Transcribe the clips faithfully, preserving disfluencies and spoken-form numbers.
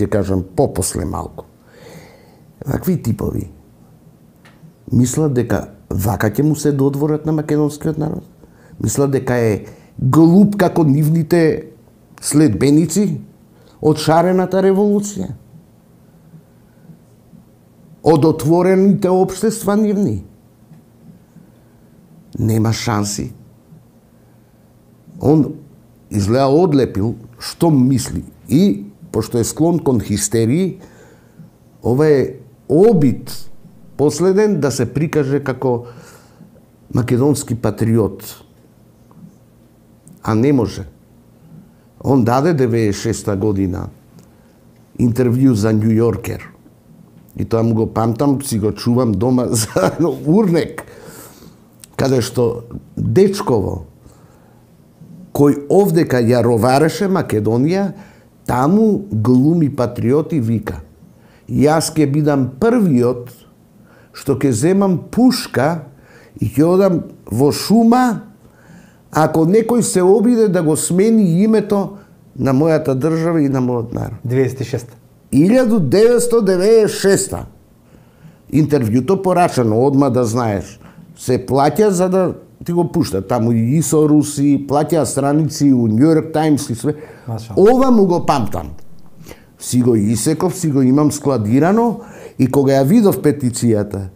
ќе кажам попосле малку. Вакви типови мислат дека вака ќе му се додворат на македонскиот народ. Мислат дека е глуп како нивните следбеници од шарената револуција. Од отворените општества нивни. Нема шанси. Он изгледа одлепил што мисли и, пошто е склон кон хистерии, ова е обид последен да се прикаже како македонски патриот. А не може. Он даде деветдесет и шеста година интервју за Нью Йоркер. И тоа му го памтам, си го чувам дома за урнек, каде што дечково, кој овдека ја ровареше Македонија, таму глуми патриот и вика: јас ќе бидам првиот што ќе земам пушка и ќе одам во шума ако некој се обиде да го смени името на мојата држава и на мојот народ. деветдесет и шеста. илјада деветстотини деветдесет и шеста. Интервјуто порачано, одма да знаеш. Се плаќа за да ти го пушта. Таму и со Руси, плаќа страници у Нью Йорк Таймс и све. Ова му го памтам. Си го исеков, си го имам складирано и кога ја видов петицијата,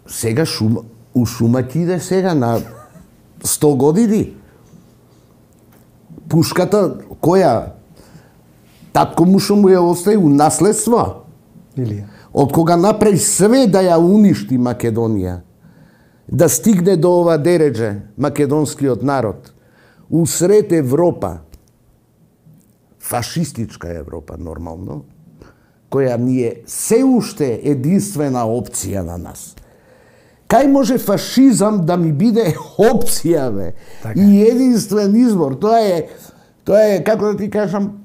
сега шума, у шума ќе иде сега на сто години. Пушката која татко му што му ја остави у наследство. Илија. Од кога направи све да ја уништи Македонија, да стигне до ова дередже македонскиот народ, усред Европа, фашистичка Европа нормално, која ни е се уште единствена опција на нас. Кај може фашизам да ми биде опција, бе? Така. И единствен избор? Тоа е, тоа е, како да ти кажам,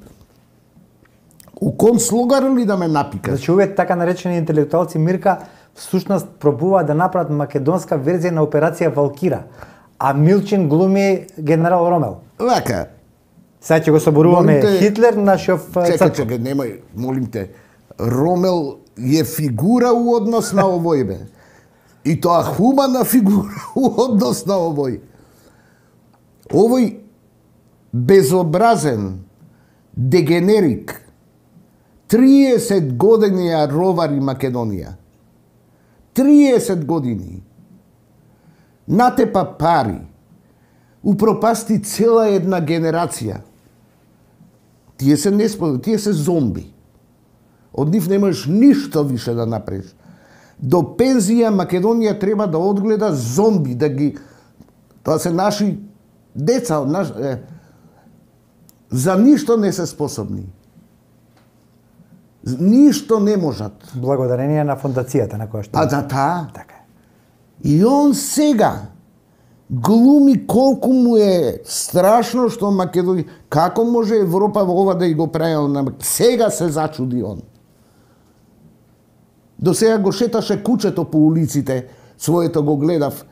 у концлогар ли да ме напикаш? Значи, овие така наречени интелектуалци, Мирка, всушност пробуваат да направат македонска верзија на операција Валкира, а Милчин глуми генерал Ромел. Вака. Сега ќе го соборуваме Молите... Хитлер, нашиов Чекај, црква. чекај, немој, молим те. Ромел е фигура у однос на овој, бе. И тоа хумана фигура у однос на овој. Овој безобразен дегенерик триесет години ја ровари Македонија. триесет години. Натепа пари. Упропасти цела една генерација. Тие се несподобни, тие се зомби. Од нив не можеш ништо више да направиш. До пензија Македонија треба да одгледа зомби, да ги... Тоа се наши деца, наш... е... за ништо не се способни. Ништо не можат. Благодарение на фондацијата на која што... А за таа? Така е. И он сега глуми колку му е страшно што Македонија... Како може Европа ова да и го прави на... Сега се зачуди он. До сега го шеташе кучето по улиците, своето го гледав.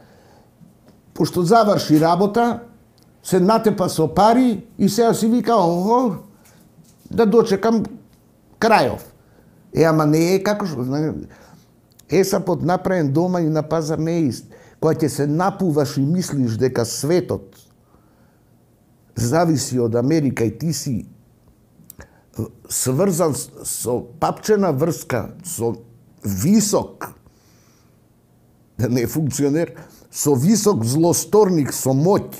Пошто заврши работа, се натепа со пари и сега си вика, ого, да дочекам крајов. Е, ама не е како што... Есапот направен дома и на пазар не е ист. Кога ќе се напуваш и мислиш дека светот зависи од Америка и ти си сврзан со папчена врска, со висок, да не е функционер, со висок злосторник, со моќ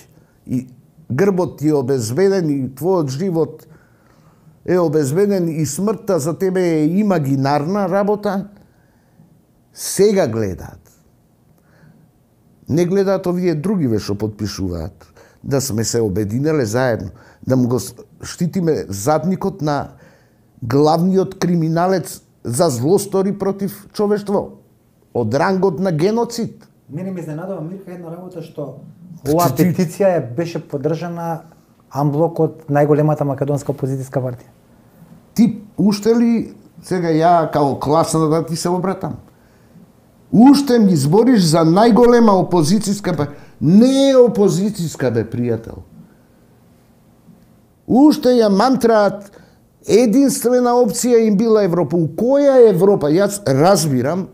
и грбот ти е обезбеден и твојот живот е обезбеден и смртта за тебе е имагинарна работа, сега гледаат. Не гледаат овие другиве што подпишуваат, да сме се обединеле заедно, да му го штитиме задникот на главниот криминалец за злостори против човештво, од рангот на геноцид. Мене ме изненадува, Мирка, една работа што оваа петиција е беше поддржана амблок од најголемата македонска опозицијска партија. Ти уште ли, сега ја као класна да ти се обратам, уште ми збориш за најголема опозицијска партија? Не е опозицијска, бе, пријател. Уште ја мантраат единствена опција им била Европа. У која Европа? Јас разбирам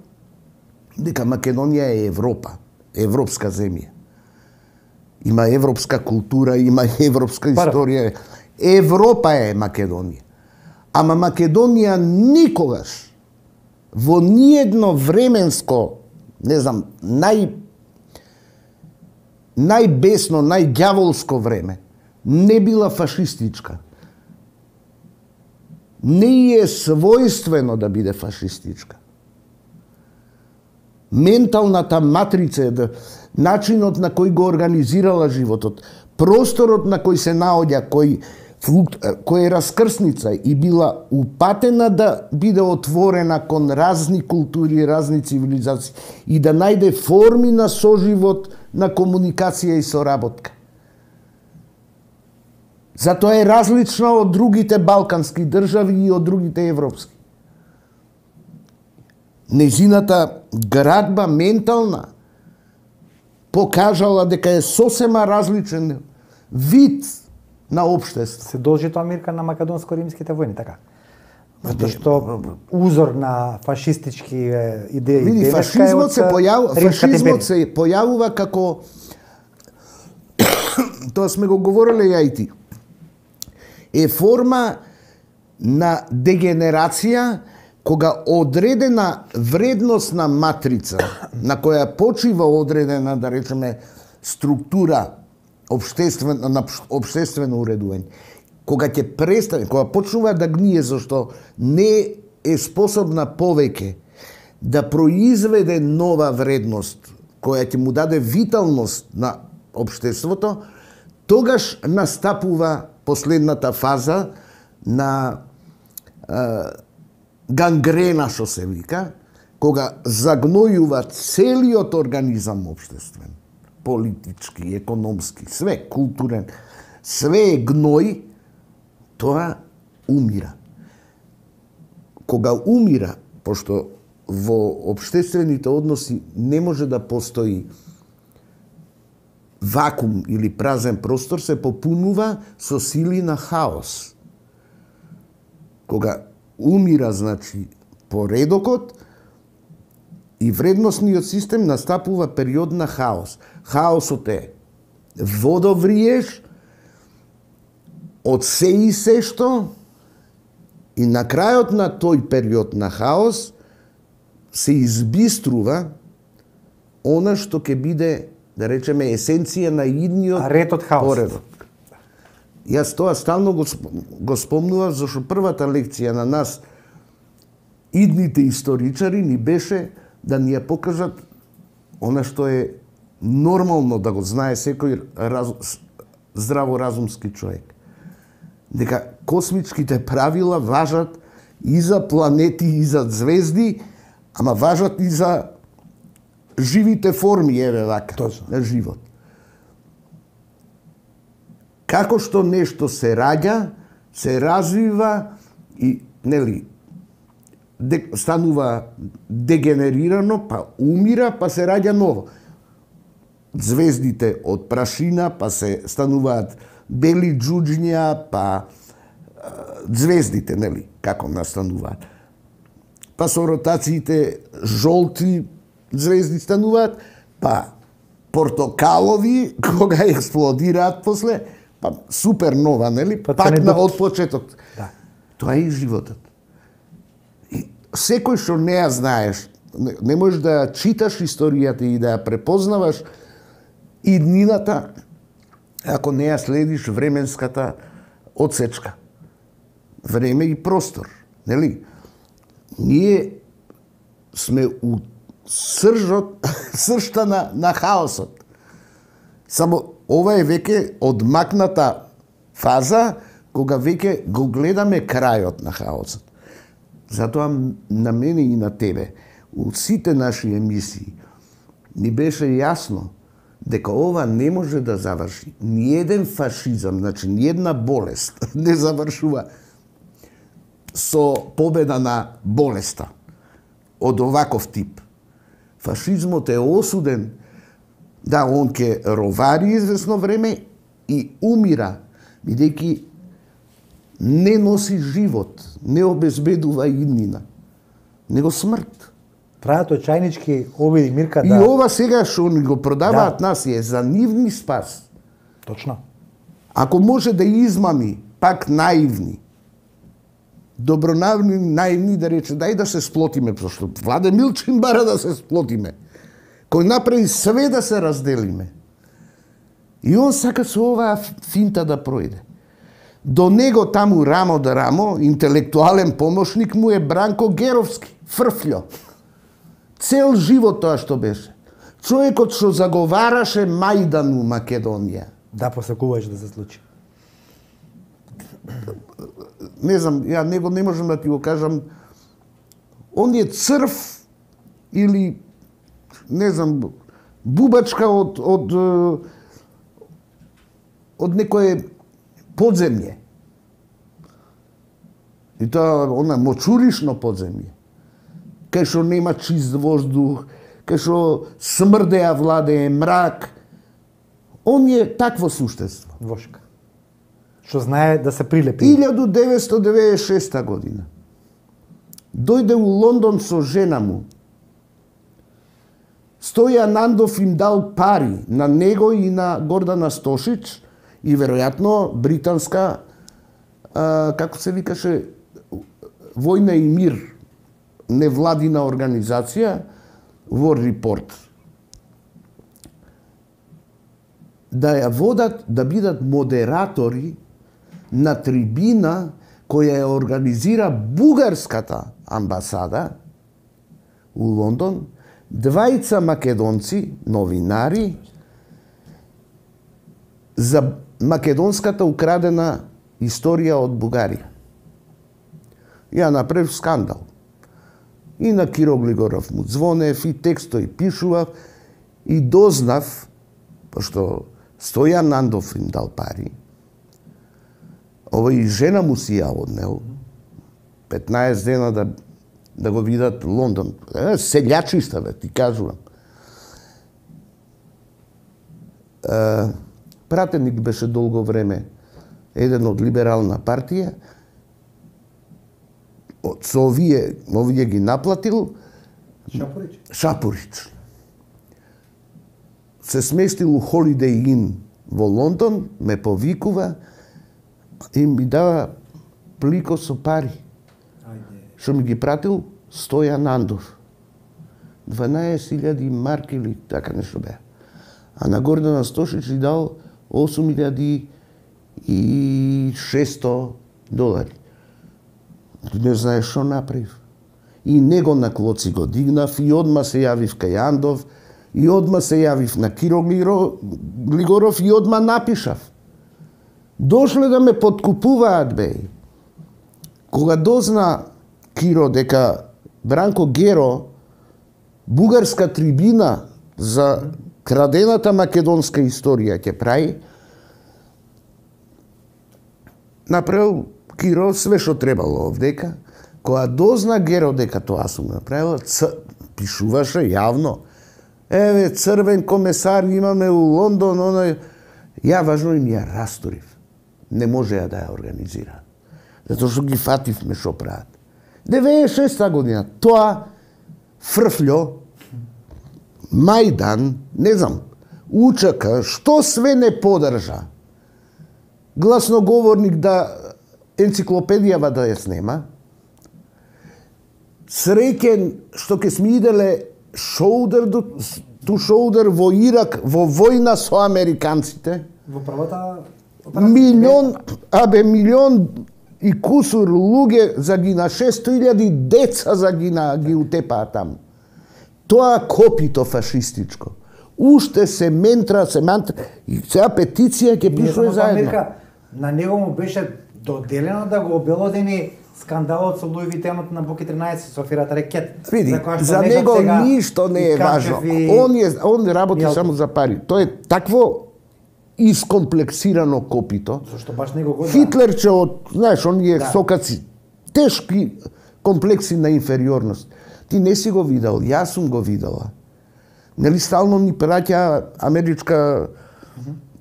дека Македонија е Европа, европска земја. Има европска култура, има европска историја. Европа е Македонија. Ама Македонија никогаш во ниедно временско, не знам, нај најбесно, најѓаволско време не била фашистичка. Не е својствено да биде фашистичка. Менталната матрица, да, начинот на кој го организирала животот, просторот на кој се наоѓа, кој, кој е раскрсница и била упатена да биде отворена кон разни култури, разни цивилизации и да најде форми на соживот, на комуникација и соработка. Затоа е различна од другите балкански држави и од другите европски. Незината градба ментална покажала дека е сосема различен вид на општество. Се должи тоа, Мирка, на македонско-римските војни, така? Затоа што узор на фашистички идеи. Види, фашизмот се појавува, фашизмот се појавува како тоа сме го говореле ја и ти. Е форма на дегенерација кога одредена вредносна матрица на која почива одредена, да речеме, структура обштествено, на обштествено уредување, кога ќе престане, кога почнува да гние зашто не е способна повеќе да произведе нова вредност која ќе му даде виталност на обштеството, тогаш настапува последната фаза на е, гангрена, што се вика, кога загнојува целиот организам обштествен, политички, економски, све, културен, све е гној, тоа умира. Кога умира, пошто во обштествените односи не може да постои вакуум или празен простор, се попунува со сили на хаос. Кога умира, значи, поредокот и вредносниот систем, настапува период на хаос. Хаосот е водовриеш од се и се што, и на крајот на тој период на хаос се избиструва она што ќе биде, да речеме, есенција на идниот ретот хаос. Поредок. Јас тоа стално го, го спомнував, зашто првата лекција на нас, идните историчари, ни беше да ни ја покажат она што е нормално да го знае секој раз, здраворазумски човек. Дека космичките правила важат и за планети, и за звезди, ама важат и за живите форми, еве вака, Точно. На живот. Како што нешто се раѓа, се развива и, нели, де, станува дегенерирано, па умира, па се раѓа ново. Звездите од прашина, па се стануваат бели џуџња, па звездите, нели, како настануваат. Па со ротациите жолти звезди стануваат, па портокалови, кога експлодираат после, па супернова, нели, па пак на од почеток. Да. Тоа е и животот. И секој што не ја знаеш, не, не можеш да читаш историјата и да ја препознаваш иднината, ако не ја следиш временската одсечка. Време и простор, нели? Ние сме у сржот, сршта на, на хаосот. Само ова е веќе одмакната фаза, кога веќе го гледаме крајот на хаосот. Затоа на мене и на тебе, у сите наши емисии, ни беше јасно дека ова не може да заврши. Ниеден фашизам, значи ниедна болест не завршува со победа на болеста од оваков тип. Фашизмот е осуден, да, он ќе ровари известно време и умира, бидејќи не носи живот, не обезбедува иднина, него смрт. Прават очајнички обиди, Мирка, И да... ова сега што ни го продаваат Да. нас е за нивни спас. Точно. Ако може да измами, пак наивни, добронавни, наивни да рече, дај да се сплотиме, пошто Владе Милчин бара да се сплотиме, кој направи све да се разделиме. И он сака со оваа финта да пројде. До него таму рамо да рамо, интелектуален помошник му е Бранко Геровски, фрфљо. Цел живот тоа што беше. Човекот што заговараше Мајдан у Македонија. Да, посакуваш да се случи. Не знам, ја него не можам да ти го кажам. Он е црв или не знам, бубачка од од од некое подземје. И тоа она мочуришно подземје. Кај што нема чист воздух, кај што смрдеа владее мрак. Он е такво суштество. Вошка. Што знае да се прилепи. илјада деветстотини деведесет и шеста година. Дојде у Лондон со жена му. Стојан Андов им дал пари на него и на Гордана Стошич и веројатно британска, а, како се викаше, Војна и мир, невладина организација, War Report. Да ја водат, да бидат модератори на трибина која ја организира бугарската амбасада у Лондон, двајца македонци, новинари, за македонската украдена историја од Бугарија. Ја направив скандал. И на Киро Глигоров му звонев, и текстој пишував, и дознав, пошто Стојан Андов им дал пари, ова и жена му си ја однел, петнаесет дена да, да го видат Лондон. Е, селјачиста, бе, ти кажувам. Е, пратеник беше долго време еден од либерална партија, со овие, овие ги наплатил Шапурич. Шапурич. Се сместил у Holiday Inn во Лондон, ме повикува и ми дава плико со пари. Ајде. Што ми ги пратил Стојан Андов. дванаесет илјади марки или така нешто беа. А на Гордана Стошич и дал осум илјади и шесто долари. Не знаеш што направив. И него на клоци го дигнав и одма се јавив кај Андов и одма се јавив на Киро Глигоров и одма напишав. Дошле да ме подкупуваат, бе. Кога дозна Киро дека Бранко Геро бугарска трибина за крадената македонска историја ќе прави, направил Киро све што требало овдека. Кога дозна Геро дека тоа сум направила, ц... пишуваше јавно. Еве, црвен комесар имаме у Лондон, оној... Ја важно им ја расторив. Не можеа да ја организира. Затоа што ги фативме што прават. деветдесет и шеста година, тоа фрфљо, Мајдан, не знам, УЧК, што све не подржа. Гласноговорник да енциклопедијава да ја снема. Среќен што ке сме иделе шоудер ту шоудер во Ирак во војна со американците. Во првата Милион, абе милион и кусур луѓе загина, шесто илјади деца загина, ги утепаа таму. Тоа копито фашистичко. Уште се ментра, се мантра, и сега петиција ќе пишува заедно. На него му беше доделено да го обелодени скандалот со Луи Витенот на Буки тринаесет со аферата Рекет. Види, за, за него ништо не е важно. И... Он е он работи Јалко. Само за пари. Тоа е такво искомплексирано копито. Зошто баш него го Хитлерче од, знаеш, оние да. сокаци, тешки комплекси на инфериорност. Ти не си го видел, јас сум го видела. Нели стално ни праќа америчка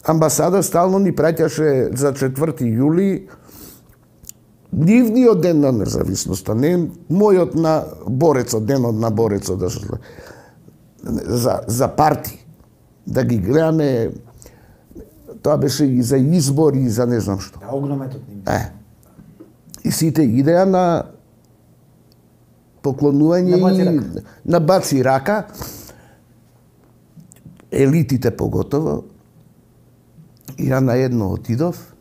амбасада, стално ни праќаше за четврти јули нивниот ден на независноста, не мојот на борецот, денот на борецот, да се за, за парти, да ги гледаме, тоа беше и за избори, и за не знам што. Да, огнометот ним. Е. И сите идеја на поклонување на баци и на баци рака, елитите поготово, и ја на едно отидов,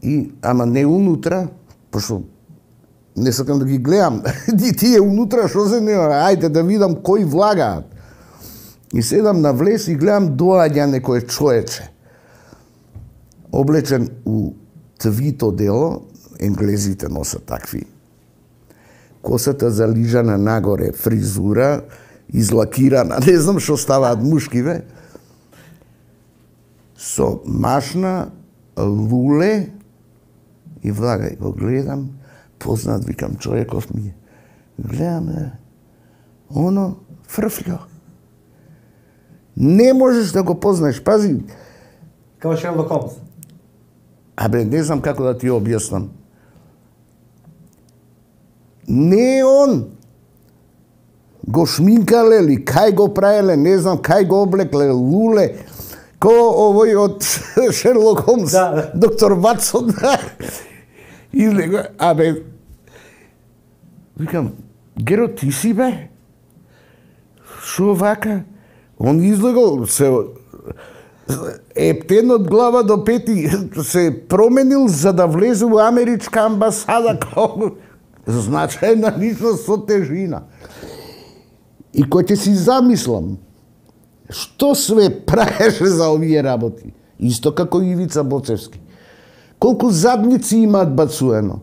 и, ама не унутра, пошто не сакам да ги гледам, и тие унутра што се не, ајде да видам кои влагаат. И седам на влез и гледам доаѓа некој човече, облечен у твито дело, енглезите носат такви, косата залижана нагоре, фризура, излакирана, не знам што ставаат мушкиве, со машна, луле и влагај, го гледам, познат, викам, човеков ми е. Гледам, е, оно, фрфљо. Не можеш да го познаеш, пази. Као Шерлок Холмс. Абе, не знам како да ти објаснам. Не он. Го шминкале ли, кај го правеле, не знам, кај го облекле, луле, ко овој од Шерлок Холмс, да. доктор Ватсон. Излего, абе, викам, Геро, ти си бе? Шо вака? Он излегол, се ептен од глава до пети, се променил за да влезе во америчка амбасада како значајна личност со тежина. И кој ќе си замислам, што све правеше за овие работи, исто како Ивица Боцевски. Колку задници имаат бацуено.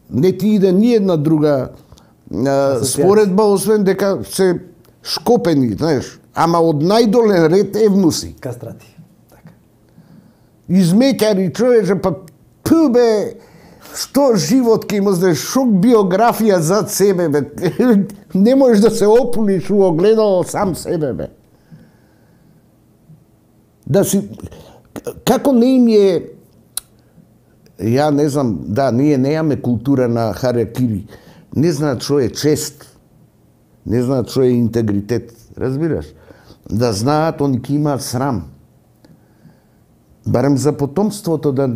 Не ти иде ни една друга а, споредба, освен дека се шкопени, знаеш, ама од најдолен ред евнуси. Кастрати. Така. Измеќари човече, па пу бе, што живот ке има, знаеш, шо биографија зад себе, бе. Не можеш да се опуниш у огледало сам себе, бе. Да си, како не им е, ја не знам, да, ние неаме култура на харакири, не знаат што е чест, не знаат што е интегритет, разбираш? Да знаат, они ки имаат срам. Барем за потомството да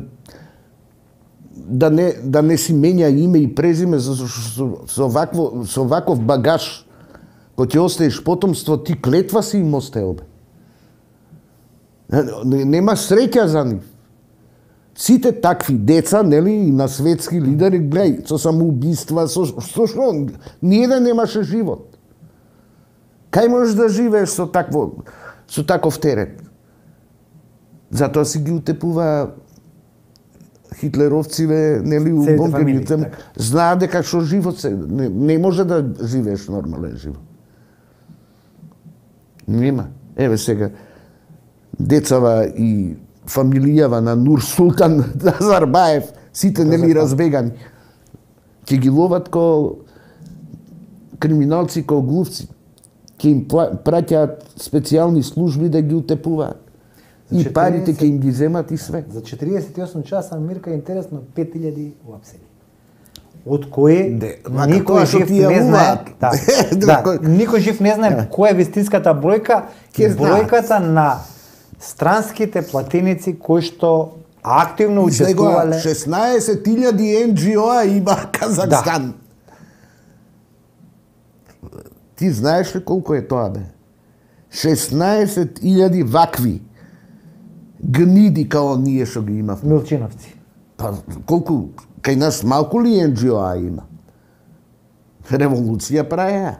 да не да не си менја име и презиме за со, со вакво со ваков багаж кој ќе оставиш потомство, ти клетва си им оставил, бе. Нема среќа за нив. Сите такви деца, нели, и на светски лидери, гледај, со самоубиства, со со што ниеден немаше живот. Кај можеш да живееш со такво со таков терет? Затоа си ги утепува хитлеровциве, нели, у бункерите, така. Знаат дека што живот се не, не може да живееш нормален живот. Нема. Еве сега децава и фамилијава на Нур Султан Назарбаев, сите нели разбегани. Ќе ги ловат ко криминалци, ко глувци. Ќе им праќаат специјални служби да ги утепуваат. И парите ќе им ги земат и све. За четириесет и осум часа Мирка, интересно, пет илјади уапсени. Од кои никој жив не знае. Да, да, никој жив не знае која е вистинската бројка, бројката на странските платеници кои што активно учествувале. шеснаесет илјади ен џи о-а има Казахстан. Да. Ти знаеш ли колку е тоа, бе? шеснаесет илјади вакви гниди као ние што ги имав. Милчиновци. Па колку кај нас малку ли ен џи о-а има? Револуција праја.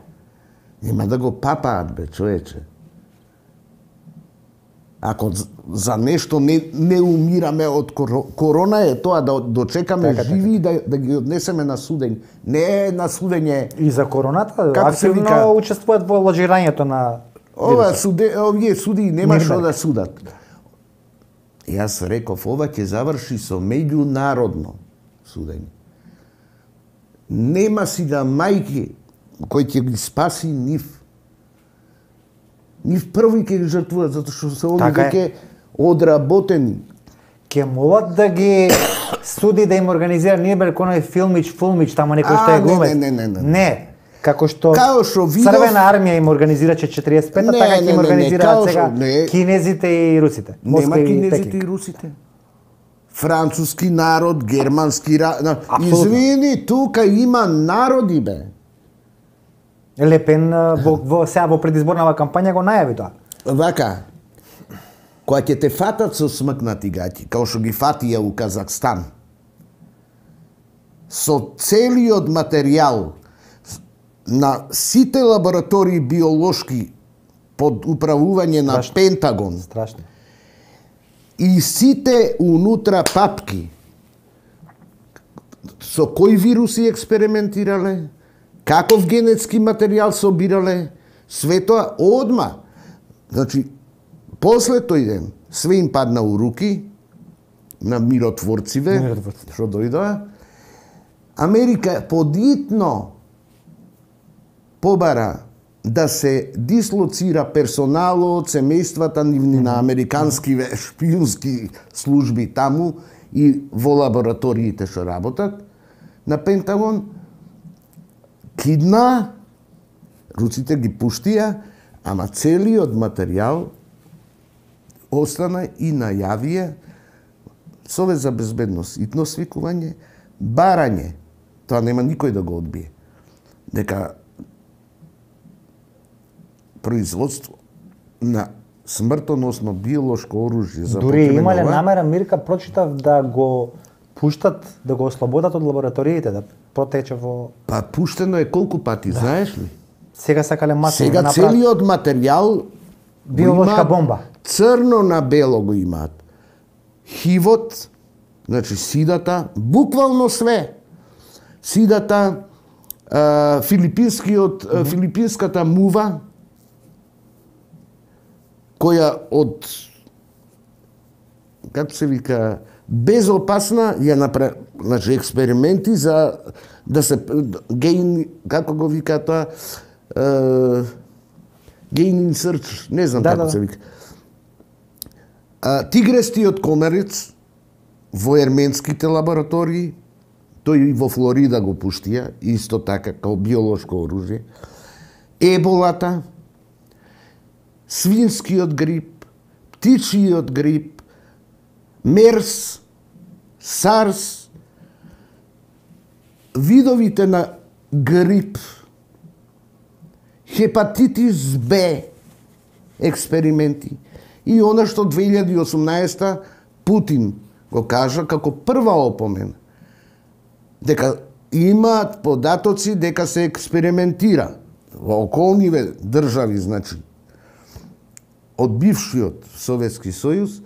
Нема да го папаат, бе, човече. Ако за нешто не, не умираме од корона, е тоа да дочекаме така, живи и да, да ги однесеме на судење. Не е на судење. И за короната активно учествуваат во ложирањето на ова суде, овие суди нема што да судат. Јас реков, ова ќе заврши со меѓународно судење. Нема си да мајки кој ќе ги спаси нив. Нив први ќе ги жртвуваат, затоа што се они веќе одработени. ќе молат да ги суди да им организира Нирнберг оној филмич, фулмич, тамо некој што е глумец. Не, не, не, не. Не, како што, што видов... Црвена армија им организираче четириесет и пета, така ќе им организираат сега не, кинезите и русите. Нема кинезите и русите. Француски народ, германски народ. Извини, тука има народи, бе. Лепен во, во сега во предизборнава кампања го најави тоа. Вака, кога ќе те фатат со смркнати гаќи, као што ги фатија у Казахстан, со целиот материјал на сите лаборатории биолошки под управување на Страшно. Пентагон, Страшно. И сите унутра папки, со кои вируси експериментирале, каков генетски материјал собирале, све тоа одма. Значи, после тој ден, све им падна у руки на миротворциве, Миротворци. што дојдоа. Америка подитно побара да се дислоцира персоналот, семејствата нивни на американски шпиунски служби таму и во лабораториите што работат на Пентагон, кидна, руците ги пуштија, ама целиот материјал остана и најавија Совет за безбедност, итно свикување, барање, тоа нема никој да го одбие, дека производство на смртоносно биолошко оружје за дури имале намера, Мирка, прочитав да го пуштат, да го ослободат од лабораториите, да протече во... Па пуштено е колку пати, да. Знаеш ли? Сега сакале масово Сега направат... целиот материјал биолошка бомба. Црно на бело го имаат. Хивот, значи сидата, буквално све. Сидата, а, филипинскиот, mm -hmm. филипинската мува, која од, како се вика, безопасна, ја направи, значи, експерименти за да се гейн, како го вика тоа, гейн инсерч, не знам да, како да. се вика. А, тигрестиот комарец во ерменските лаборатории, тој и во Флорида го пуштија, исто така, као биолошко оружје. Еболата, свинскиот грип, птичиот грип, мерс, сарс, видовите на грип, хепатитис Б, експерименти. И она што две илјади и осумнаесета Путин го кажа како прва опомена, дека имаат податоци дека се експериментира во околниве држави, значи, од бившиот Советски сојуз,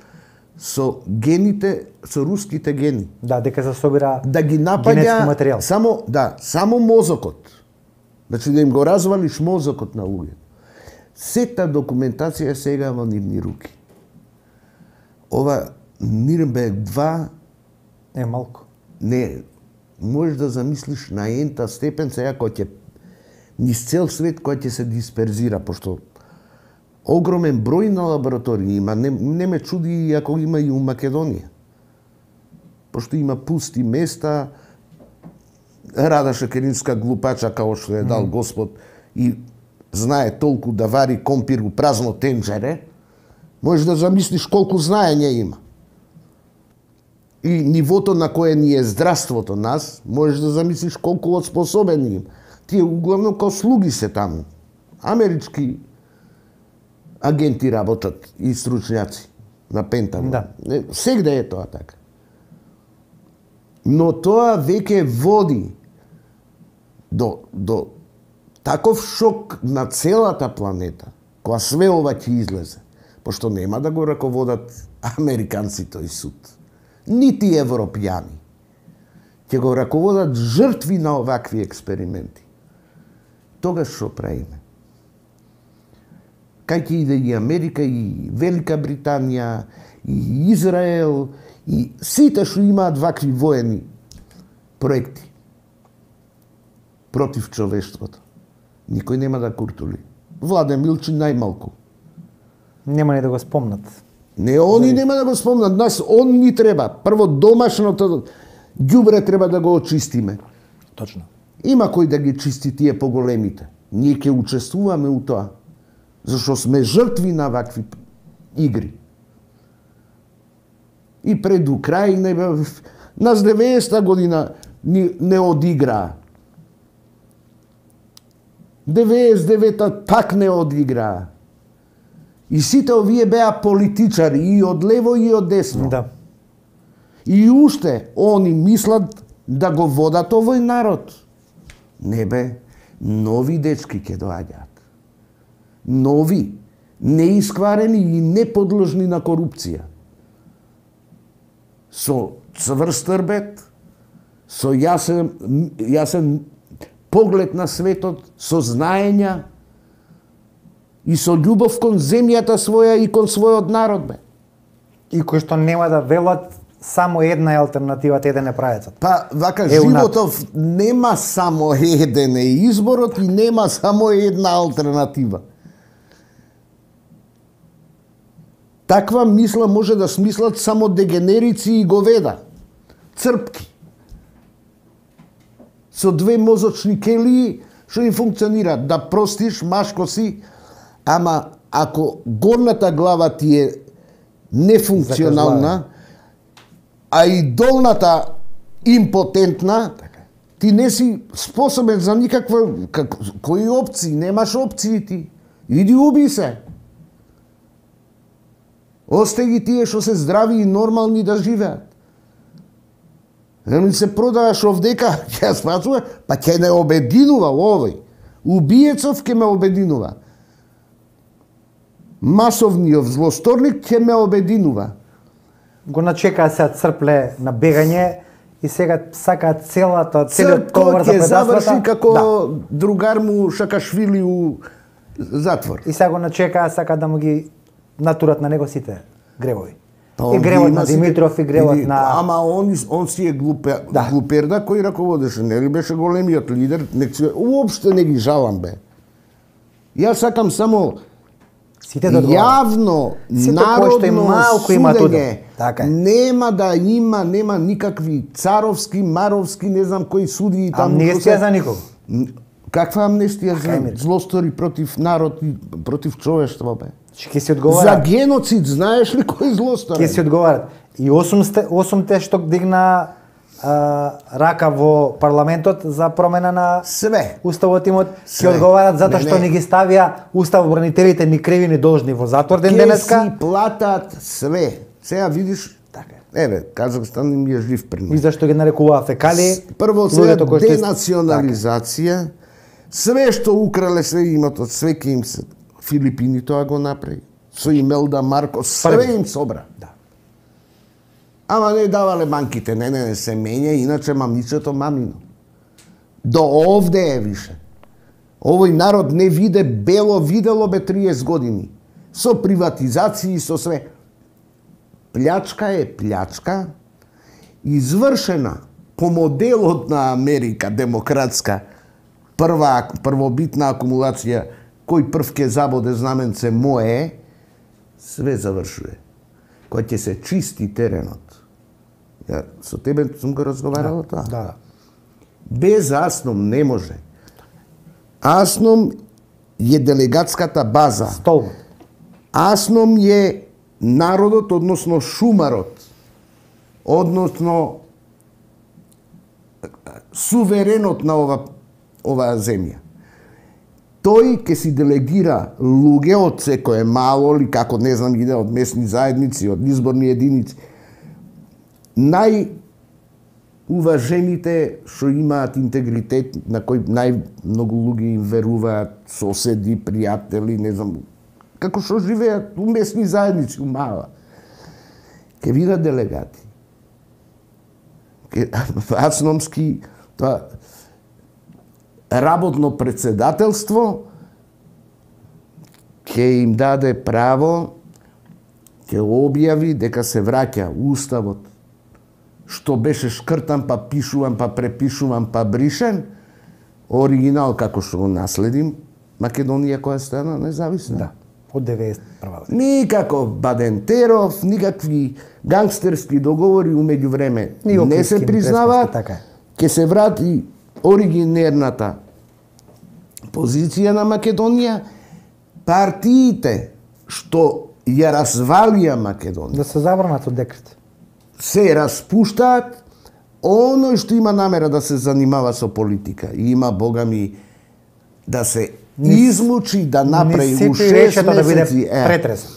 со гените, со руските гени. Да, дека се собира да ги напаѓа генетски материјал. Само, да, само мозокот. Значи да им го развалиш мозокот на луѓето. Сета документација е сега во нивни руки. Ова Нирнберг два е малку. Не, можеш да замислиш на ента степен сега кој ќе низ цел свет кој ќе се дисперзира, пошто огромен број на лаборатории има, не, не ме чуди ако има и у Македонија. Пошто има пусти места, Рада Шекеринска глупача као што е дал mm. Господ и знае толку да вари компир у празно тенџере, можеш да замислиш колку знаење има. И нивото на кое ни е здравството нас, можеш да замислиш колку одспособен има. Тие углавно као слуги се таму. Амерички агенти работат и стручњаци на Пентагон. Да. Сегде е тоа така. Но тоа веќе води до, до таков шок на целата планета, кога све ова ќе излезе, пошто нема да го раководат американци тој суд, нити европјани. Ќе го раководат жртви на овакви експерименти. Тогаш што правиме? Кај ќе иде и Америка, и Велика Британија, и Израел, и сите што имаат вакви воени проекти против човештвото. Никој нема да куртули. Владе Милчин најмалку. Нема ни да го спомнат. Не, они нема да го спомнат, нас он ни треба. Прво домашното ѓубре треба да го очистиме. Точно. Има кој да ги чисти тие поголемите. Ние ќе учествуваме у тоа. Зашто сме жртви на вакви игри. И пред Украина, нас деветдесета година не, не одиграа. деветдесет и девета пак не одиграа. И сите овие беа политичари и од лево и од десно. Да. И уште они мислат да го водат овој народ. Не бе, нови дечки ќе доаѓаат. Нови, неискварени и неподложни на корупција. Со цврст рбет, со јасен, јасен поглед на светот, со знаења и со љубов кон земјата своја и кон својот народ, бе. И кои што нема да велат само една е алтернативата, еден е правецот. Па, вака, е животов нема само еден е изборот и нема само една алтернатива. Таква мисла може да смислат само дегенерици и говеда, црпки. Со две мозочни келии, што им функционираат, да простиш, машко си, ама ако горната глава ти е нефункционална, а и долната импотентна, ти не си способен за никаква... Как, кои опции? Немаш опции ти. Иди уби се. Осте ги тие што се здрави и нормални да живеат. Еми се продаваш овдека, ќе спасува, па ќе не обединува овој. Убиецов ќе ме обединува. Масовниот злосторник ќе ме обединува. Го начекаа се црпле на бегање и сега сакаат целата, целиот товар за предавствата. Црпко ќе заврши како да. Другар му Шакашвили у затвор. И сега го начекаа, сакаат да му ги натурат на него сите гревови. Па, и гревот на Димитров, и гревот на... Ама он, он си е глупе, да. глуперда кој раководеше, нели беше големиот лидер, нек си... Уопште не ги жалам, бе. Јас сакам само сите да јавно, народно судење. Така. Нема да има, нема никакви царовски, маровски, не знам кои суди и таму. Амнестија за никого. Каква амнестија за злостори против народ и против човештво, бе? Ќе си одговара. За геноцид знаеш ли кој злостори? Ќе си одговарат. И осумте, осумте што дигна а, рака во парламентот за промена на све уставот имот, ќе одговарат затоа што не ги ставија уставобранителите ни криви ни должни во затвор ден денеска. Ќе си платат све. Сега видиш, така. Еве, Казахстан им е жив пример. И зашто ги нарекуваа фекали? Прво сега денационализација, све што украле се имотот, све ке им се. Филипини тоа го направи. Со Имелда Маркос, све им собра. Да. Ама не давале банките, не, не, не се менја, иначе мамичето мамино. До овде е више. Овој народ не виде бело, видело бе триесет години. Со приватизации, со све. Плячка е плячка, извршена по моделот на Америка, демократска, прва, првобитна акумулација, кој прв ке забоде знаменце мое, све завршува. Кој ќе се чисти теренот. Ја со тебе сум го разговарала да, тоа. Да. Без Асном не може. Асном е делегатската база. Столбот. Асном е народот, односно шумарот, односно суверенот на ова оваа земја. Тој ќе си делегира луѓе од секое мало или како не знам иде од местни заедници, од изборни единици. Најуважените што имаат интегритет, на кој најмногу луѓе им веруваат, соседи, пријатели, не знам, како што живеат у местни заедници, у мала. Ке видат делегати. Ке, Асномски, тоа работно председателство ќе им даде право, ќе објави дека се враќа уставот, што беше шкртан, па пишуван, па препишуван, па бришен, оригинал како што го наследим, Македонија која стана независна. Да. Од деветдесет и прва година. Никаков Бадентеров, никакви гангстерски договори умеѓу време не се признаваат. Така. Ке се врати оригинерната позиција на Македонија, партиите што ја развалија Македонија Да се забранат од декрет. се распуштаат, оној што има намера да се занимава со политика и има богами да се измучи, да направи у шест да биде месеци е, претресен.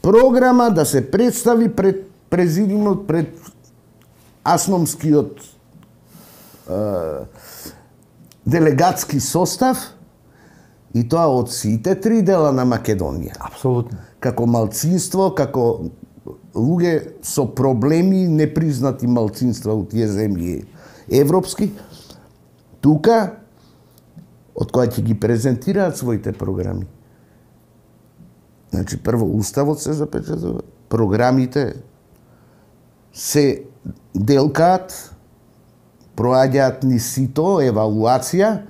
програма да се представи пред президиумот, пред асномскиот е, делегатски состав, и тоа од сите три дела на Македонија. Апсолутно. Како малцинство, како луѓе со проблеми, непризнати малцинства од тие земји европски, тука, од која ќе ги презентираат своите програми. Значи, прво, уставот се запечатува, програмите се делкаат, проаѓаат ни сито, евалуација,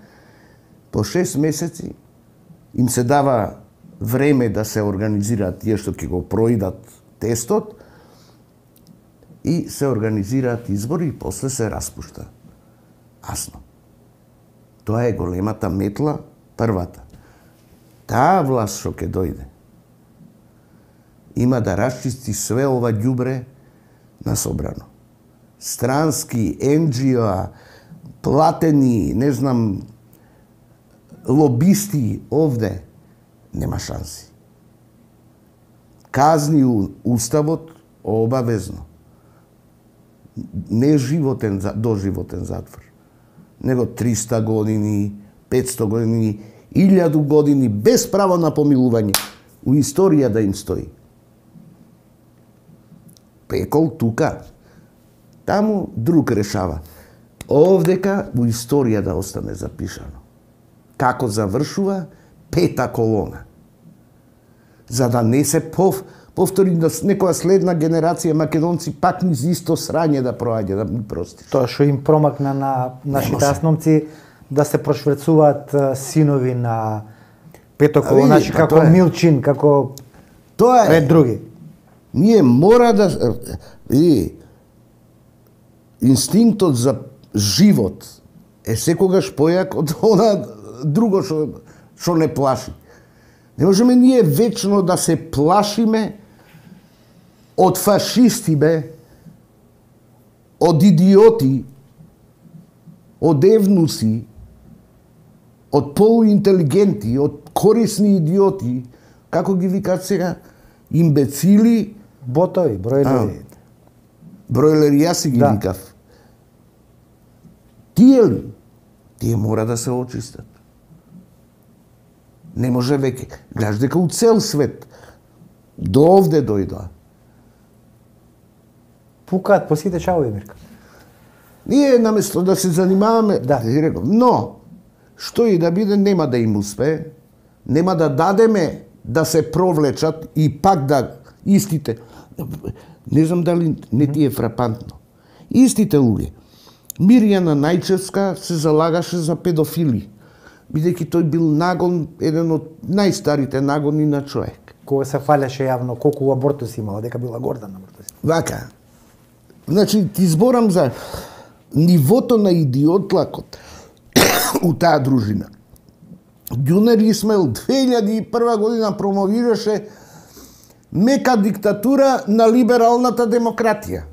по шест месеци им се дава време да се организираат тие што ќе го проидат тестот и се организираат избори и после се распушта. Асно. Тоа е големата метла, првата. Таа власт што ќе дојде има да расчисти све ова ѓубре на собрано. Странски, ен џи о, платени, не знам, лобисти овде, нема шанси. Казни уставот обавезно. Не животен, доживотен затвор, него триста години, петсто години, илјаду години без право на помилување. У историја да им стои. Пекол тука, таму друг решава. Овдека у историја да остане запишано. Како завршува пета колона. За да не се пов, повтори да некоја следна генерација македонци пак низ исто срање да проаѓа, да ми простиш. Тоа што им промакна на нашите асномци да се прошверцуваат синови на пето колона, па, како е. Милчин, како тоа е. Ред други. Ние мора да и инстинктот за живот е секогаш појак од она друго што што не плаши. Не можеме ние вечно да се плашиме од фашисти, бе, од идиоти, од евнуси, од полуинтелигенти, од корисни идиоти, како ги викаат сега, имбецили, ботови, бройлери. Бройлери, јас си ги да. викав. Тие ли? Тие мора да се очистат. Не може веќе. Гледаш дека у цел свет до овде дојдоа. Пукаат по сите чавови, Мирка. Ние наместо да се занимаваме, да. но што и да биде, нема да им успее, нема да дадеме да се провлечат и пак да истите. Не знам дали не ти е фрапантно. Истите луѓе. Мирјана Најчевска се залагаше за педофили, бидејќи тој бил нагон, еден од најстарите нагони на човек. Кога се фалеше јавно колку абортуси имала, дека била горда на абортуси. Вака. Значи, ти зборам за нивото на идиотлакот у таа дружина. Ѓунер Исмаил две илјади и прва година промовираше мека диктатура на либералната демократија.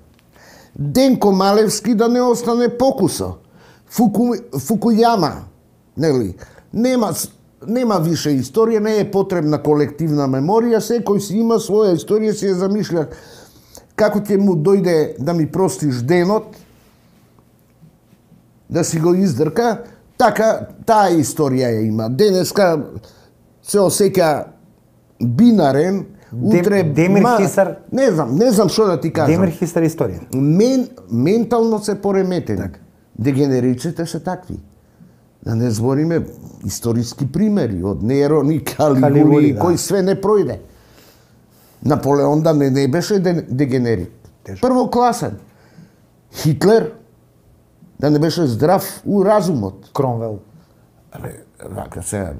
Денко Малевски да не остане покусо. Фуку, Фукујама, нели? Нема, нема више историја, не е потребна колективна меморија, секој си има своја историја, си ја замишља како ќе му дојде да ми простиш денот, да си го издрка, така таа историја ја има. Денеска се осеќа бинарен, утре Демир ма... Хисар. Не знам, не знам што да ти кажам. Демир Хисар историја. Мен, ментално се пореметени. Так. Дегенериците се такви. Да не збориме историски примери од Нерон и Калигули, Калигули да. Кој све не пројде. Наполеон да не, не беше дегенерит. Првокласен. Хитлер да не беше здрав у разумот. Кромвел. Абе, вака сега.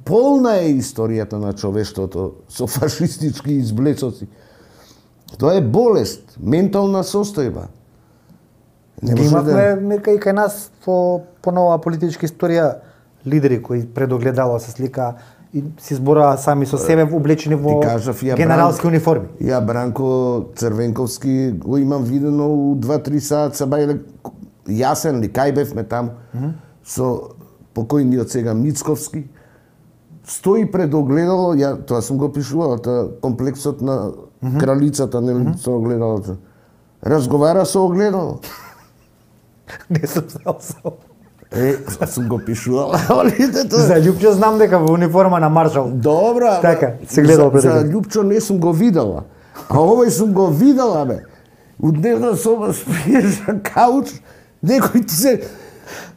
полна е историјата на човештвото со фашистички изблецоци. Тоа е болест, ментална состојба. Имавме, Мирка, и кај нас по, по нова политичка историја лидери кои предогледало се слика и си зборува сами со себе облечени во кажав, генералски Бран... униформи. Ја Бранко Црвенковски го имам видено у два-три саат са бајле јасен ли, кај бевме таму, mm -hmm. со покојниот сега Мицковски, стои пред огледало, ја тоа сум го пишувал, тоа комплексот на mm -hmm. кралицата, нели, mm -hmm. со огледалото. Разговара со огледало. Не сум знал со. Е, сум го пишувал. За Љупчо знам дека во униформа на маршал. Добра, така, се гледал пред. За, за Љупчо не сум го видела. А овој сум го видела, бе. У дневна соба спиеш на кауч, некој ти се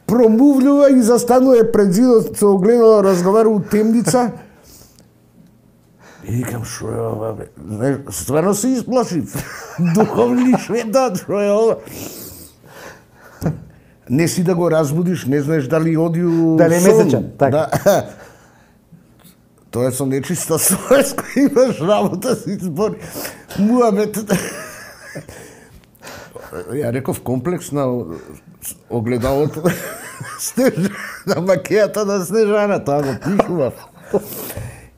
промувлюва и застанува пред зидот со огледало, разговара у темница. И викам, шо е ова, бе? Стварно се исплашив. Духовни шведат, шо е ова? Не си да го разбудиш, не знаеш дали оди у дали е месечен, така. Да. Тоа е со нечиста совест, кој имаш работа си збори. Муабет. Ја реков комплекс на огледалото. Снежана, на макејата на Снежана, тоа го пишував.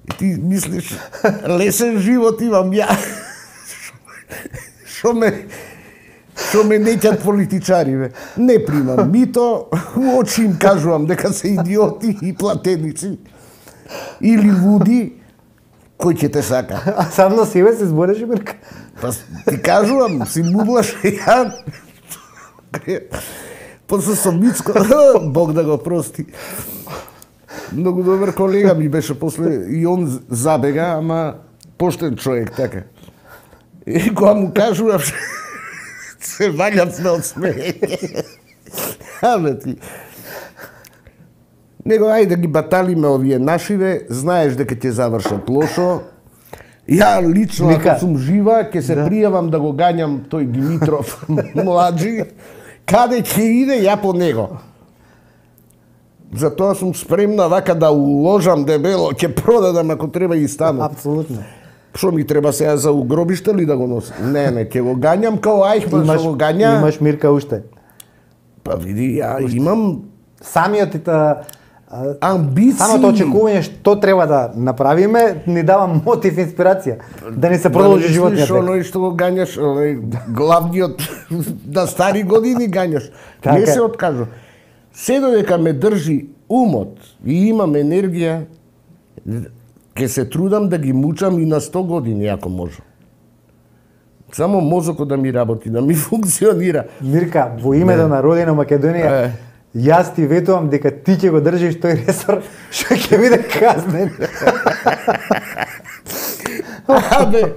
И ти мислиш, лесен живот имам ја. Шо ме Што ме неќат политичари, бе. Не примам мито, у очи им кажувам дека се идиоти и платеници. Или луди, кој ќе те сака. А сам на себе се збореше, Мирка? Па ти кажувам, си мудлаш ја. После со Мицко, Бог да го прости. Многу добар колега ми беше после, и он забега, ама поштен човек, така. И кога му кажувам, се валјат сме од смејање. Абе ти. Него ајде да ги баталиме овие нашиве, знаеш дека ќе завршат лошо. Ја лично, Мика, ако сум жива, ќе се да. пријавам да го гањам тој Димитров младжи. Каде ќе иде, ја по него. Затоа сум спремна вака да уложам дебело, ќе продадам ако треба и стану. Апсолутно. Што ми треба сега за угробиште ли да го носам? Не, не, ќе го гањам као Ајхман што го гања. Имаш, Мирка, уште. Па види, ја уште. Имам самиот та амбиции. Самото очекување што треба да направиме ни дава мотив, инспирација да не се продолжи да животниот век. Оној што го гањаш, главниот на стари години гањаш. Така. Не се откажу. Се додека ме држи умот и имам енергија, ќе се трудам да ги мучам и на сто години, ако можам. Само мозокот да ми работи, да ми функционира. Мирка, во името на Родина Македонија, е. Јас ти ветувам дека ти ќе го држиш тој ресор, што ќе биде казнен. Абе,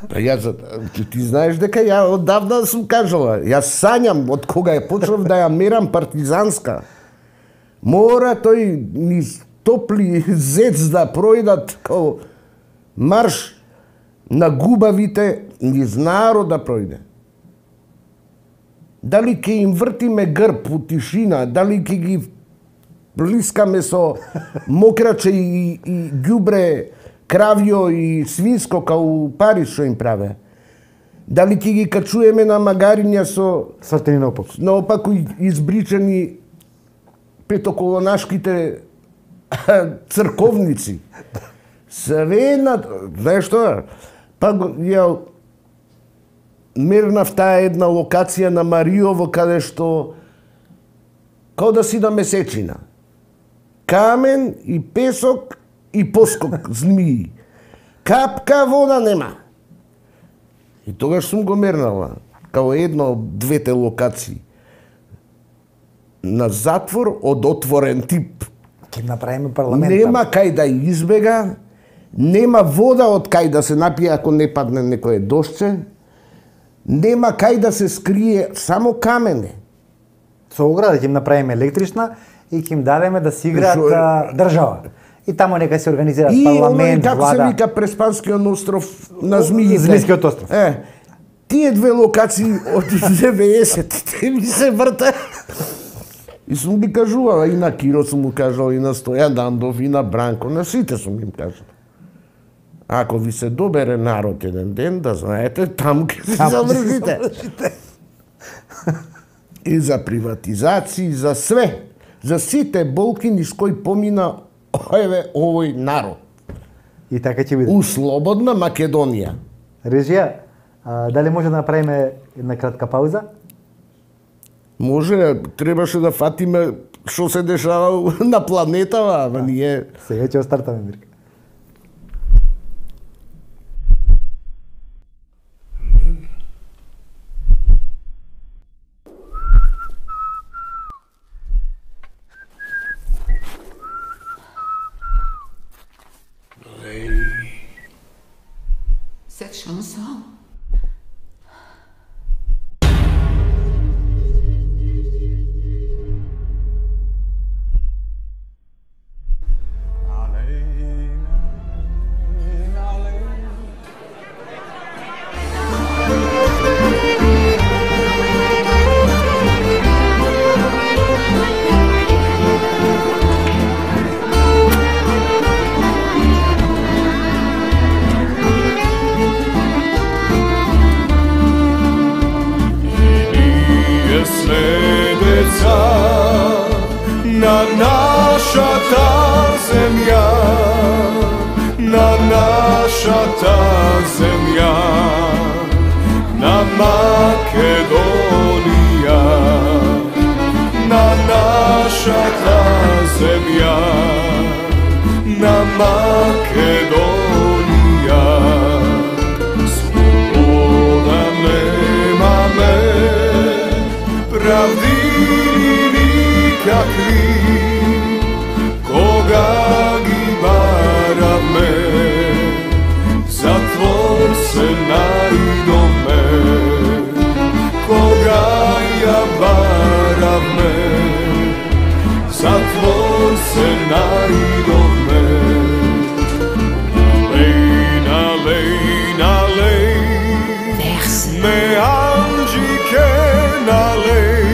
јас, ти, ти знаеш дека ја оддавна сум кажала, јас сањам од кога е почнав да ја мерам партизанска. Мора тој низ топли зец да пројдат као марш на губавите низ народ да пројде. Дали ќе им вртиме грб у тишина, дали ќе ги блискаме со мокраче и, и ѓубре, кравјо и свинско као Париж што им праве. Дали ќе ги качуеме на магариња со свртени наопаку. Наопаку избричани петоколонашките црковници. Све на... Знаеш што? Па ја мернав таа една локација на Мариово, каде што као да си на месечина. Камен и песок и поскок змии. Капка вода нема. И тогаш сум го мернала, као една од двете локации. На затвор од отворен тип. Ќе направиме парламент. Нема кај да избега, нема вода од кај да се напие ако не падне некое дошче, нема кај да се скрие, само камене. Со ограда ќе им направиме електрична и ќе им дадеме да си играат Шо... држава. И таму нека се организираат и парламент, како влада. И како се вика Преспанскиот остров на Змиите. Змијскиот остров. Е, тие две локации од деветдесетите ми се врта. И сум ги кажувал, и на Киро сум му кажал, и на Стојан Дандов, и на Бранко, на сите сум им кажал. Ако ви се добере народ еден ден, да знаете, таму ќе се завршите. И за приватизација, за све. За сите болки низ кои помина еве овој народ. И така ќе биде. У слободна Македонија. Режија, а, дали може да направиме една кратка пауза? Може, требаше да фатиме што се дешава на планетава, ама ние... Сега ќе остартаме, Мирка. Cette chanson. Na naša ta zemlja, na naša ta zemlja, na Makedonija, na naša ta zemlja, na Makedonija. Sloboda nema me, pravdi nikakvi, koga gi barame, zatvor se najdome, koga ja barame, zatvor se najdome. Nalej, nalej, nalej, me anđike nalej,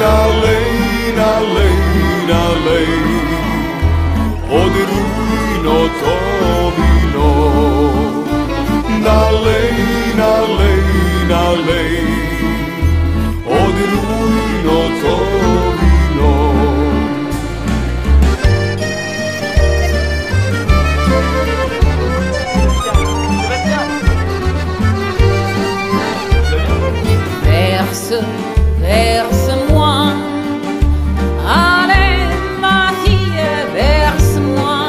nalej, nalej, nalej, od rujno to vino. Nalej, nalej, nalej, od rujno to vino. Verse, verse-moi. Allez, ma fille, verse-moi.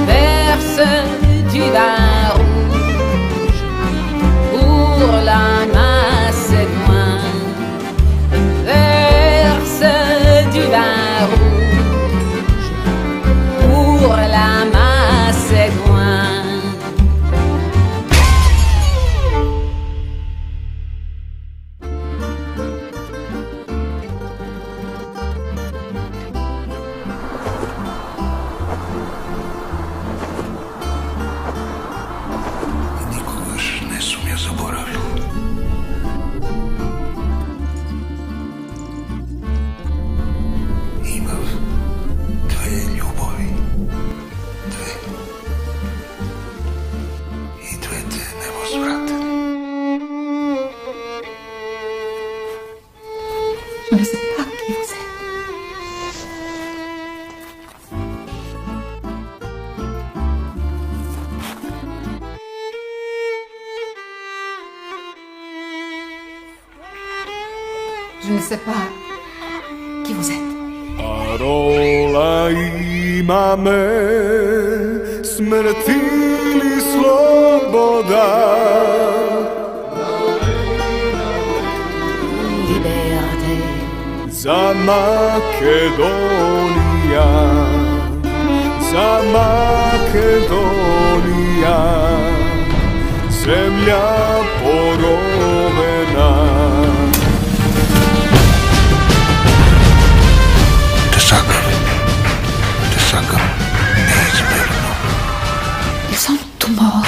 Verse du vin rouge pour la Macédoine. Verse du vin rouge pour la Macédoine. Je ne sais pas qui vous êtes. Je ne sais pas qui vous êtes. Parola imame, smrti ili sloboda. Liberté. Za Makedonija, za Makedonija, zemlja porovena. Ils sont tous morts.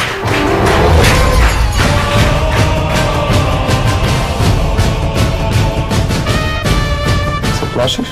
прашаш?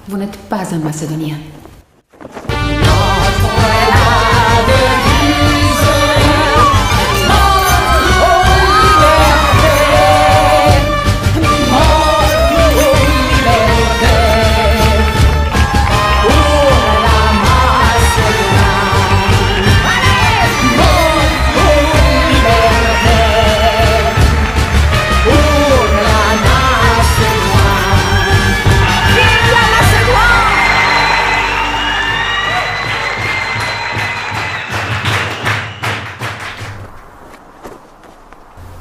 Vous n'êtes pas un Macédonien.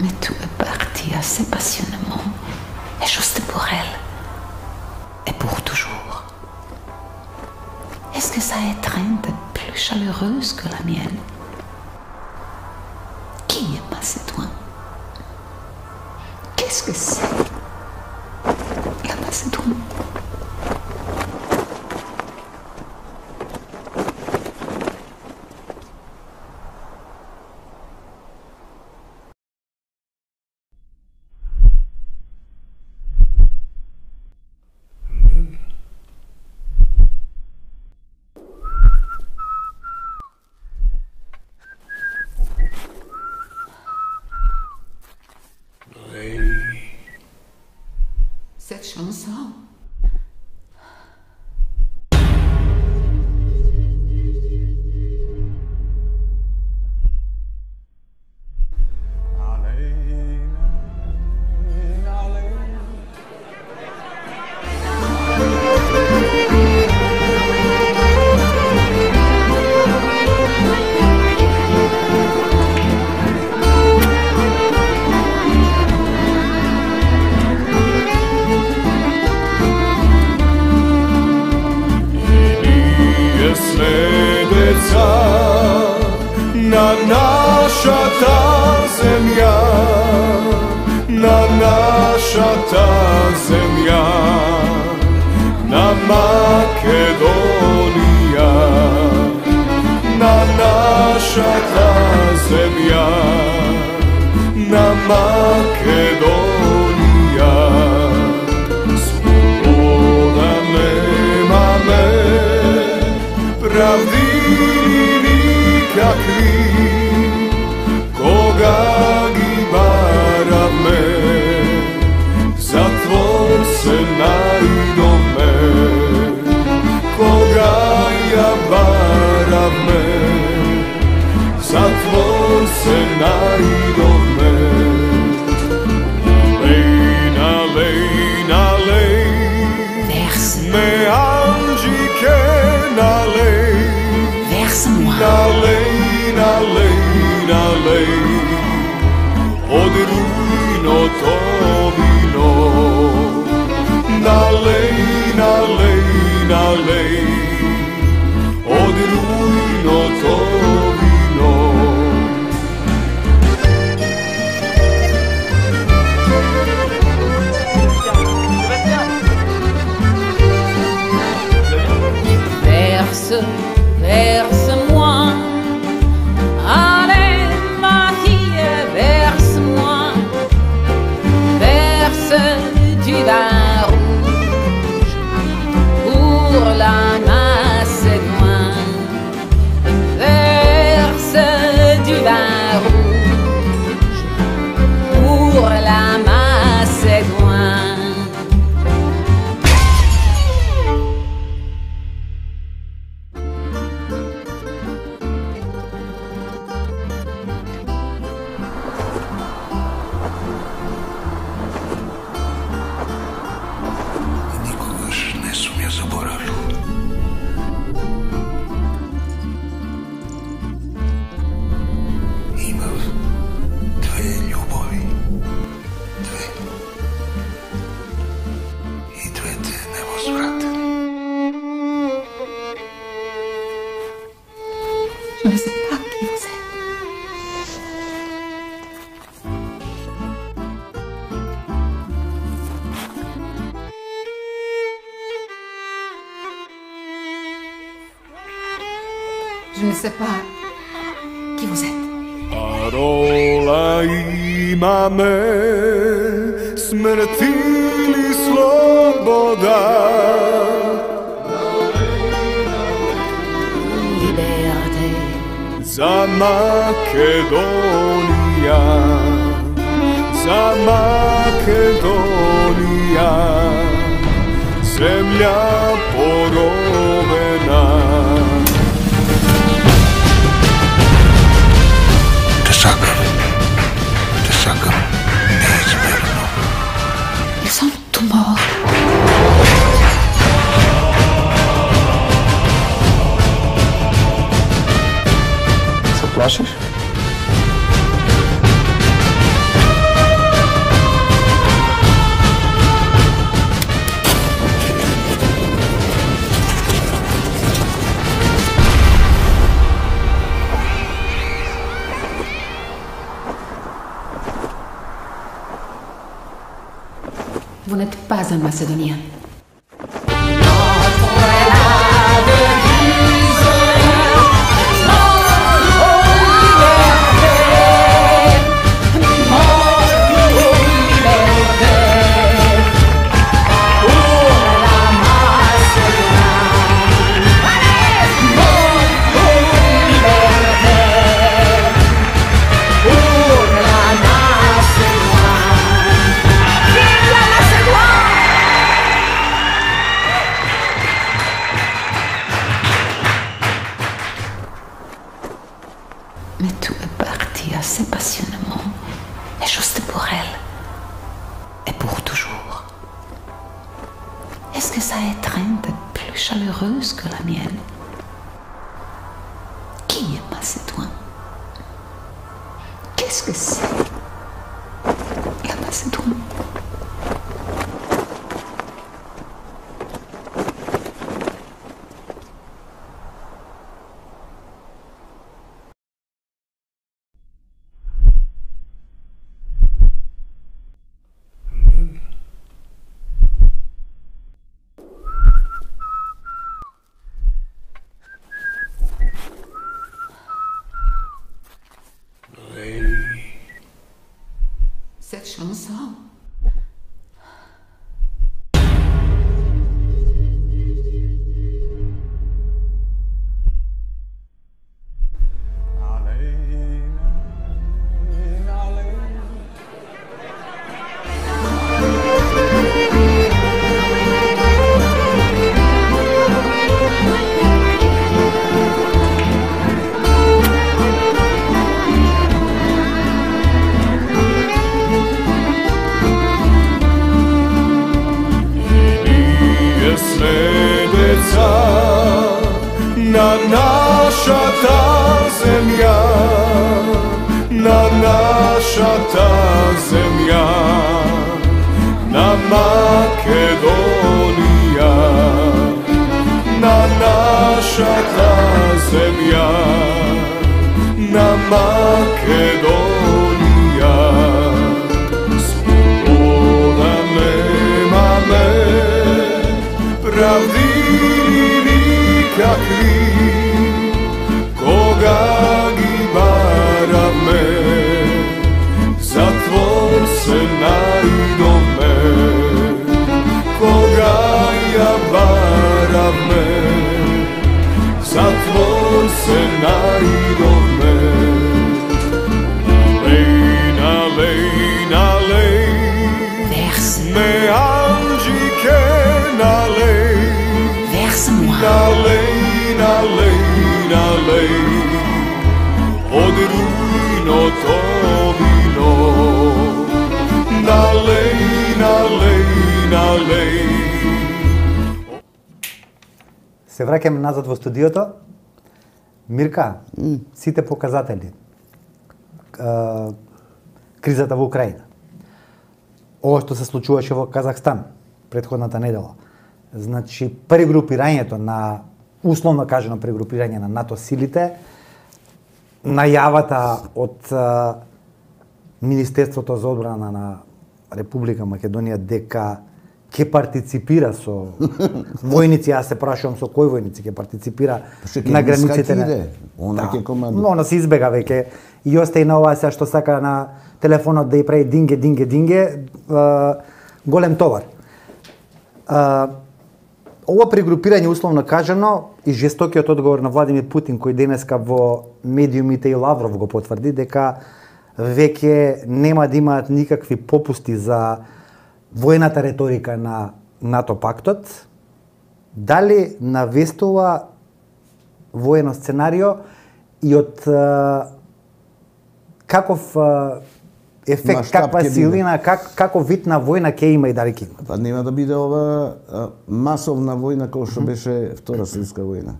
Mais tout est parti assez passionnément, et juste pour elle, et pour toujours. Est-ce que sa étreinte est plus chaleureuse que la mienne? Qui est Macédoine? Qu'est-ce que c'est, la Macédoine? Cette chanson. Na naša ta zemlja, na naša ta zemlja, na Makedonija, na naša ta zemlja, na Makedonija. Sloboda nema me, pravdi nikakvi, koga gi barame, zatvor se najdome, koga ja barame, zatvor se najdome. Nalej, nalej, nalej, me anđike nalej, nalej, nalej, nalej, od rujno to vino. Nalej, nalej, nalej, od rujno to vino. Verse, verse-moi, allez ma fille, verse-moi, verse du vin rouge pour la Macédoine, verse du vin rouge pour la Macédoine. Има ne sais pas qui vous êtes. Parola imame, smrti ili sloboda. Liberté. Za Makedonija, za Makedonija, zemlja porovena. Te sakam, te sakam neizmerno. Ils sont tous morts. Se plašiš? Vous n'êtes pas un Macédonien. Mais tout est parti assez passionnément, et juste pour elle, et pour toujours. Est-ce que sa étreinte est plus chaleureuse que la mienne? Qui est Macédoine? Qu'est-ce que c'est, la Macédoine? Cette chanson. Na naša ta zemlja, na naša ta zemlja, na Makedonija, na naša ta zemlja, na Makedonija. Sloboda nema me, pravdi kakvi, koga gi barame, zatvor se najdome, koga ja barame, zatvor se najdome. Alej, alej, alej, me anđike nalej, nalej, nalej, nalej, od rujno to vino. Nalej, nalej, nalej. Се враќаме назад во студиото. Мирка, mm. сите показатели, кризата во Украина, ова што се случуваше во Казахстан претходната недела, значи прегрупирањето на, условно кажано прегрупирање на НАТО силите, најавата од а, Министерството за одбрана на Република Македонија дека ќе партиципира со војници, јас се прашувам со кои војници ќе партиципира на границите на она ќе командува. Она се избега веќе и остајна ова се што сака на телефонот да ја прави динге динге динге голем товар. Ова прегрупирање условно кажано и жестокиот одговор на Владимир Путин кој денеска во медиумите и Лавров го потврди дека веќе нема да имаат никакви попусти за војната реторика на НАТО пактот, дали навестува воено сценарио и од каков ефект, Маштаб каква ќе силина, как, каков вид на војна ќе има и дали ќе има? Па нема да биде ова а, масовна војна која што беше Втора светска војна.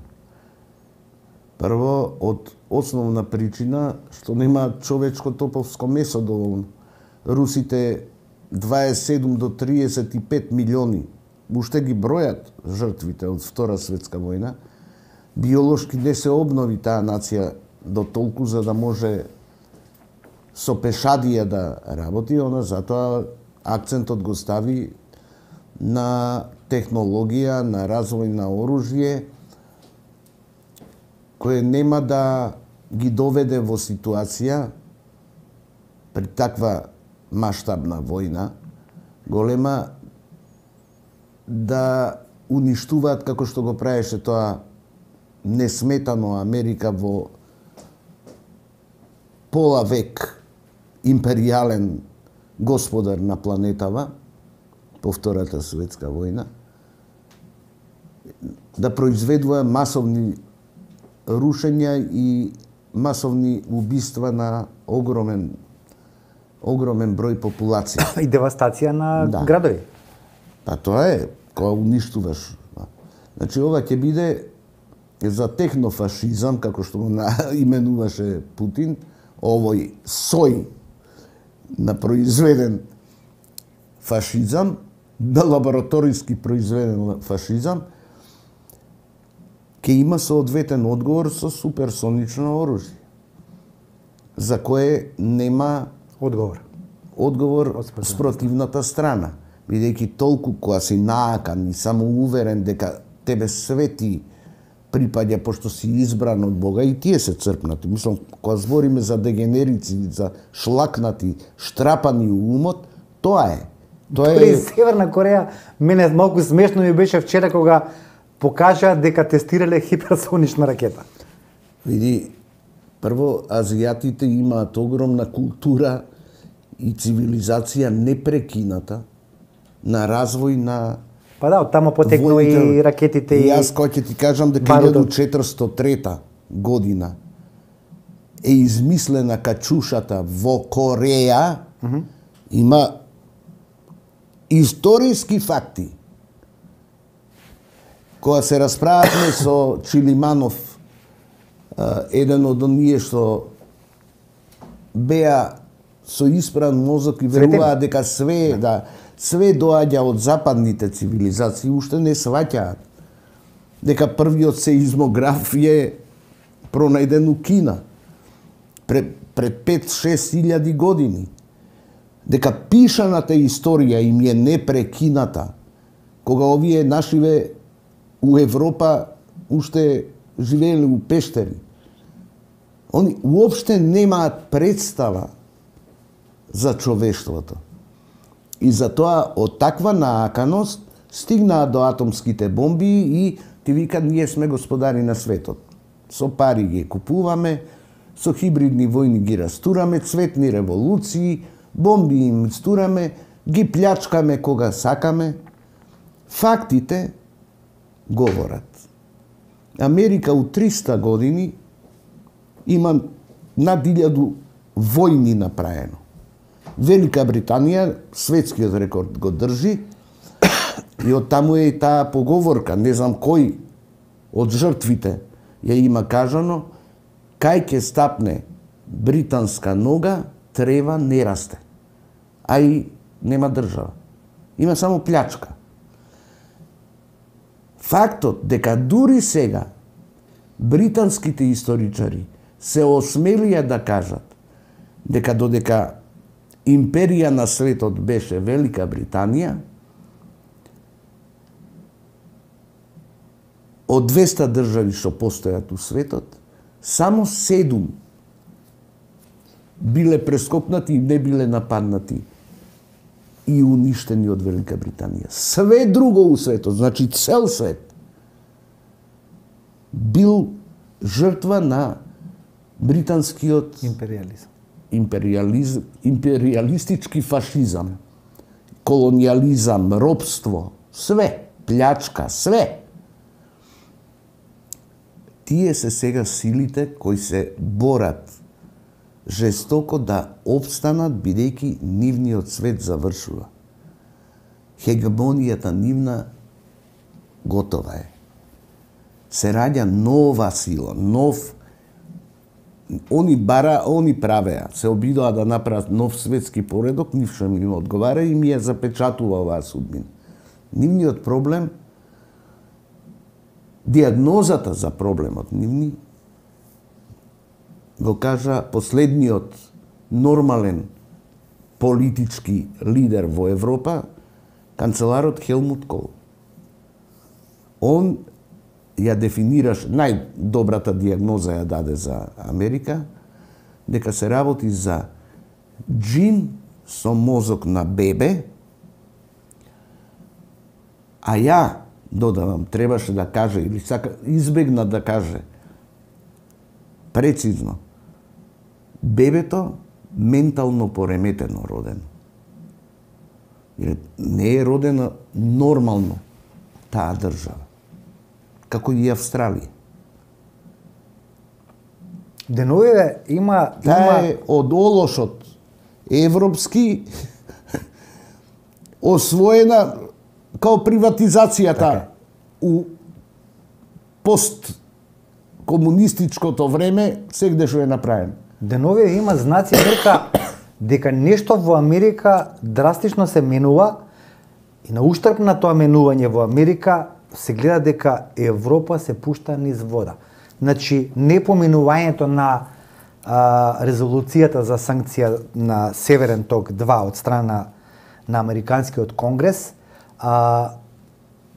Прво, од основна причина што нема човечко топовско месо доволно. Русите дваесет и седум до триесет и пет милиони, уште ги бројат жртвите од Втора светска војна. Биолошки не се обнови таа нација до толку за да може со пешадија да работи, она затоа акцентот го стави на технологија, на развој на оружје, кое нема да ги доведе во ситуација при таква маштабна војна, голема, да уништуваат како што го правеше тоа несметано Америка во пола век империјален господар на планетава по Втората светска војна, да произведува масовни рушења и масовни убиства на огромен огромен број популација. И девастација на да. градови. Па тоа е, кога уништуваш. Значи, ова ќе биде за технофашизам, како што го именуваше Путин, овој сој на произведен фашизам, на лабораториски произведен фашизам, ќе има соодветен одговор со суперсонично оружје, за кое нема Одговор. Одговор спротивната страна, бидејќи толку кога си наакан и само уверен дека тебе свети припаѓа пошто си избран од Бога, и тие се црпнати. Мислам, кога збориме за дегенерици, за шлакнати, штрапани умот, тоа е. Тоа е. При Северна Кореја мене малку смешно ми беше вчера кога покажа дека тестирале хиперсонична ракета. Види, прво, азијатите имаат огромна култура и цивилизација непрекината на развој на Па да, од тамо потекнува и ракетите и... И јас кој ќе ти кажам дека илјада четиристотини и трета година е измислена качушата во Кореја, mm -hmm. има историски факти. Кога се расправавме со Чилиманов, еден од оние што беа со испран мозок и веруваа дека све, да, све доаѓа од западните цивилизации, уште не сваќаат дека првиот сеизмограф е пронајден у Кина пред, пред пет-шест илјади години, дека пишаната историја им е непрекината, кога овие нашиве у Европа уште живееле у пештери. Они уопште немаат представа за човештвото. И затоа од таква нааканост стигнаа до атомските бомби и ти вика ние сме господари на светот. Со пари ги купуваме, со хибридни војни ги растураме, цветни револуции, бомби им стураме, ги плячкаме кога сакаме. Фактите говорат. Америка у триста години има над илјаду војни направено. Велика Британија светскиот рекорд го држи и од таму е и таа поговорка, не знам кој од жртвите ја има кажано, кај ќе стапне британска нога, трева не расте. А и нема држава. Има само плячка. Фактот дека дури сега британските историчари се осмелија да кажат дека додека империја на светот беше Велика Британија, од двеста држави што постојат у светот, само седум биле прескокнати и не биле нападнати и уништени од Велика Британија. Све друго у светот, значи цел свет, бил жртва на британскиот империализам. Империализ... империалистички фашизам, колониализам, робство, све, плячка, све. Тие се сега силите кои се борат жестоко да обстанат, бидејќи нивниот свет завршува. Хегемонијата нивна готова е. Се раѓа нова сила, нов. Они бара, они правеа, се обидоа да направат нов светски поредок, ништо им одговара и ми ја запечатува оваа судбина. Нивниот проблем, диагнозата за проблемот нивни, го кажа последниот нормален политички лидер во Европа, канцеларот Хелмут Кол. Он ја дефинираш, најдобрата диагноза ја даде за Америка, дека се работи за джин со мозок на бебе, а ја, додавам, требаше да каже, или сака, избегна да каже, прецизно, бебето ментално пореметено родено. Не е родено нормално таа држава, како и Австралија. Деновиве има... Таа има... е од олошот европски освоена као приватизацијата така. У посткомунистичкото време сегде што е направено. Деновиве има знаци дека дека нешто во Америка драстично се менува и на уштрб на тоа менување во Америка се гледа дека Европа се пушта низ вода. Значи, непоменувањето на а, резолуцијата за санкција на Северен ток два од страна на Американскиот конгрес, а,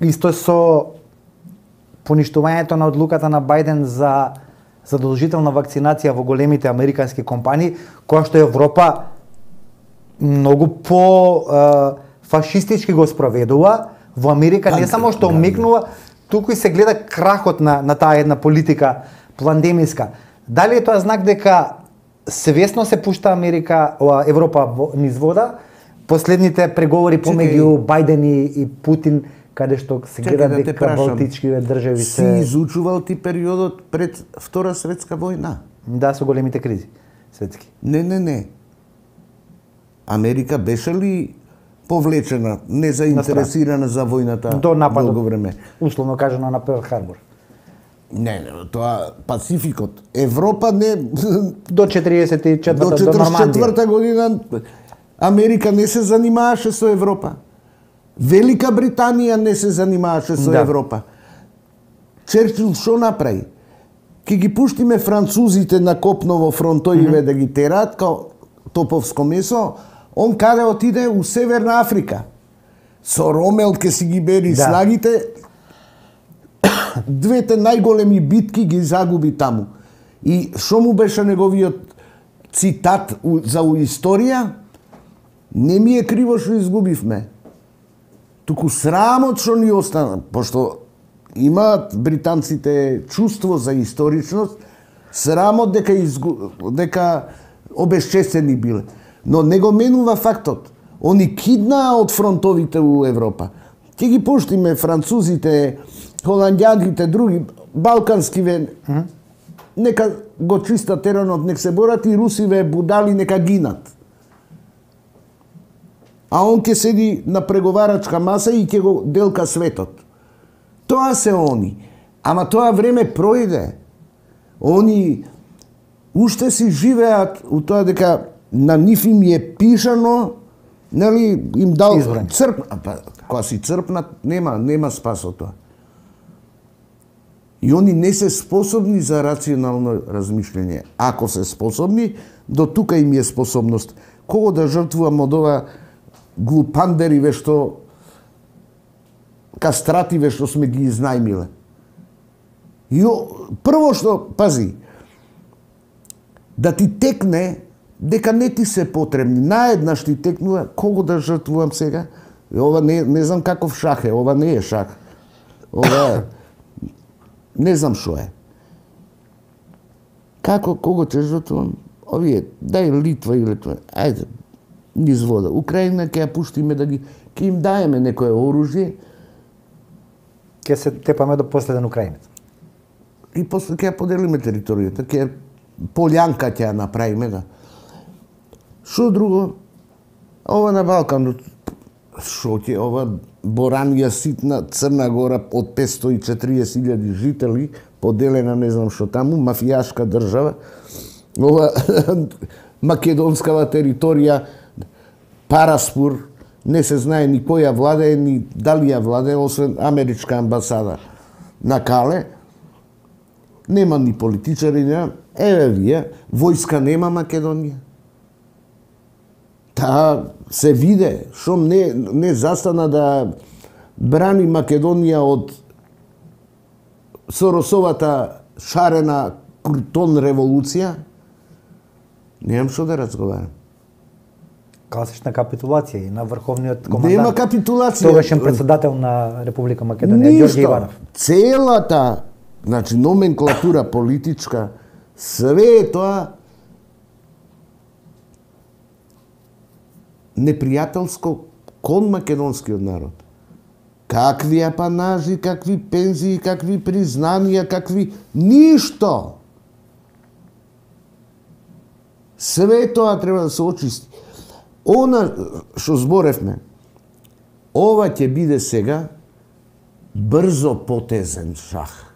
исто со поништувањето на одлуката на Бајден за задолжителна вакцинација во големите американски компании, која што Европа многу по а, фашистички го спроведува, во Америка не само што омекнува, туку и се гледа крахот на, на таа една политика пандемиска. Дали е тоа знак дека свесно се пушта Америка, Европа во, низ вода? Последните преговори помеѓу Бајден и, и Путин, каде што се гледа да дека балтичкиве држави се... Си изучувал ти периодот пред Втора светска војна? Да, со големите кризи светски. Не, не, не. Америка беше ли повлечена, незаинтересирана за војната до нападот, долго време? Условно кажано на Перл Харбор. Не, не, тоа Пацификот. Европа не... До четириесет и четврта, до четиридесет и четврта година Америка не се занимаваше со Европа. Велика Британија не се занимаваше со да. Европа. Черчил што направи? Ке ги пуштиме французите на копно во фронтоиве mm -hmm. да ги тераат као топовско месо, он каде отиде у Северна Африка. Со Ромел ке си ги бери да. Снагите, двете најголеми битки ги загуби таму. И што му беше неговиот цитат за историја? Не ми е криво што изгубивме. Туку срамот што ни остана, пошто имаат британците чувство за историчност, срамот дека изгу... дека обесчестени биле. Но не го менува фактот. Они киднаа од фронтовите у Европа. Ќе ги пуштиме французите, холандјаните, други балканскиве, mm -hmm. нека го чиста теренот, нека се борат и русиве будали нека гинат. А он ќе седи на преговарачка маса и ќе го делка светот. Тоа се они. Ама тоа време пројде. Они уште си живеат у тоа дека на нив им е пишано, нели, им дал Избран. црп, па кога си црпнат, нема, нема спас од тоа. И они не се способни за рационално размишљање. Ако се способни, до тука им е способност. Кого да жртвувам од ова глупандери ве што кастративе што сме ги изнајмиле. И прво што, пази, да ти текне дека не ти се потребни. Наеднаш ти текнува, кого да жртвувам сега? Ова не, не знам каков шах е, ова не е шах. Ова не знам шо е. Како, кого ќе жртвувам? Овие, дај Литва или тоа. Ајде, низ вода. Украина ќе ја пуштиме да ги, ќе им даеме некое оружје. Ќе се тепаме до последен украинец. И после ќе ја поделиме територијата, ќе полјанка ќе ја направиме, да. Шо друго? Ова на Балкан, шо ќе ова Боранија ситна Црна Гора од петстотини и четириесет илјади жители, поделена не знам шо таму, мафијашка држава. Ова македонскава територија, Параспур, не се знае ни која владее, ни дали ја владее, освен америчка амбасада на Кале. Нема ни политичари, нема. Еве вие, војска нема Македонија. Таа се виде, шом не, не застана да брани Македонија од Соросовата шарена Крутон револуција, немам што да разговарам. Класична капитулација и на врховниот командант. Нема капитулација. Тогашен председател на Република Македонија, Ѓорѓе Иванов. Целата, значи, номенклатура политичка, све тоа непријателско кон македонскиот народ. Какви апанажи, какви пензии, какви признанија, какви... Ништо! Све тоа треба да се очисти. Она што зборевме, ова ќе биде сега брзо потезен шах.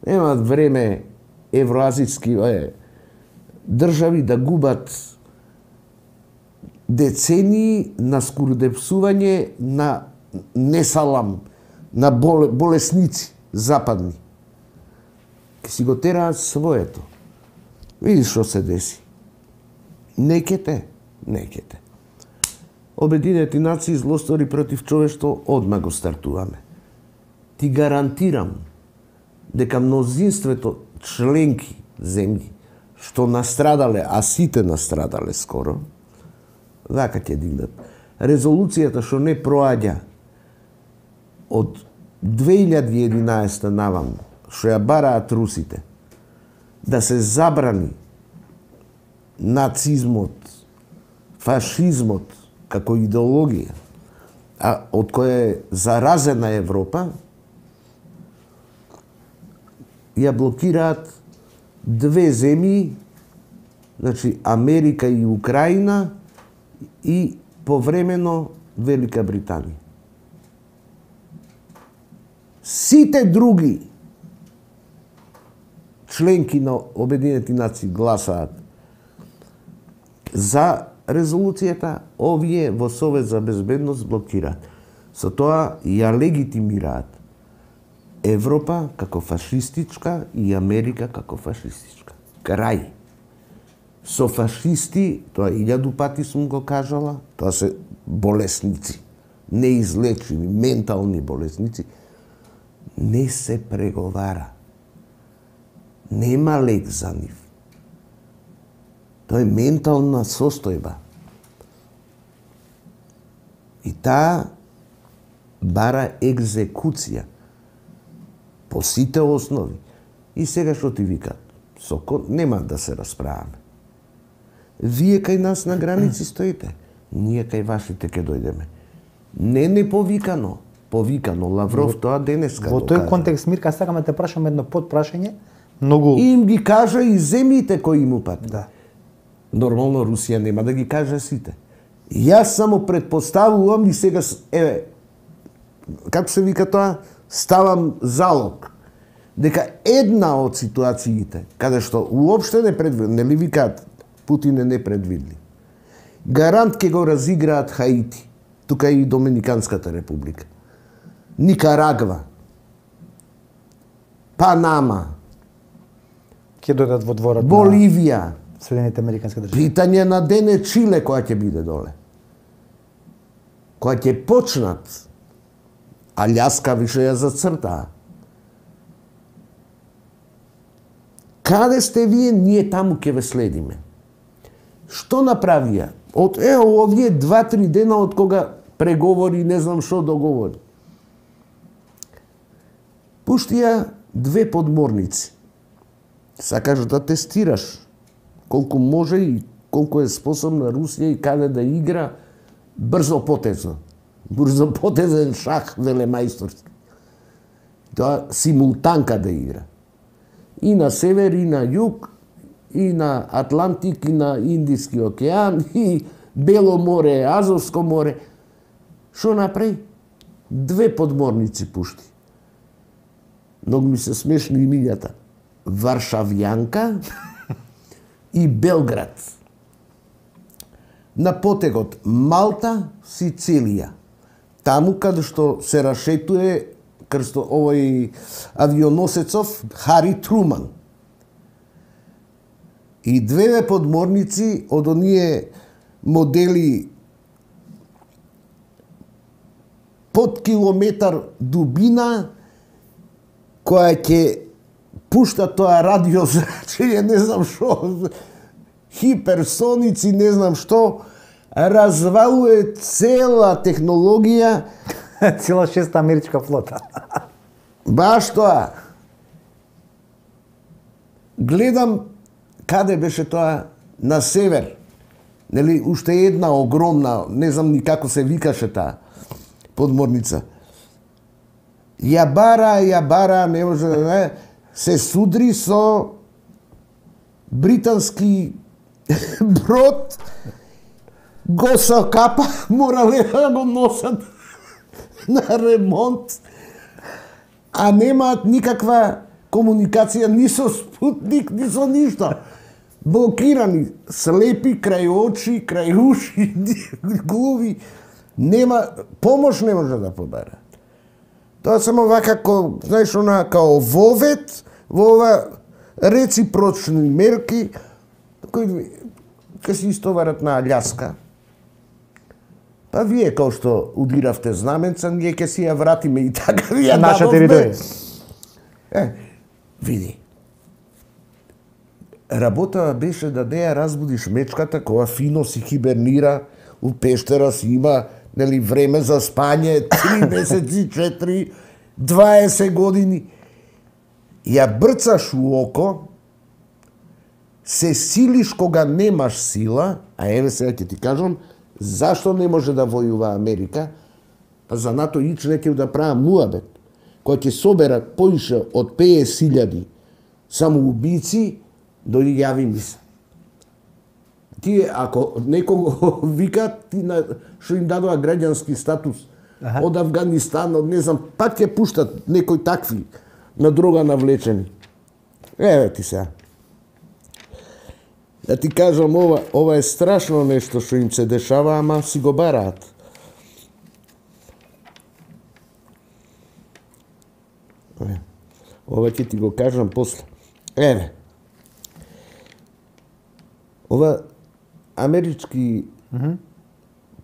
Немаат време евроазијски држави да губат децении на скуродепсување на несалам, на болесници западни. Ке си го тераат своето. Видиш што се деси. Не ке те, не ке те. Обединети нации злостори против човештво одма го стартуваме. Ти гарантирам дека мнозинството членки земји што настрадале, а сите настрадале скоро, вака ќе дигнат. Резолуцијата што не проаѓа од две илјади и единаесета наваму, што ја бараат русите, да се забрани нацизмот, фашизмот како идеологија, а од која е заразена Европа, ја блокираат две земји, значи Америка и Украина, и повремено Велика Британија. Сите други членки на Обединети нации гласаат за резолуцијата, овие во Совет за безбедност блокираат. Со тоа ја легитимираат Европа како фашистичка и Америка како фашистичка. Крај. Со фашисти, тоа илјаду пати сум го кажала, тоа се болесници, неизлечени, ментални болесници, не се преговара. Нема лек за нив. Тоа е ментална состојба. И таа бара екзекуција по сите основи. И сега што ти викат? Соко нема да се расправаме. Вие кај нас на граници стоите, ние кај вашите ќе дојдеме. Не не повикано, повикано. Лавров тоа денеска во тој контекст, Мирка, сакаме те прашам едно подпрашање, многу... И им ги кажа и земјите кои им упат. Да. Нормално Русија нема да ги каже сите. Јас само предпоставувам и сега, еве, како се вика тоа, ставам залог, дека една од ситуациите, каде што уопште не предвидли, нели викаат, Путин е непредвидли. Гарант ке го разиграат Хаити, тука и Доминиканската република, Никарагва, Панама, ќе дојдат во дворот Боливија, на Соединените Американски држави. Питање на ден е Чиле која ќе биде доле. Која ќе почнат, Аљаска више ја зацртаа. Каде сте вие, ние таму ќе ве следиме. Што направија? Од е овие два-три дена од кога преговори, не знам што договори. Пуштија две подморници. Сакаш да тестираш колку може и колку е способна Русија и каде да игра брзо потезно. Брзо потезен шах велемајсторски. Тоа симултанка да игра. И на север, и на југ, и на Атлантик, и на Индиски океан, и Бело море, Азовско море. Што направи? Две подморници пушти. Многу ми се смешни имињата. Варшавјанка и Белград. На потегот Малта, Сицилија. Таму каде што се рашетуе крсто овој авионосецов Хари Труман. И две подморници од оние модели под километар дубина, која ќе пушта тоа радиозрачење, не знам што, хиперсоници, не знам што, развалува цела технологија. Цела шеста америчка флота. Баш тоа. Гледам каде беше тоа на север. Нели, уште една огромна, не знам ни како се викаше таа подморница. Ја бара, ја бара, не може да не, се судри со британски брод, го сокапа, морале да го носат на ремонт, а немаат никаква комуникација ни со спутник, ни со ништо. Блокирани, слепи крај очи, крај уши, глуви, нема, помош не може да побара. Тоа само вака, ко, знаеш, она, као вовет, во ова реципрочни мерки, кои ќе се истоварат на Аљаска. Па вие, као што удиравте знаменца, ние ќе си ја вратиме и така ви ја наша територија. Е, види. Работа беше да не ја разбудиш мечката, која фино си хибернира, у пештера си има, нели, време за спање, три месеци, четири, дваесет години. Ја брцаш у око, се силиш кога немаш сила, а еве сега ќе ти кажам, зашто не може да војува Америка, па за НАТО ичне ќе да правам муабет, која ќе собера поише од петдесет илјади самоубици, дојди јави ми се. Тие, ако некого викат, ти на, што им дадоа граѓански статус, аха, од Афганистан, од не знам, пак ќе пуштат некои такви на дрога навлечени. Еве ти сега. Да ти кажам, ова, ова е страшно нешто што им се дешава, ама си го бараат. Ова ќе ти го кажам после. Еве. Ова амерички mm-hmm.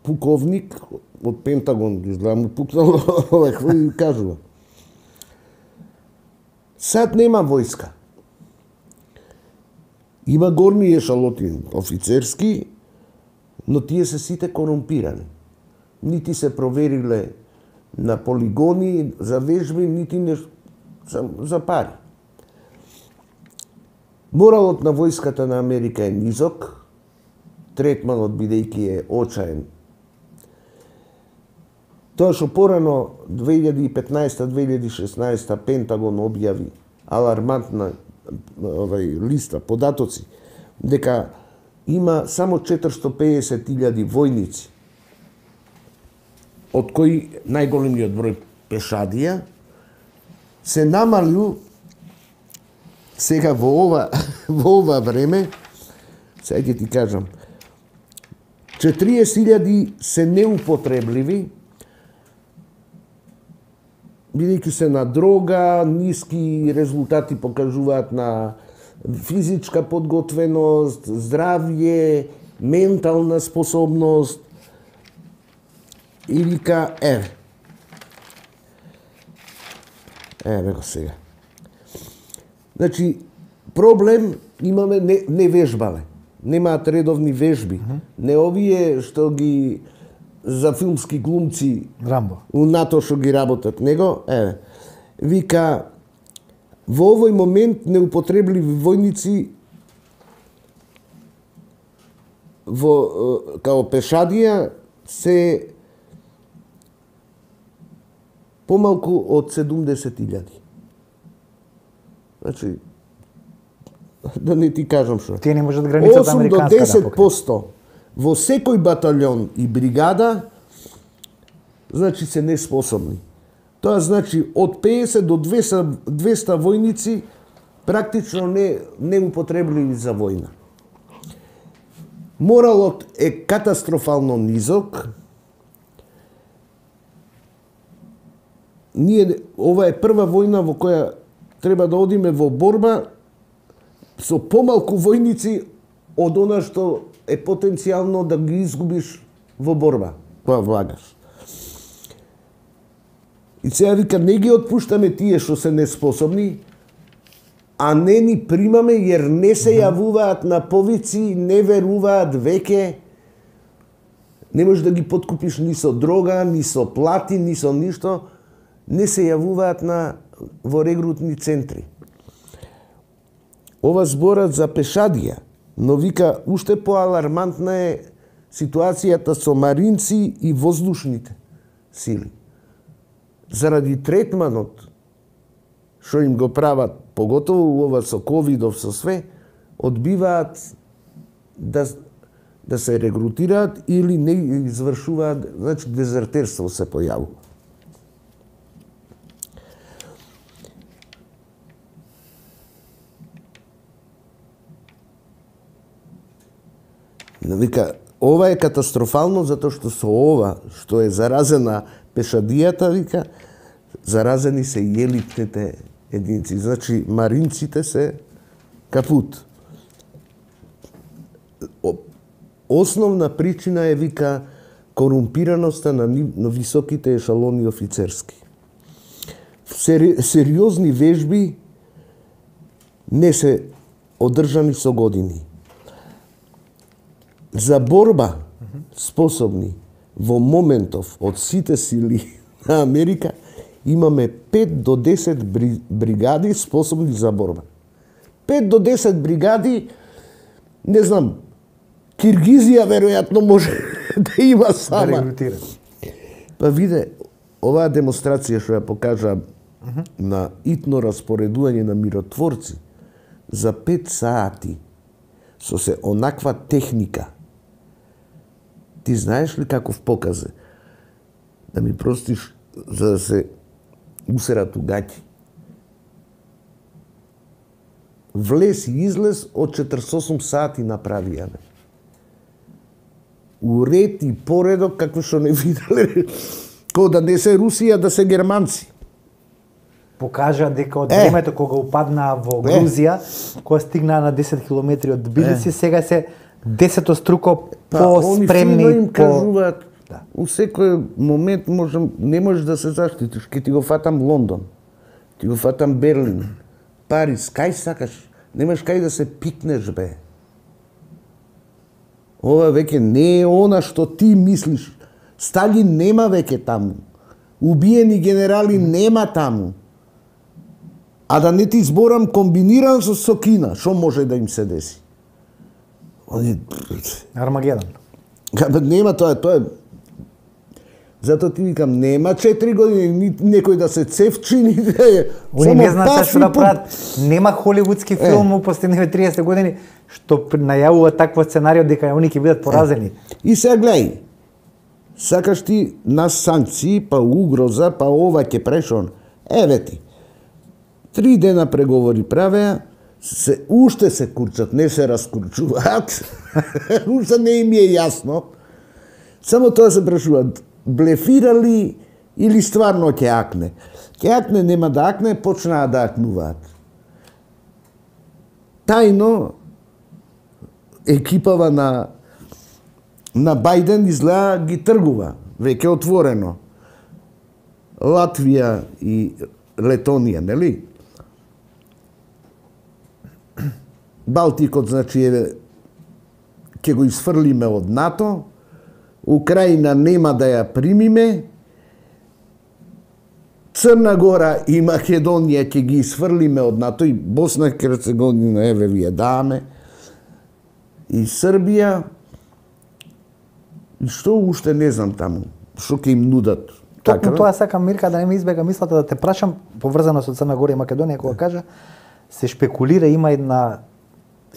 пуковник од Пентагон, изгледа му пукнал, ова какво ви кажува. Сад нема војска. Има горни ешалоти офицерски, но тие се сите корумпирани. Нити се провериле на полигони за вежби, нити не за, за пари. Моралот на војската на Америка е низок, третманот бидејќи е очаен. Тоа што порано две илјади и петнаесета - две илјади и шеснаесета Пентагон објави алармантна овај листа податоци дека има само четиристо педесет илјади војници, од кои најголемиот број пешадија, се намалил сега во ова во ова време, сега ќе ти кажам, четириесет илјади се неупотребливи, бидејќи се на дрога, ниски резултати покажуваат на физичка подготвеност, здравје, ментална способност. И вика, еве. Еве го сега. Значи, проблем имаме, не, не вежбале. Немаат редовни вежби. Mm -hmm. Не овие што ги за филмски глумци Рамбо. У НАТО што ги работат него, еве. Вика во овој момент неупотребливи војници во као пешадија се помалку од седумдесет илјади. Значи, да не ти кажам што. Тие не можат границата американска осум до десет проценти во секој батальон и бригада, значи се неспособни. Тоа значи од пеесет до двеста, двеста војници практично не неупотребливи за војна. Моралот е катастрофално низок. Ние, ова е прва војна во која треба да одиме во борба со помалку војници од она што е потенцијално да ги изгубиш во борба, која влагаш. И сега вика, не ги отпуштаме тие што се неспособни, а не ни примаме јер не се јавуваат на повици, не веруваат веќе. Не можеш да ги подкупиш ни со дрога, ни со плати, ни со ништо. Не се јавуваат на во регрутни центри. Ова зборат за пешадија, но вика уште поалармантна е ситуацијата со маринци и воздушните сили. Заради третманот што им го прават, поготово ова со ковидов, со све, одбиваат да, да се регрутираат или не извршуваат, значи дезертерство се појавува. Вика, ова е катастрофално затоа што со ова што е заразена пешадијата, вика, заразени се и елитните единици. Значи, маринците се капут. Основна причина е, вика, корумпираноста на, на високите ешалони офицерски. Сери, сериозни вежби не се одржани со години. За борба способни во моментов од сите сили на Америка имаме пет до десет бригади способни за борба. пет до десет бригади, не знам, Киргизија веројатно може да има сама. Да па виде, оваа демонстрација што ја покажа uh -huh. на итно распоредување на миротворци за пет сати со се онаква техника. Ти знаеш ли каков показ е? Да ми простиш за да се усерат угаќи. Влез и излез од четридесет и осум сати направија. Уред и поредок како што не виделе. Ко да не се Русија, да се германци. Покажа дека од времето кога упадна во Грузија, кога стигна на десет километри од Тбилиси, сега се десетоструко по-спремни. Па, им кажуваат, да. У секој момент можем, не можеш да се заштитиш. Ке ти го фатам Лондон, ти го фатам Берлин, Париз, кај сакаш, немаш кај да се пикнеш, бе. Ова веќе не е она што ти мислиш. Сталин нема веќе таму. Убиени генерали нема таму. А да не ти зборам комбиниран со, со Кина, што може да им се деси? Они... Армагедон. Нема тоа, тоа е... Затоа ти викам, нема четири години некој да се цевчи, ни да е... Они не знаат што да прават. Нема холивудски филм во последниве триесет години што најавува такво сценарио дека они ќе бидат поразени. Е. И сега гледај, сакаш ти нас санкции, па угроза, па ова ќе прешон. Еве ти. Три дена преговори правеа, се, уште се курчат, не се раскурчуваат. Уште не им е јасно. Само тоа се прашуваат, блефирали или стварно ќе акне. Ќе акне, нема да акне, почнаа да акнуваат. Тајно, екипава на на Бајден изгледа ги тргува, веќе отворено. Латвија и Летонија, нели? Балтикот, значи, е, ќе го изфрлиме од НАТО, Украина нема да ја примиме, Црна Гора и Македонија ќе ги изфрлиме од НАТО, и Босна и Херцеговина, еве вие даваме, и Србија, и што уште не знам таму, што ќе им нудат. Токму тоа сакам, Мирка, да не ми избега мислата да те прашам, поврзано со Црна Гора и Македонија, кога кажа, се шпекулира, има една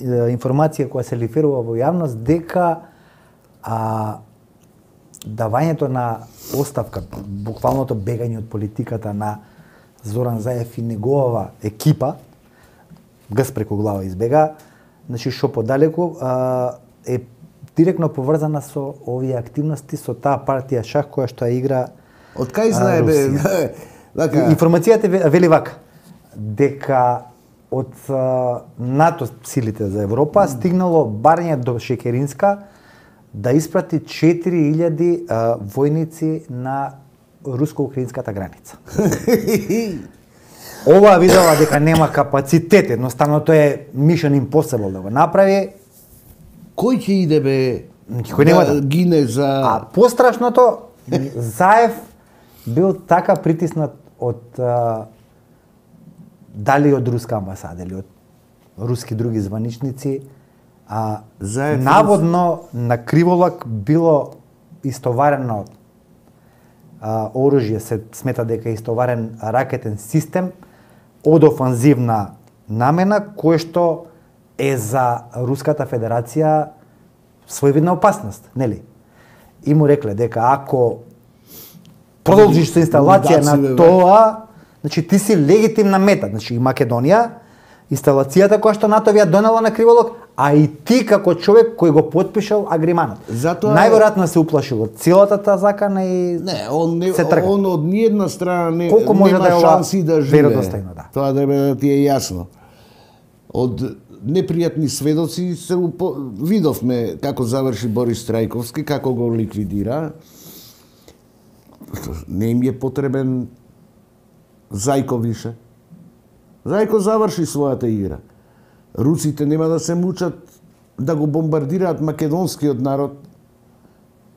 е, информација која се лиферува во јавност, дека а, давањето на оставка, буквалното бегање од политиката на Зоран Заев и неговава екипа, гс преку глава избега, значи шо подалеку, а, е директно поврзана со овие активности, со таа партија шах која што ја игра Од кај знае бе? Вака. Информацијата вели вака, дека од а, НАТО силите за Европа стигнало барање до Шекеринска да испрати четири илјади а, војници на руско-украинската граница. Ова видела дека нема капацитет, едноставно тоа е mission impossible да го направи. Кој ќе иде бе? Кој нема да гине за... А пострашното, Заев бил така притиснат од а, дали од руска амбасада или од руски други званичници, а Заев наводно на криволак било истоварено а, оружје, се смета дека е истоварен ракетен систем од офанзивна намена, кој што е за Руската Федерација своевидна опасност, нели? И му рекле дека ако продолжиш со инсталација на тоа, значи ти си легитимна мета, значи и Македонија, инсталацијата која што НАТО ја донела на криволок, а и ти како човек кој го потпишал агриманот. Затоа најверојатно се уплашил од целата таа закана и не, он не, се трга. Он од ниедна страна не колку може нема да е шанси да живее. Веродостојно, да. Тоа треба да ти е јасно. Од непријатни сведоци се упо... видовме како заврши Борис Трајковски, како го ликвидира. Не им е потребен Зајко више. Зајко заврши својата игра. Руците нема да се мучат да го бомбардираат македонскиот народ.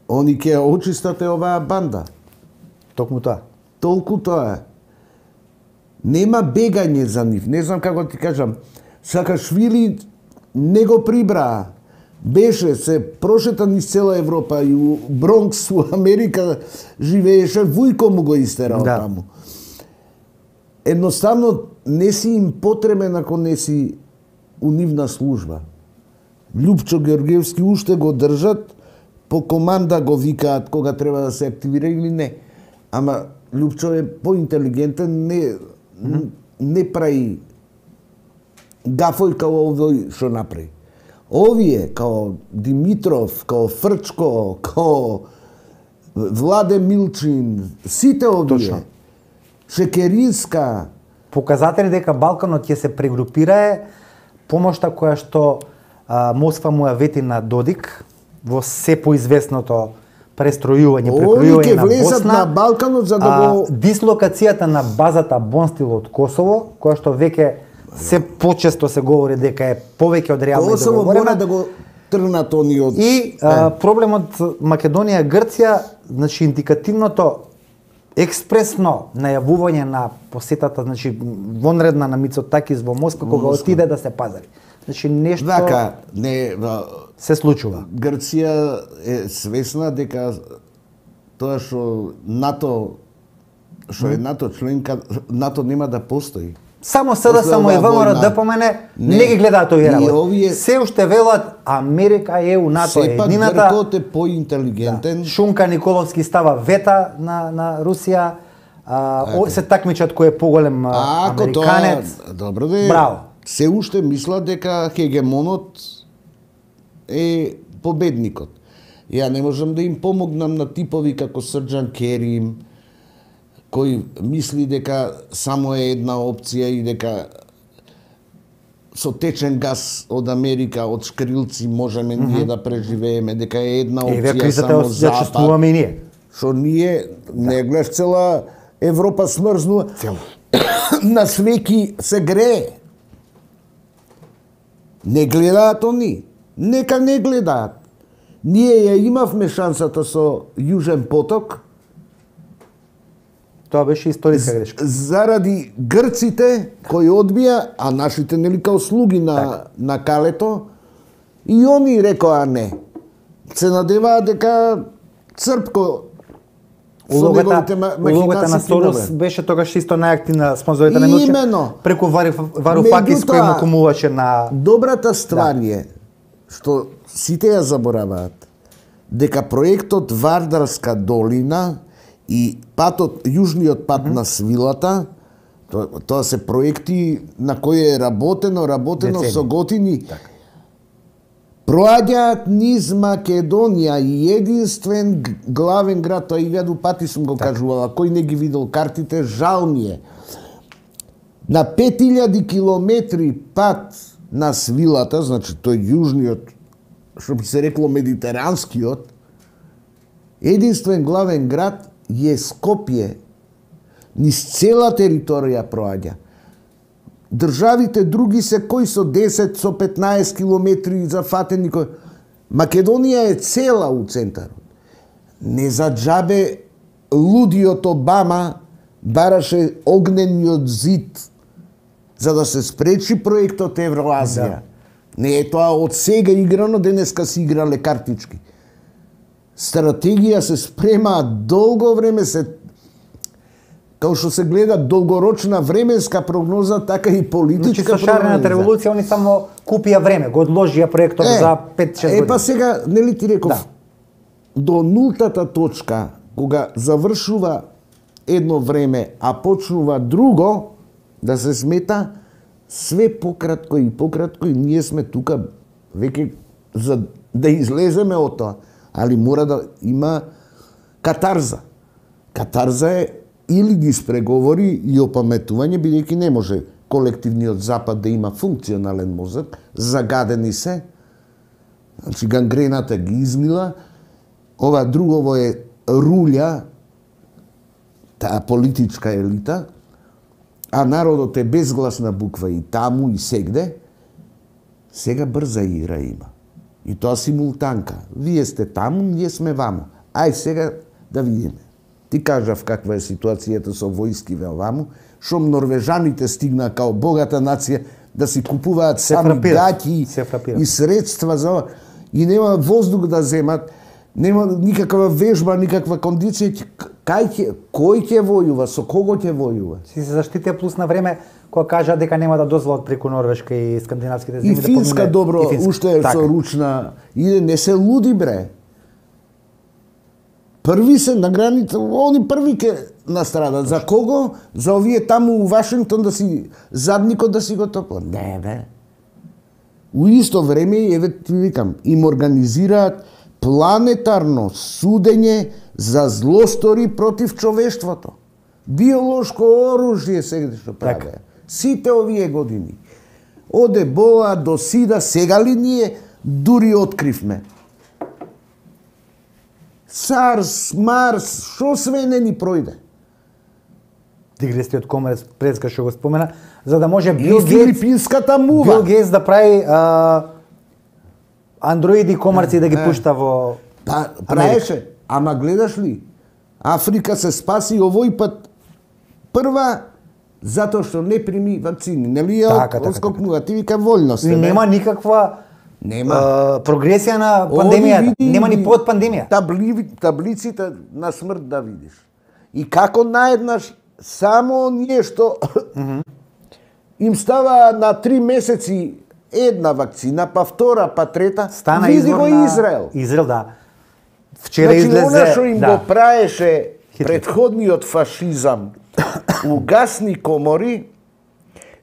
Они ќе очистат оваа банда. Токму тоа. Толку тоа. Нема бегање за нив. Не знам како ти кажам. Саакашвили не го прибраа. Беше се прошетан из цела Европа и у Бронкс, у Америка живееше, Вујко му го истерал да. Таму. Едноставно не си им потребен ако не си у нивна служба. Љупчо Георгиевски уште го држат, по команда го викаат кога треба да се активира или не. Ама Љупчо е поинтелигентен, не, mm-hmm. не прави гафој као овој што направи. Овие, као Димитров, као Фрчко, као Владе Милчин, сите овие, точно. Шекеринска. Показатели дека Балканот ќе се прегрупира е помошта која што а, Москва му ја вети на Додик во се поизвестното престројување, прекројување на Босна, на Балканот за да го... А, дислокацијата на базата Бонстил од Косово, која што веќе се почесто се говори дека е повеќе од реално Косово мора да го тргнат они од... И а, проблемот Македонија и Грција, значи индикативното експресно најавување на посетата, значи вонредна на Мицотакис во Москва кога Москва. Отиде да се пазари. Значи нешто Вака, не, се случува. Грција е свесна дека тоа што НАТО што е НАТО членка, НАТО нема да постои. Само СДС само и ВМРО да помене, не, не ги гледаат овие работи. Овие... Се уште велат Америка, ЕУ, НАТО е едината. Сепак Гркот е поинтелигентен. Да. Шунка Николовски става вета на, на Русија. А, о, се такмичат кој е поголем а, американец. Тоа, добро де. Браво. Се уште мислат дека хегемонот е победникот. Ја не можам да им помогнам на типови како Срџан Керим, кој мисли дека само е една опција и дека со течен газ од Америка, од шкрилци можеме mm-hmm. ние да преживееме, дека е една опција е, само Запад. И ние. Што ние, да. Не гледаш цела Европа смрзнува. Цела. На свеки се грее. Не гледаат они. Нека не гледаат. Ние ја имавме шансата со Јужен поток. Тоа беше историска грешка. Заради грците кои одбија, а нашите нели као слуги на так. на калето, и они рекоа не. Се надеваат дека Црпко улогата, улогата на Сорос беше тогаш исто најактивна спонзорите на Милче. Преку Варуфакис кој му кумуваше на... Добрата ствар да. е, што сите ја забораваат, дека проектот Вардарска долина и патот, јужниот пат mm -hmm. на свилата, тоа, тоа се проекти на кои е работено, работено Децени. со готини, така. Проаѓаат низ Македонија и единствен главен град, тоа илјаду пати сум го так. кажувала, кој не ги видел картите, жал ми е. На пет илјади километри пат на свилата, значи тој јужниот, што би се рекло медитеранскиот, единствен главен град е Скопје. Низ цела територија проаѓа. Државите други се кои со десет, со петнаесет километри зафатени. Македонија е цела у центарот. Не за џабе лудиот Обама бараше огнениот зид за да се спречи проектот Евроазија. Да. Не е тоа од сега играно, денеска се играле картички. Стратегија се спрема долго време, се као што се гледа долгорочна временска прогноза, така и политичка прогноза. Значи со шарената револуција они само купија време, го одложија проектот е, за пет-шест години. Е, па сега, нели ти реков, да. До нултата точка, кога завршува едно време, а почнува друго, да се смета, све пократко и пократко, и ние сме тука веќе за да излеземе од тоа. Али мора да има катарза. Катарза е или ги спреговори и опаметување, бидејќи не може колективниот Запад да има функционален мозок, загадени се, значи гангрената ги измила, ова другово е рулја, таа политичка елита, а народот е безгласна буква и таму и сегде, сега брза игра има. И тоа симултанка. Вие сте таму, ние сме вамо. Ај сега да видиме. Ти кажав каква е ситуацијата со војски ваму, шом норвежаните стигна као богата нација да си купуваат сами гаќи и средства за и нема воздух да земат, нема никаква вежба, никаква кондиција. Кај ќе, кој ќе војува, со кого ќе војува? Си се заштитија плюс на време кога кажа дека нема да дозволат преку Норвешка и скандинавските земји да помине. И Финска добро, и Финска. Уште е така. Со ручна, иде, не се луди бре. Први се на граница, они први ке настрадат. За кого? За овие таму у Вашингтон да си задникот да си го топла. Не бе. У исто време, еве ти викам, им организираат планетарно судење за злостори против човештвото. Биолошко оружје сега што правеа. Сите овие години. Од Ебола до Сида, сега ли ние дури откривме? Сарс, Марс, шо све не ни пројде? Дигресиот Комерс Преска што го спомена, за да може Бил Гейтс, филипинската мува. Бил Гейтс да прави а, андроиди комарци да ги пушта во Па, праеше, ама гледаш ли? Африка се спаси овој пат прва затоа што не прими вакцини. Нели ја така, оскокнува, така, така. Ти вика вољно се. Нема никаква Нема. Uh, прогресија на пандемијата. Нема ни под пандемија. Табли, таблиците на смрт да видиш. И како наеднаш само ние што mm -hmm. им става на три месеци една вакцина, па втора, па трета, стана види го на... Израел. Израел, да. Вчера значи, излезе... Значи, она што им да. го праеше предходниот фашизам у гасни комори,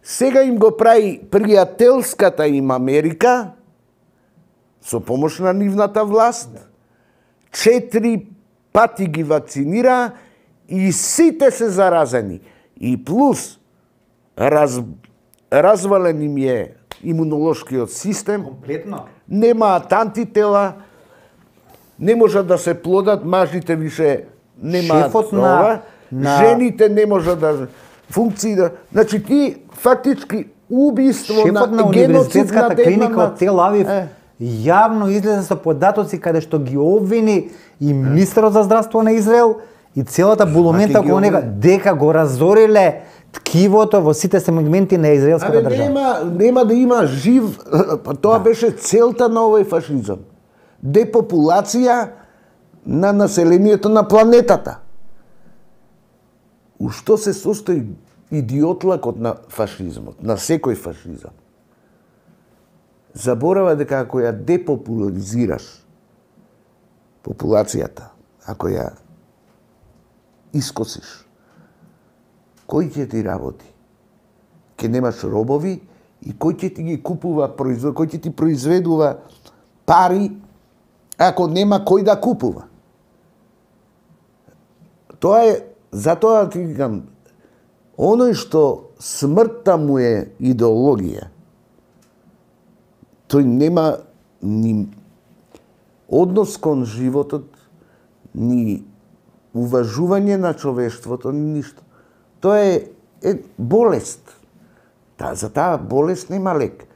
сега им го прави пријателската им Америка, со помош на нивната власт, четири пати ги вакцинира и сите се заразени. И плюс, раз, развален им е имунолошкиот систем, комплетно. Немаат антитела, не можат да се плодат, мажите више немаат ова, на... жените не можат да функција. Значи ти фактички убиство Шефот на, на геноцид на универзитетската клиника една од Тел Авив е. јавно излезе со податоци каде што ги обвини и министерот за здравство на Израел и целата булумента Маке ги околу него обвини. дека го разориле ткивото во сите сегменти на израелската Абе, држава. нема, нема да има жив, па тоа да. беше целта на овој фашизам. Депопулација на населението на планетата. У што се состои идиотлакот на фашизмот, на секој фашизам? Заборава дека ако ја депопуларизираш популацијата, ако ја искосиш, кој ќе ти работи? Ќе немаш робови и кој ќе ти ги купува, производ, кој ќе ти произведува пари ако нема кој да купува? Тоа е, затоа ти викам, оној што смртта му е идеологија, тој нема ни однос кон животот, ни уважување на човештвото, ни ништо. Тоа е, е болест. Та, за таа болест нема лек.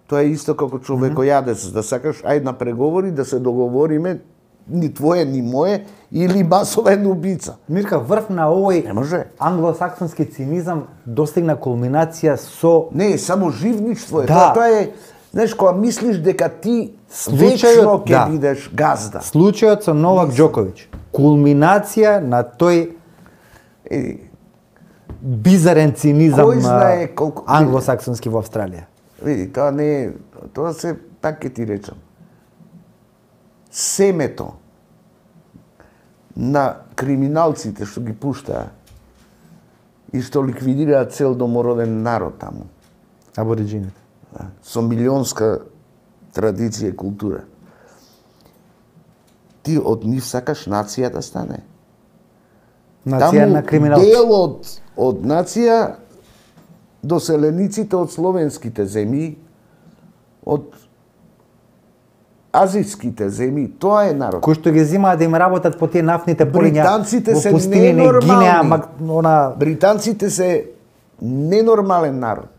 Тоа е исто како човекојадец, да сакаш, ајде на преговори, да се договориме, ни твое, ни мое, или масовен убица. Мирка, врв на овој Не може. англосаксонски цинизам достигна кулминација со Не, само живничство е. Да. Тоа, тоа е, знаеш, кога мислиш дека ти Случајот- вечно ќе да. бидеш газда. случајот со Новак Џоковиќ. Кулминација на тој Е, бизарен цинизам Кој знае колку- англосаксонски во Австралија. види, тоа не е, тоа се, пак ќе ти речам, семето на криминалците што ги пуштаа и што ликвидираат цел домороден народ таму, Абориджините. да, со милионска традиција и култура. Ти од нив сакаш нација да стане. Нација на криминалци. дел од, од нација доселениците од словенските земји, од азијските земји, тоа е народ. Кои што ги земаат да им работат по тие нафните полиња Британците во се пустините ненормални. Гинеа, мак, она Британците се ненормален народ.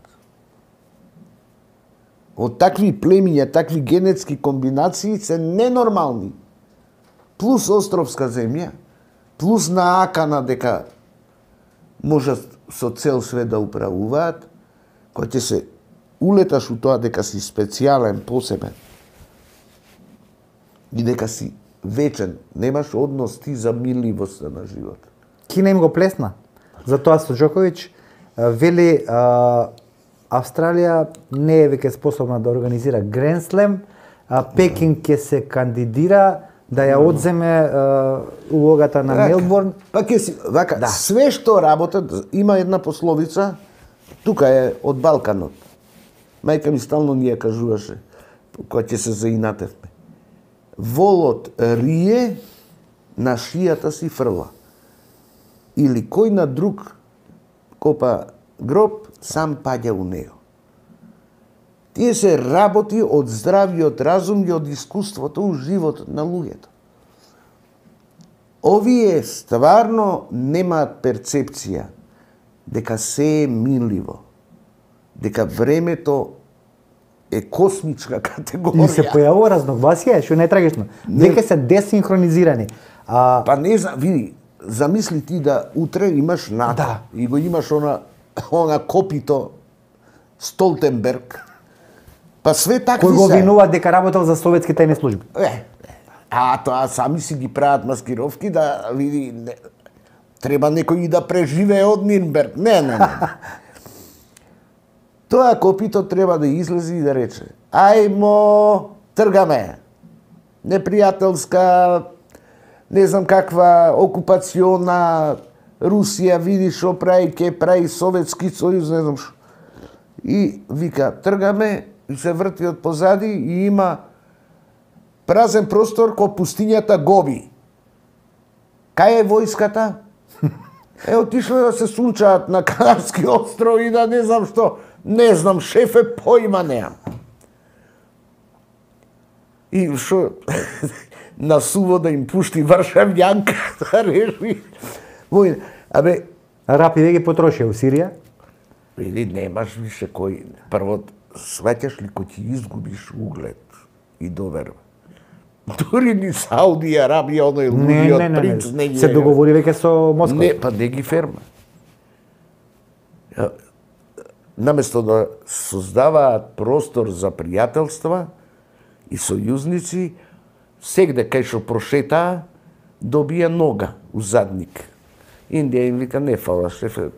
Од такви племиња, такви генетски комбинации се ненормални. Плюс островска земја, плюс наакана дека можат со цел свет да управуваат, кој ќе се улеташ у тоа дека си специјален, посебен, и дека си вечен, немаш однос ти за миливоста на живот. Кина им го плесна. Затоа со Џоковиќ а, вели а, Австралија не е веќе способна да организира Гранд Слем, а Пекинг ќе се кандидира да ја одземе а, улогата на Мелбурн. Па ќе си, вака, Да. све што работат, има една пословица, тука е од Балканот. Мајка ми стално ни ја кажуваше, кога ќе се заинатевме. Волот рие, на шијата си фрла. Или кој на друг копа гроб, сам паѓа у него. Тие се работи од здравиот разум и од искуството у животот на луѓето. Овие стварно немаат перцепција дека се е минливо, дека времето е космичка категорија. И се појавува разногласие, што не е трагично. Веќе се десинхронизирани. А, Па не знам, види, замисли ти да утре имаш НАТО Да. и го имаш она, она копито Столтенберг, па све такви кој го се. обвинува дека работел за советски тајни служби. Е, а тоа сами си ги прават маскировки да види, не, треба некој и да преживее од Нирнберг. Не, не, не. Тоа копито треба да излезе и да рече: ајмо, тргаме. Непријателска, не знам каква окупациона Русија, види што прави, ке прави Советски сојуз, не знам што. И вика, тргаме, и се врти од позади и има празен простор кој пустињата Гоби. Кај е војската? Е, отишло да се сунчаат на Канарски острови и да не знам што. Не знам, шефе, поима неам. И што на суво да им пушти Варшавјанка да реши војна. Абе, Рапи веќе потрошија у Сирија. Или немаш више кој, прво, сваќаш ли кој ти изгубиш углед и доверба. Дури ни Сауди Арабија, оној лудиот принц, не, не, се договори веќе со Москва. Не, па не ги ферма. Наместо да создаваат простор за пријателства и сојузници, сегде кај што прошетаа, добија нога у задник. Индија им вика, не фала, шефе,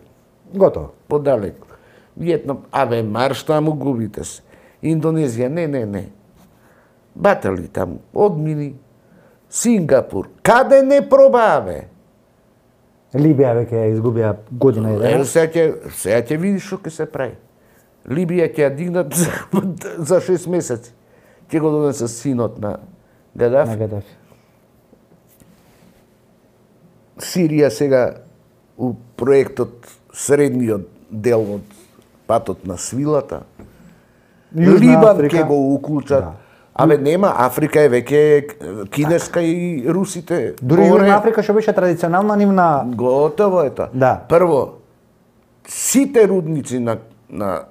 готово. Подалеку. Виетнам, аве, марш таму, губите се. Индонезија, не, не, не. Батали таму, одмини. Сингапур, каде не пробаве? Либија веќе изгубија година и дена. Сега ќе, сега ќе видиш што ќе се прави. Либија ќе ја дигнат за, за шест месеци. Ќе го донесе синот на Гадафи. На Гадафи. Сирија сега у проектот средниот дел од патот на свилата. Либан ќе го уклучат. Да. Абе нема, Африка е веќе кинеска и русите. Дури Јужна Африка што беше традиционална нивна. Готово е тоа. Да. Прво, сите рудници на на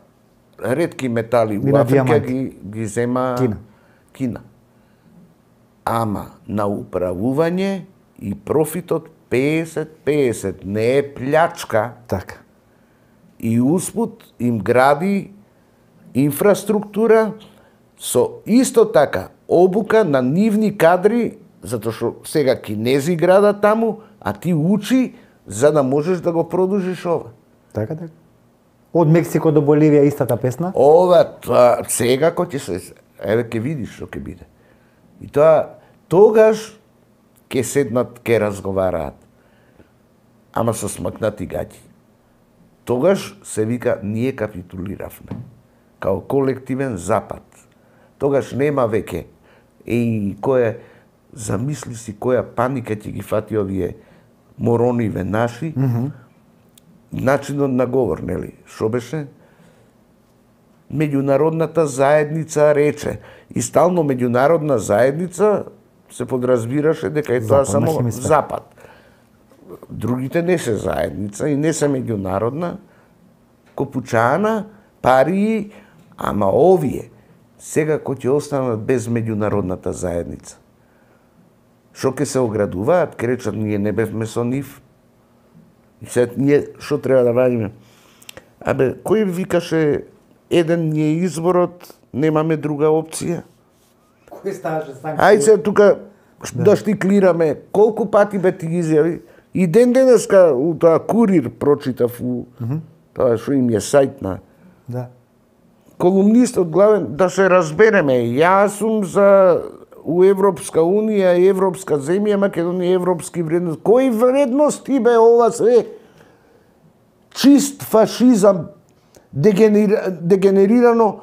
ретки метали во Африка ги ги зема Кина. Кина. Ама на управување и профитот песет песет, не е плячка. Така. И успут им гради инфраструктура со исто така обука на нивни кадри, затоа што сега кинези града таму, а ти учи за да можеш да го продолжиш ова. Така, така. Од Мексико до Боливија истата песна? Ова, тоа, сега кој ќе се, еве ќе видиш што ќе биде. И тоа, тогаш ќе седнат, ќе разговараат. Ама со смакнати гаќи. Тогаш се вика, ние капитулиравме. Као колективен запад. Тогаш нема веќе. Еј, која, замисли си која паника ќе ги фати овие морониве наши. Mm -hmm. Начинот на говор, нели? Шо беше? Меѓународната заедница рече. И стално меѓународна заедница се подразбираше дека е тоа само хемисфера. Запад. Другите не се заедница и не се меѓународна. Копучана, пари, ама овие сега кој ќе останат без меѓународната заедница. Шо ќе се оградуваат, ќе речат ние не бевме со нив. И сега ние што треба да радиме? Абе, кој викаше еден ни е изборот, немаме друга опција? Кој ставаше санкции? Ајде сега тука да штиклираме, колку пати бе ти ги изјави? И ден денеска у тоа Курир прочитав у mm -hmm. тоа што им е сајт на да. Колумнистот главен, да се разбереме, јас сум за у Европска Унија, Европска земја, Македонија, европски вредности. Кои вредности бе ова све? Чист фашизам, дегенер... дегенерирано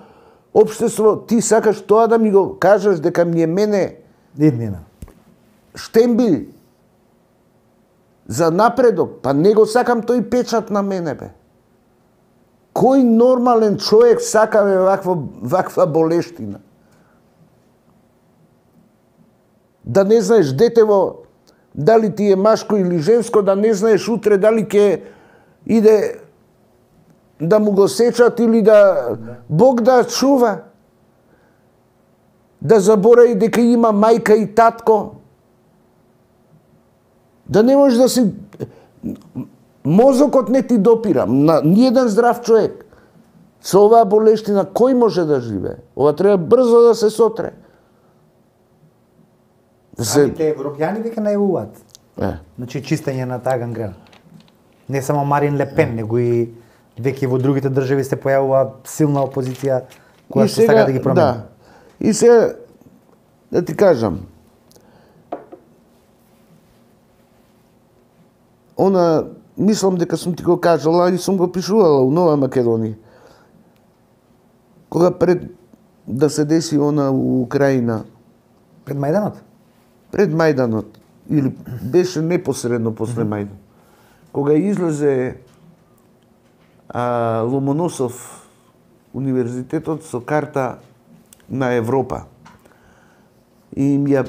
општество. Ти сакаш тоа да ми го кажеш дека ми е мене Иднина. штембил за напредок, па не го сакам тој печат на мене бе. Кој нормален човек сака бе ваква, ваква болештина? Да не знаеш детево дали ти е машко или женско, да не знаеш утре дали ќе иде да му го сечат или да Бог да чува. Да заборави дека има мајка и татко. Да не можеш да си... Мозокот не ти допира. На ниеден здрав човек. Со оваа болештина кој може да живее? Ова треба брзо да се сотре. Да се... Самите европјани века најавуваат. Е. Значи чистење на таа гангрена. Не само Марин Ле Пен, него и веќе во другите држави се појавува силна опозиција која се сака да ги промени. Да. И се да ти кажам, она, мислам дека сум ти го кажала и сум го пишувала у Нова Македонија. Кога пред да се деси она у Украина. Пред Мајданот? Пред Мајданот. Или беше непосредно после Мајдан. Кога излезе а, Ломоносов универзитетот со карта на Европа и им ја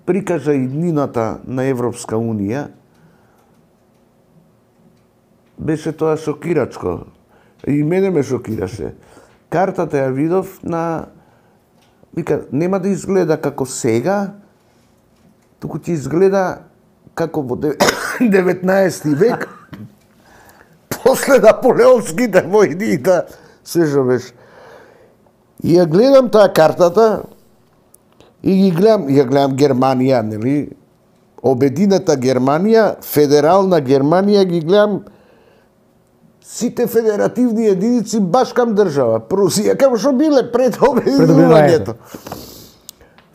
прикажа иднината на Европска Унија, беше тоа шокирачко. И мене ме шокираше. Картата ја видов на... Вика, нема да изгледа како сега, туку ќе изгледа како во деветнаести век, после наполеонските војни, да се жовеш. И ја гледам таа картата, и ги гледам, ја гледам Германија, нели? Обединета Германија, федерална Германија, ги гледам сите федеративни единици баш кам држава. Прусија, како што биле пред обединувањето.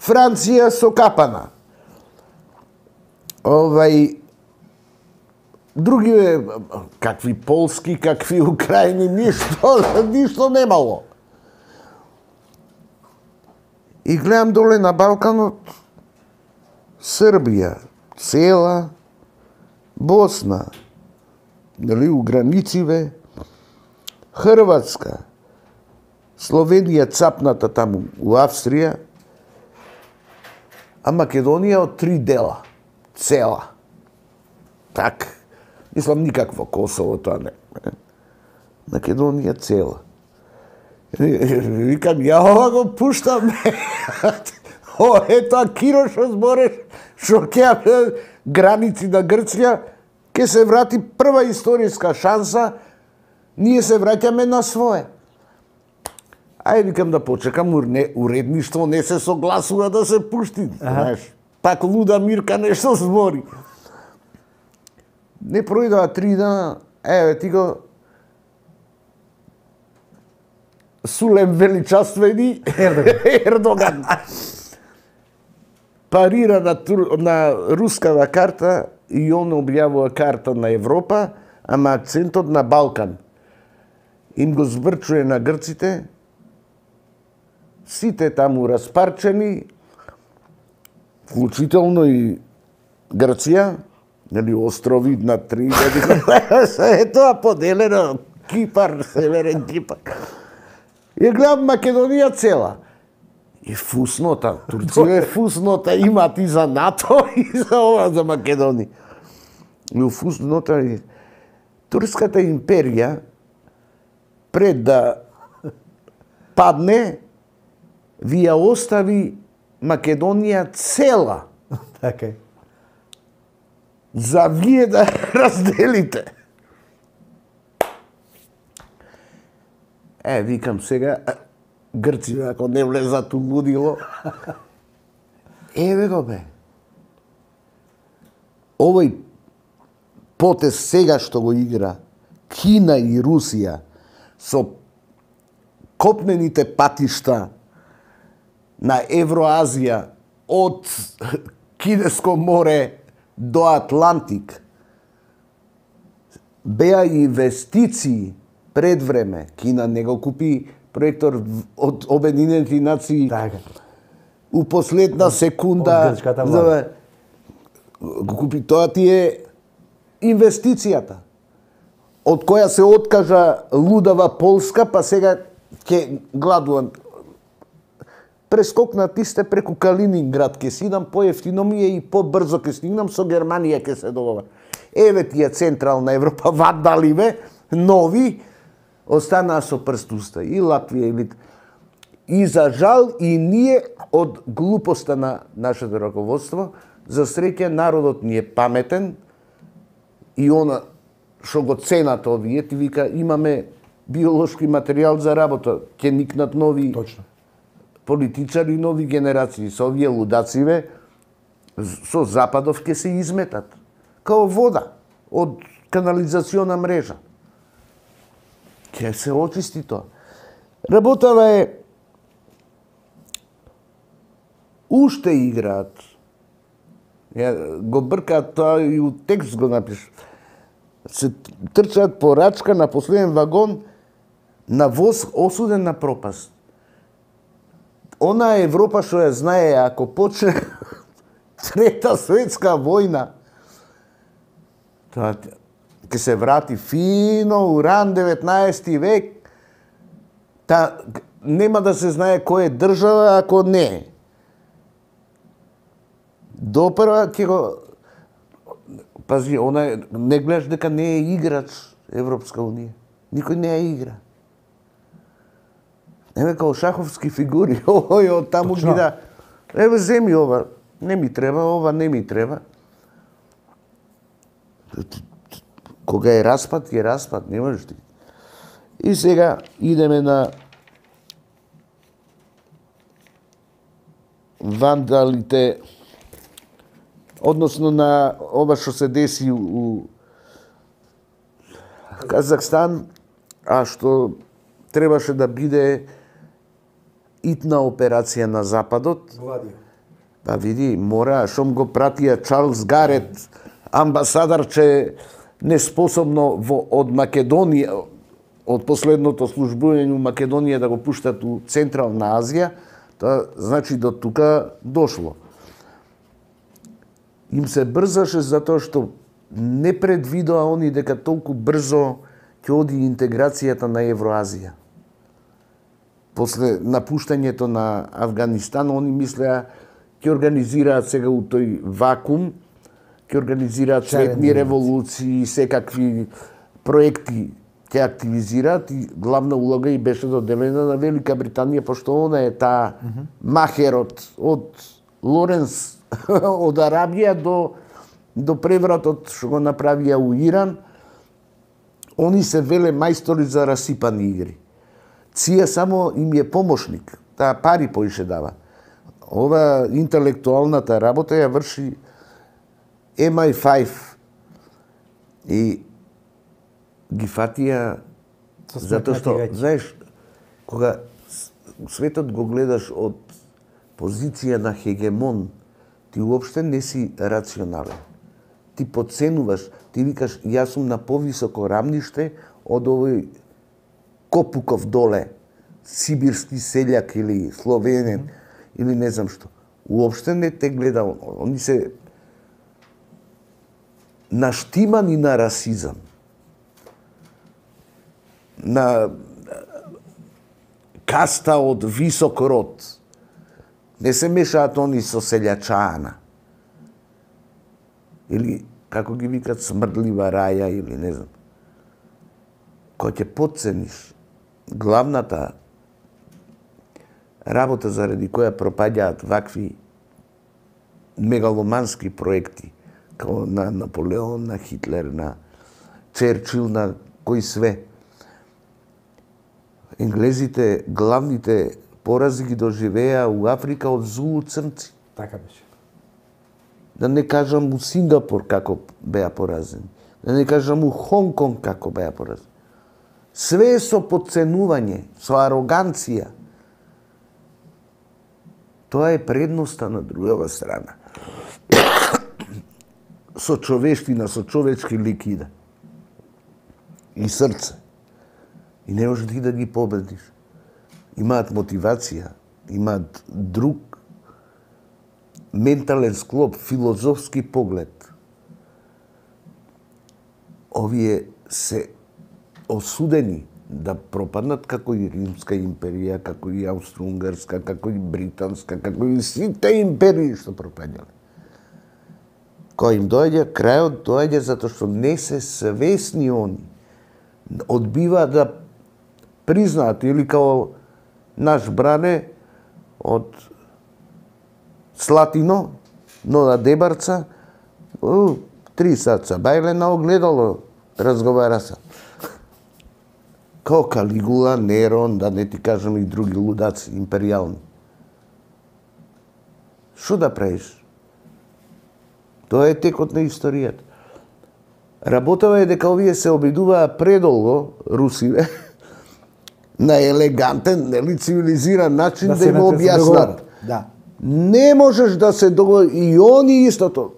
Франција сокапана. Овај, други, какви полски, какви украјни, ништо, ништо немало. И гледам доле на Балканот, Србија, цела, Босна, нели, у границиве, Хрватска, Словенија цапната таму у Австрија, а Македонија од три дела, цела. Так, мислам никакво Косово тоа не. Македонија цела. Викам, ја ова го пуштам. О, ето, Киро шо збореш, шо ќе граници на Грција, ќе се врати прва историска шанса, ние се враќаме на свое. Ај, викам да почекам, уредништво не се согласува да се пушти, знаеш. Пак луда Мирка нешто збори. Не пројдоа три дана, еве ти го Сулем величествени Ердоган. Парира на, на рускава карта и он објавува карта на Европа, ама акцентот на Балкан. Им го збрчуе на грците, сите таму распарчени, вклучително и Грција, нели острови на три години. Е тоа поделено, Кипар, Северен Кипар. Ја гледам Македонија цела. И фуснота, Турција е фуснота, имат и за НАТО, и за ова, за Македонија. И у фуснота, Турската империја, пред да падне, ви ја остави Македонија цела. Така. За вие да разделите. Е, викам сега, Грци, ако не влезат у лудило, еве го бе. Овој потез сега што го игра Кина и Русија со копнените патишта на Евроазија од Кинеско море до Атлантик беа инвестиции пред време. Кина не го купи проектор од Обединените нации така. У последна секунда за, го купи. Тоа ти е инвестицијата од која се откажа лудава Полска, па сега ќе гладувам. Прескокнати сте преку Калининград, ќе сидам поевтино ми е и побрзо ќе стигнам, со Германија ќе се добава. Еве ти е Централна Европа, вадаливе, нови, останаа со прст уста. И Латвија, и Литва. И за жал, и ние од глупоста на нашето раководство, за среќа народот ни е паметен, и она што го ценат овие, ти вика, имаме биолошки материјал за работа, ќе никнат нови Точно. Политичари, нови генерации, со овие лудациве, со Западов ќе се изметат. Као вода од канализациона мрежа. Ќе се очисти тоа. Работава е уште играат. Ја, го бркаат тоа и у текст го напиш. Се трчаат по рачка на последен вагон на воз осуден на пропаст. Она Европа што ја знае, ако почне Трета светска војна, тоа ќе се врати фино у ран деветнаести век, та нема да се знае кој е држава ако не. Допрва ќе го... Пази, она не гледаш дека не е играч Европска унија. Никој не ја игра. Еве као шаховски фигури, ој, од таму ги да. Еве земи ова, не ми треба, ова не ми треба. Кога е распад, е распад, не можеш ти. И сега идеме на вандалите, односно на ова што се деси у Казахстан, а што требаше да биде итна операција на Западот. Па види, мора, шом го пратија Чарлз Гарет, амбасадар, че неспособно во, од Македонија, од последното службување у Македонија да го пуштат у Централна Азија, тоа значи до тука дошло. Им се брзаше затоа што не предвидоа они дека толку брзо ќе оди интеграцијата на Евроазија. После напуштањето на Авганистан, они мислеа ќе организираат сега у тој вакуум, ќе организираат цветни револуции, секакви проекти ќе активизираат и главна улога и беше доделена на Велика Британија, пошто она е таа махерот од Лоренс од Арабија до до превратот што го направија у Иран. Они се веле мајстори за расипани игри. Ција само им е помошник, таа пари поише дава. Ова интелектуалната работа ја врши Ем Ај пет и ги фатија затоа што, знаеш, кога светот го гледаш од позиција на хегемон, ти уопште не си рационален. Ти подценуваш, ти викаш, јас сум на повисоко рамниште од овој Копуков доле, сибирски селјак или словенен, mm -hmm. или не знам што. Уопште не те гледа, они се наштимани на расизам, на каста од висок род. Не се мешаат они со селјачана. Или, како ги викат, смрдлива раја, или не знам. Кој ќе подцениш главната работа заради која пропаѓаат вакви мегаломански проекти, како на Наполеон, на Хитлер, на Черчил, на кои све. Енглезите, главните порази ги доживеа у Африка од зулу-црнци. Така беше. Да не кажам у Сингапур како беа поразени. Да не кажам у Хонг-Конг како беа поразени. Све со подценување, со ароганција. Тоа е предноста на другава страна. Со човештина, со човечки ликида. И срце. И не можеш ти да ги победиш. Имаат мотивација, имаат друг ментален склоп, филозофски поглед. Овие се осудени да пропаднат како и Римска империја, како и Аустро-Унгарска, како и Британска, како и сите империи што пропаднале. Кој им доаѓа, крајот доаѓа затоа што не се свесни они. Одбива да признаат, или као наш бране од Слатино, но на Дебарца, у, три саца, бајле на огледало, разговара се. Као Калигула, Нерон, да не ти кажам и други лудаци, империјални. Шо да правиш? Тоа е текот на историјата. Работава е дека овие се обидуваа предолго, русиве, на елегантен, нели цивилизиран начин да, да им објаснат. Да. Не можеш да се договори, и они истото.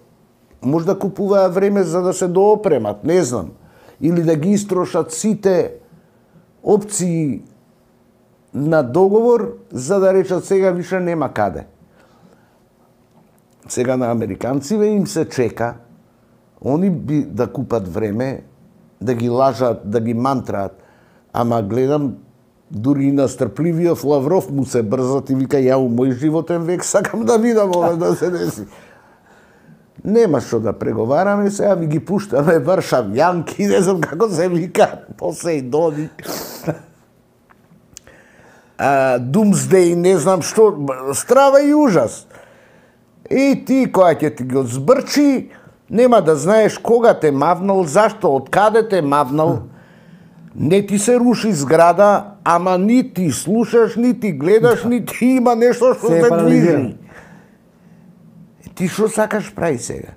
Може да купуваа време за да се доопремат, не знам. Или да ги истрошат сите опции на договор, за да речат сега више нема каде. Сега на американциве им се чека, они би да купат време, да ги лажат, да ги мантраат. Ама гледам, дури и настрпливиот Лавров му се брзат и вика, ја у мој животен век сакам да видам ова да се деси. Нема што да преговараме, сега ви ги пуштаме Варшавјанки, не знам како се вика, Посејдони. Думсдеј, не знам што, страва и ужас. И ти, која ќе ти го збрчи, нема да знаеш кога те мавнал, зашто, од каде те мавнал. Не ти се руши зграда, ама ни ти слушаш, ни ти гледаш, ни ти има нешто што се движи. Ти што сакаш прави сега?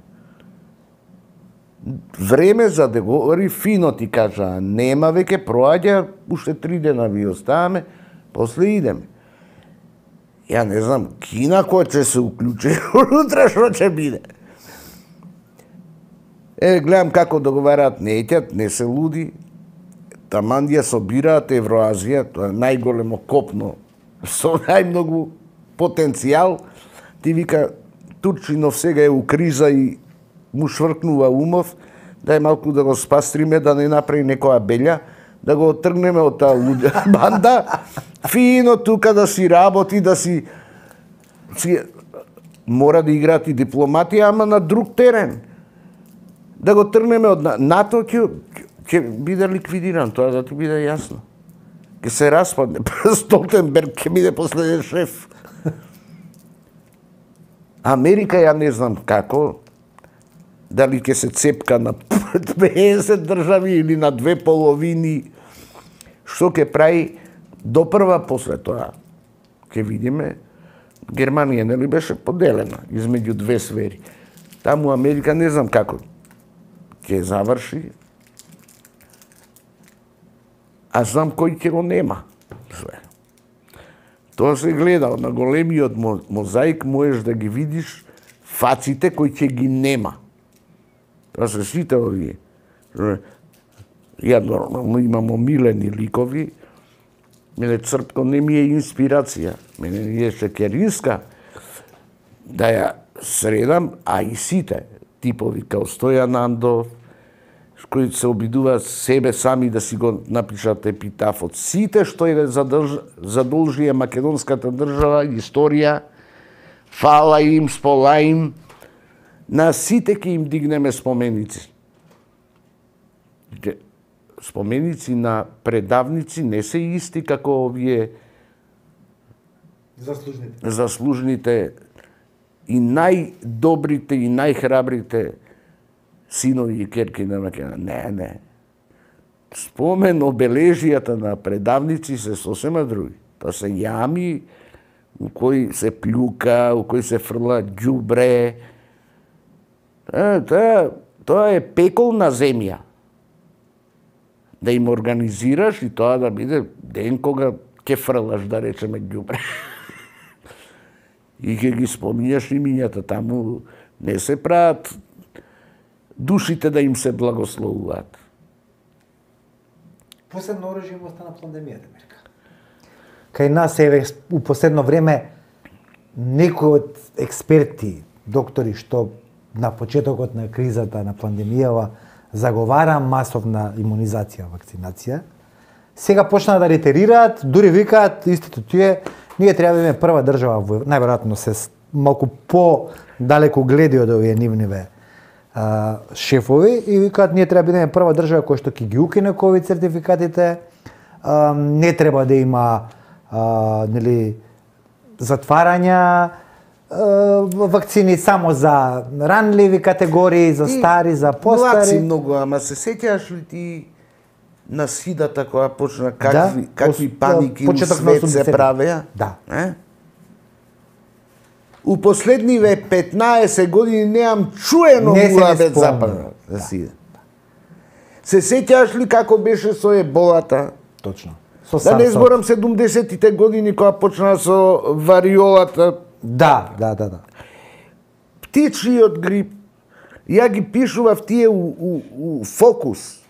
Време за да говори фино ти кажа, нема веќе проаѓа, уште три дена ви оставаме, после идеме. Ја не знам, Кина кој ќе се уклучи, утре што ќе биде. Е, гледам како договараат, не етјат, не се луди, таман ја собираат Евроазија, тоа е најголемо копно, со најмногу потенцијал, ти вика, Турчинов сега е у криза и му швркнува умов, дај малку да го спастриме, да не направи некоја белја, да го отргнеме од таа луѓа банда, фино тука да си работи, да си... си... Мора да играат и дипломатија, ама на друг терен. Да го тргнеме од НАТО, ќе, ќе биде ликвидиран, тоа да ти биде јасно. Ќе се распадне, Столтенберг ќе биде последен шеф. Америка, ја не знам како, дали ќе се цепка на петдесет држави или на две половини, што ќе прави допрва после тоа. Ќе видиме, Германија нели беше поделена измеѓу две сфери. Таму Америка не знам како ќе заврши, а знам кој ќе го нема. Тоа се гледал на големиот мозаик, можеш да ги видиш фаците кои ќе ги нема. Тоа се сите овие. Ја нормално имам омилени ликови, мене Црпко не ми е инспирација, мене е Шекеринска, да ја средам, а и сите типови као Стојан Андов, кои се обидуваат себе сами да си го напишат епитафот. Сите што е задолжија македонската држава, историја, фала им, спола им, на сите ќе им дигнеме споменици. Споменици на предавници не се исти како овие заслужните, заслужните и најдобрите и најхрабрите синови и керки на Македонија. Не, не. Спомен обележијата на предавници се сосема други. Тоа се јами у кои се плюка, у кои се фрла ѓубре. Тоа, тоа е пекол на земја. Да им организираш и тоа да биде ден кога ќе фрлаш, да речеме, ѓубре. И ќе ги споминјаш имињата, таму не се прават душите да им се благословуваат. Последно оружје во на пандемијата, Мирка. Кај нас еве у последно време некои од експерти, доктори што на почетокот на кризата на пандемијава заговара масовна имунизација, вакцинација, сега почнаа да ретерираат, дури викаат истото тие, ние треба да имаме прва држава, најверојатно се малку по-далеку гледи од овие нивниве а, шефови и викаат ние треба да бидеме прва држава која што ќе ги укине ковид сертификатите, а, не треба да има а, нели затварања вакцини само за ранливи категории, за стари, за постари. Младци многу, ама се сеќаш ли ти на сидата која почна какви, да? какви паники у свет се правеа? Да. Е? У последниве петнаесет години неам чуено муабет западна да сида. Се сеќаш ли како беше со еболата? Точно. Со да не зборам седумдесетите години кога почна со вариолата. Да, да, да, да. Птичиот грип, ја ги пишував тие у, у, у Фокус.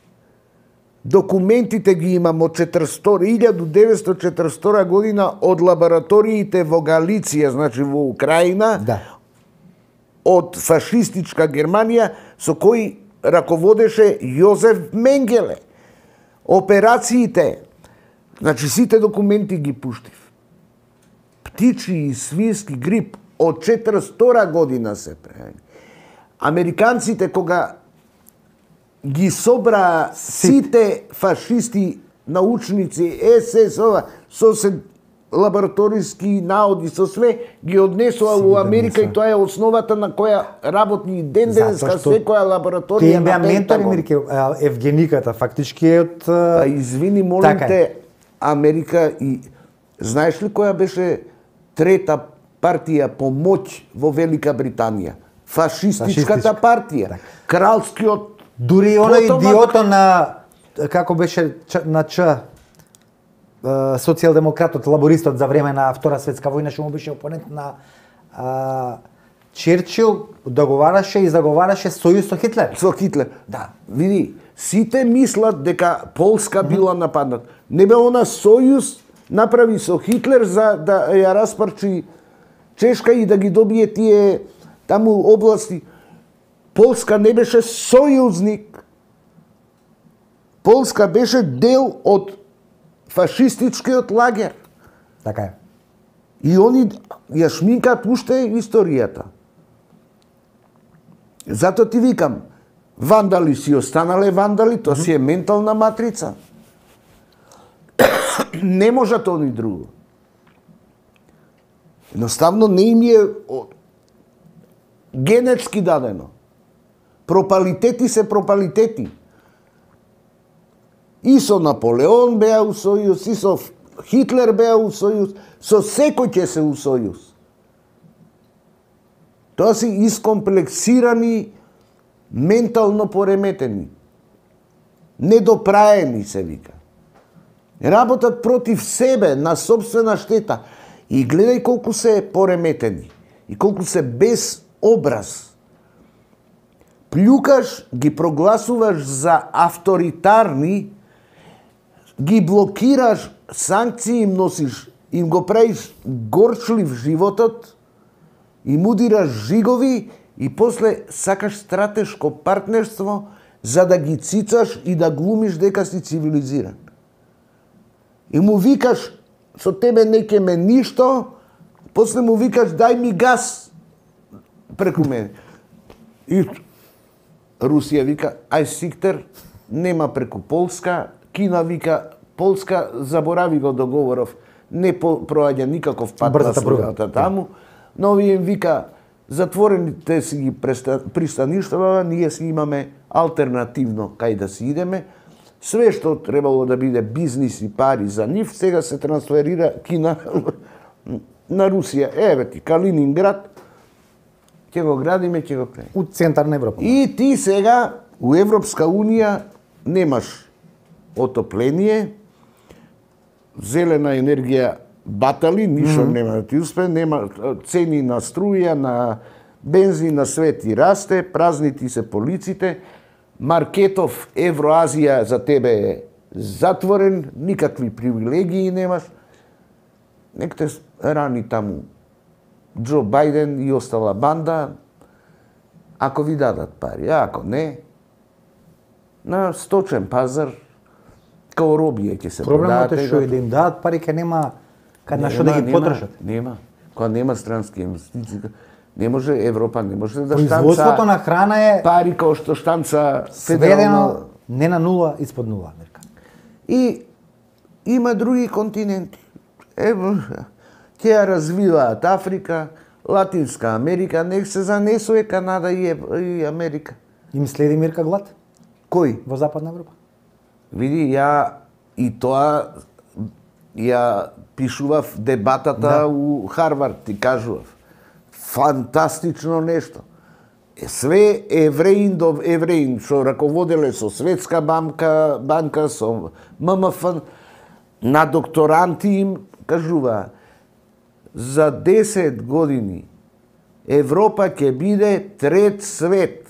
Документите ги имам од илјада деветстотини и четиридесета година од лабораториите во Галиција, значи во Украина, да. Од фашистичка Германија, со кои раководеше Јозеф Менгеле. Операциите, значи сите документи ги пуштив. Птичи и свински грип од четиристотина година се прави. Американците кога ги собра сите фашисти, научници, ес ес, ова, со се лабораториски наоди, со све, ги однесува во Америка и тоа е основата на која работни ден денеска секоја лабораторија на Пентагон. Тие беа ментори, Евгениката, фактички е од... А извини, молим те, Америка и... Знаеш ли која беше трета партија по моќ во Велика Британија? Фашистичката партија. Кралскиот... Дури и оној идиото на... Како беше на Ч... социјалдемократот, лабористот за време на Втора светска војна, што му беше опонент на а, Черчил, договараше и заговараше сојуз со Хитлер. Со Хитлер. Да. Види, сите мислат дека Полска била нападнат. Не бе она сојуз направи со Хитлер за да ја распарчи Чешка и да ги добие тие таму области. Полска не беше сојузник. Полска беше дел од фашистичкиот лагер. Така е. И они ја шминкат уште историјата. Зато ти викам, вандали си останале вандали, тоа си е ментална матрица. Не можат они друго. Едноставно не им е генетски дадено. Пропалитети се пропалитети. И со Наполеон беа у сојуз, и со Хитлер беа у сојуз, со секој ќе се у сојуз. Тоа си искомплексирани, ментално пореметени, недопраени се вика. Работат против себе, на собствена штета. И гледај колку се пореметени, и колку се без образ. Плюкаш, ги прогласуваш за авторитарни, ги блокираш, санкции им носиш, им го правиш горчлив животот, им удираш жигови и после сакаш стратешко партнерство за да ги цицаш и да глумиш дека си цивилизиран. И му викаш, со тебе не ке ме ништо, после му викаш, дај ми газ преку мене. И Русија вика, ај Сиктер, нема преку Полска, Кина вика, Полска, заборави го договоров, не проаѓа никаков пат на средата таму, но овие им вика, затворените си ги пристаништава, ние си имаме алтернативно кај да си идеме, све што требало да биде бизнис и пари за нив, сега се трансферира Кина на Русија. Еве ти, Калининград, ќе го градиме, ќе го правиме. У центарна Европа. И ти сега у Европска унија немаш отопление, зелена енергија батали, ништо mm -hmm. нема да ти успе, нема цени на струја, на бензин, на све ти расте, празни ти се полиците, маркетов Евроазија за тебе е затворен, никакви привилегии немаш. Нек те рани таму Џо Бајден и остала банда, ако ви дадат пари, ако не, на сточен пазар, као робија ќе се продаат. Проблемот е што и да им дадат пари, ке нема кај на што да ги потршат. Нема, кога нема странски инвестиции, не може Европа, не може да штанца... Производството на храна е... Пари као што штанца сведено федерално... не на нула, испод нула, Америка. И има други континенти. Ево, ќе ја развиваат Африка, Латинска Америка, нек се занесува Канада и, и Америка. Им следи мирка глад? Кој? Во Западна Европа. Види, ја и тоа ја пишував дебатата да. У Харвард, ти кажував. Фантастично нешто. Све евреин до евреин, што раководеле со Светска банка, банка со М М Ф, на докторанти им кажува, за десет години Европа ќе биде трет свет.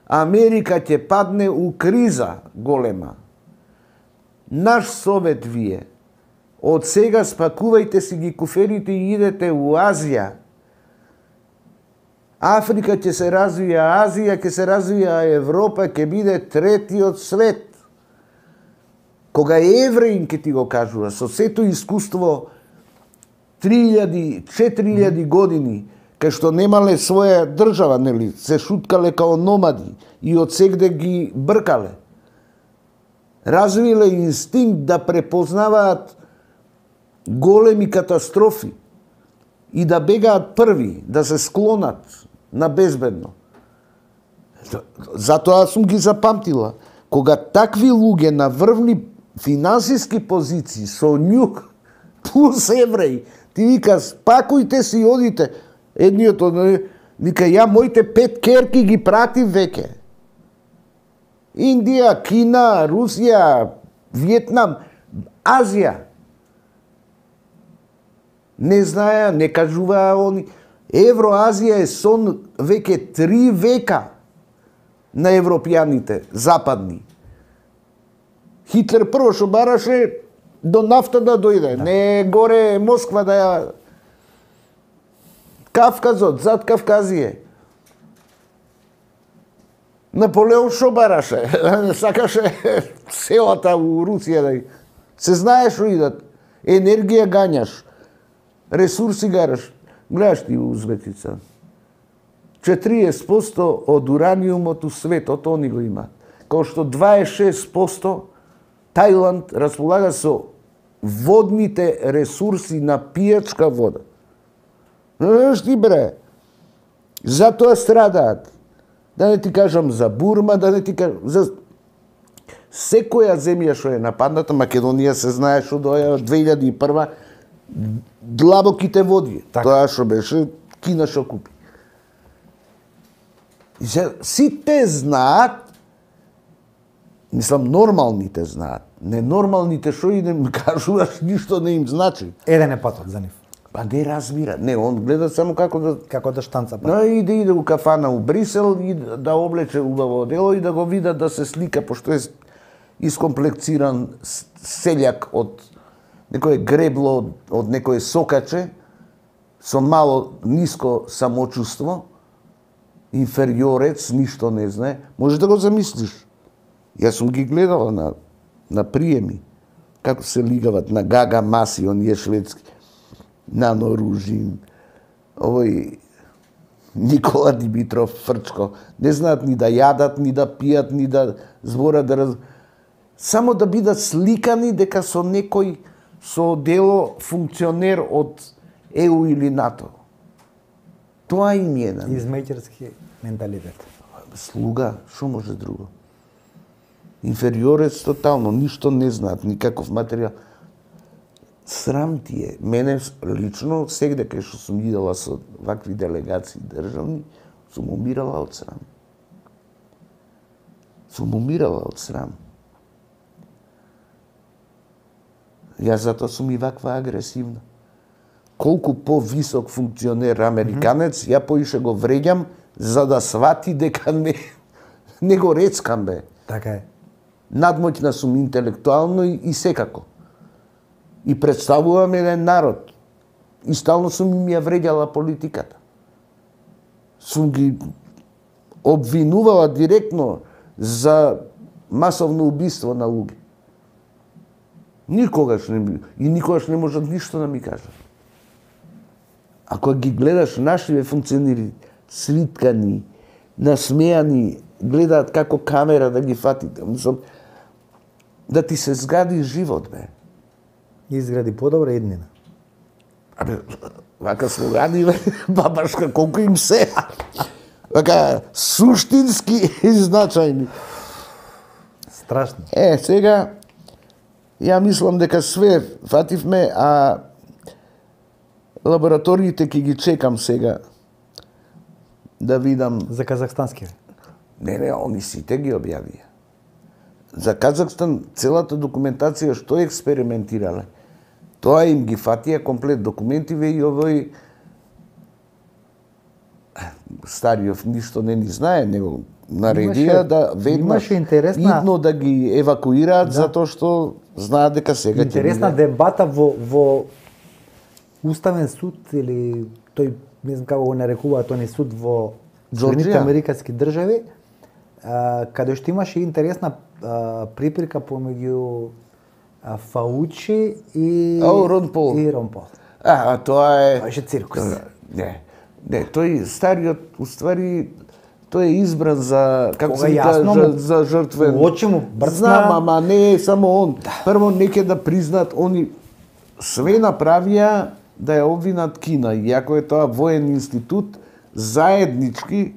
Америка ќе падне у криза голема. Наш совет вие, од сега спакувајте си ги куферите и идете у Азија. Африка ќе се развија, Азија ќе се развија, Европа ќе биде третиот свет. Кога евреин ќе ти го кажува, со сето искуство три илјади, четири илјади години, кај што немале своја држава, нели, се шуткале као номади и од сегде ги бркале. Развиле инстинкт да препознаваат големи катастрофи и да бегаат први, да се склонат на безбедно. Затоа сум ги запамтила. Кога такви луѓе на врвни финансиски позиции со њук плюс евреи, ти вика, спакујте си, одите. Едниот од вика, ја моите пет керки ги пратив веќе. Индија, Кина, Русија, Виетнам, Азија. Не знаеа, не кажуваа они. Евроазија е сон веќе три века на европјаните, западни. Хитлер прво што бараше до нафта да дојде, да. Не горе Москва да ја... Кавказот, зад Кавказије. Наполеон што бараше? Сакаше селата у Русија да... Се знае што идат. Енергија гањаш, ресурси гараш. Гледаш ти Узбекица. четириесет проценти од ураниумот у светот они го имаат. Као што дваесет и шест проценти Тајланд располага со водните ресурси на пијачка вода. Знаеш ти, бре, затоа страдаат. Да не ти кажам за Бурма, да не ти кажам за секоја земја што е нападната. Македонија се знае што доја од две илјади и прва длабоките води. Так. Тоа што беше Кина што купи. И се, сите знаат, мислам, нормалните знаат. Ненормалните што и не кажуваш, ништо не им значи. Еден е патот за нив. Па не разбира. Не, он гледа само како да... Како да штанца. Па. No, и да иде у кафана у Брисел и да облече убаво дело и да го видат да се слика, пошто е искомплексиран селјак од некое гребло, од, од некое сокаче, со мало ниско самочувство, инфериорец, ништо не знае. Може да го замислиш. Јас сум ги гледала на, на приеми, како се лигават на Гага Маси, он е шведски, Нано Ружин, овој Никола Димитров, Фрчко. Не знаат ни да јадат, ни да пијат, ни да зборат, да раз... Само да бидат сликани дека со некој со дело функционер од Е У или НАТО. Тоа им е. Измејќерски менталитет. Слуга, што може друго? Инфериорец тотално, ништо не знаат, никаков материјал. Срам ти е. Мене лично, сегде кај што сум идела со вакви делегации државни, сум умирала од срам. Сум умирала од срам. Јас затоа сум и ваква агресивна. Колку по-висок функционер американец, ја поише го вреѓам за да свати дека не, не го рецкам, бе. Така е. Надмоќна сум интелектуално и, и секако. И представувам еден народ. И стално сум им ја вреѓала политиката. Сум ги обвинувала директно за масовно убиство на луѓе. Никогаш не, и никогаш не можат ништо да ми кажат. Ако ги гледаш нашиве функционери, свиткани, насмејани, гледаат како камера да ги фати, да ти се згади живот, бе. Изгради подобра еднина. Абе, вака слогани, бе, бабашка, колку им се. Вака, суштински и значајни. Страшно. Е, сега, ја мислам дека све фативме, а лабораториите ќе ги чекам сега да видам... За казахстански? Не, не, они сите ги објавија. За Казахстан целата документација што експериментирале, тоа им ги фатија комплет документиве и овој Стариов ништо не ни знае, него наредија да веднаш интересна... идно да ги евакуираат, да. Затоа што знаат дека сега ќе интересна дебата во, во Уставен суд или тој, не знам како го нарекуваат тој суд во Соединетите американски држави, а, каде што имаше интересна а, припирка помеѓу а, Фаучи и О, Рон Пол. И Рон Пол. А, а тоа е... Тоа беше циркус. Не. Не, тој стариот, уствари, тој е избран за, како Кога се јасно каже, му- за жртвен. у очи му брцна. Знам, ама не е само он. Прво, неке да признат, они све направија да ја обвинат Кина, иако е тоа воен институт, заеднички,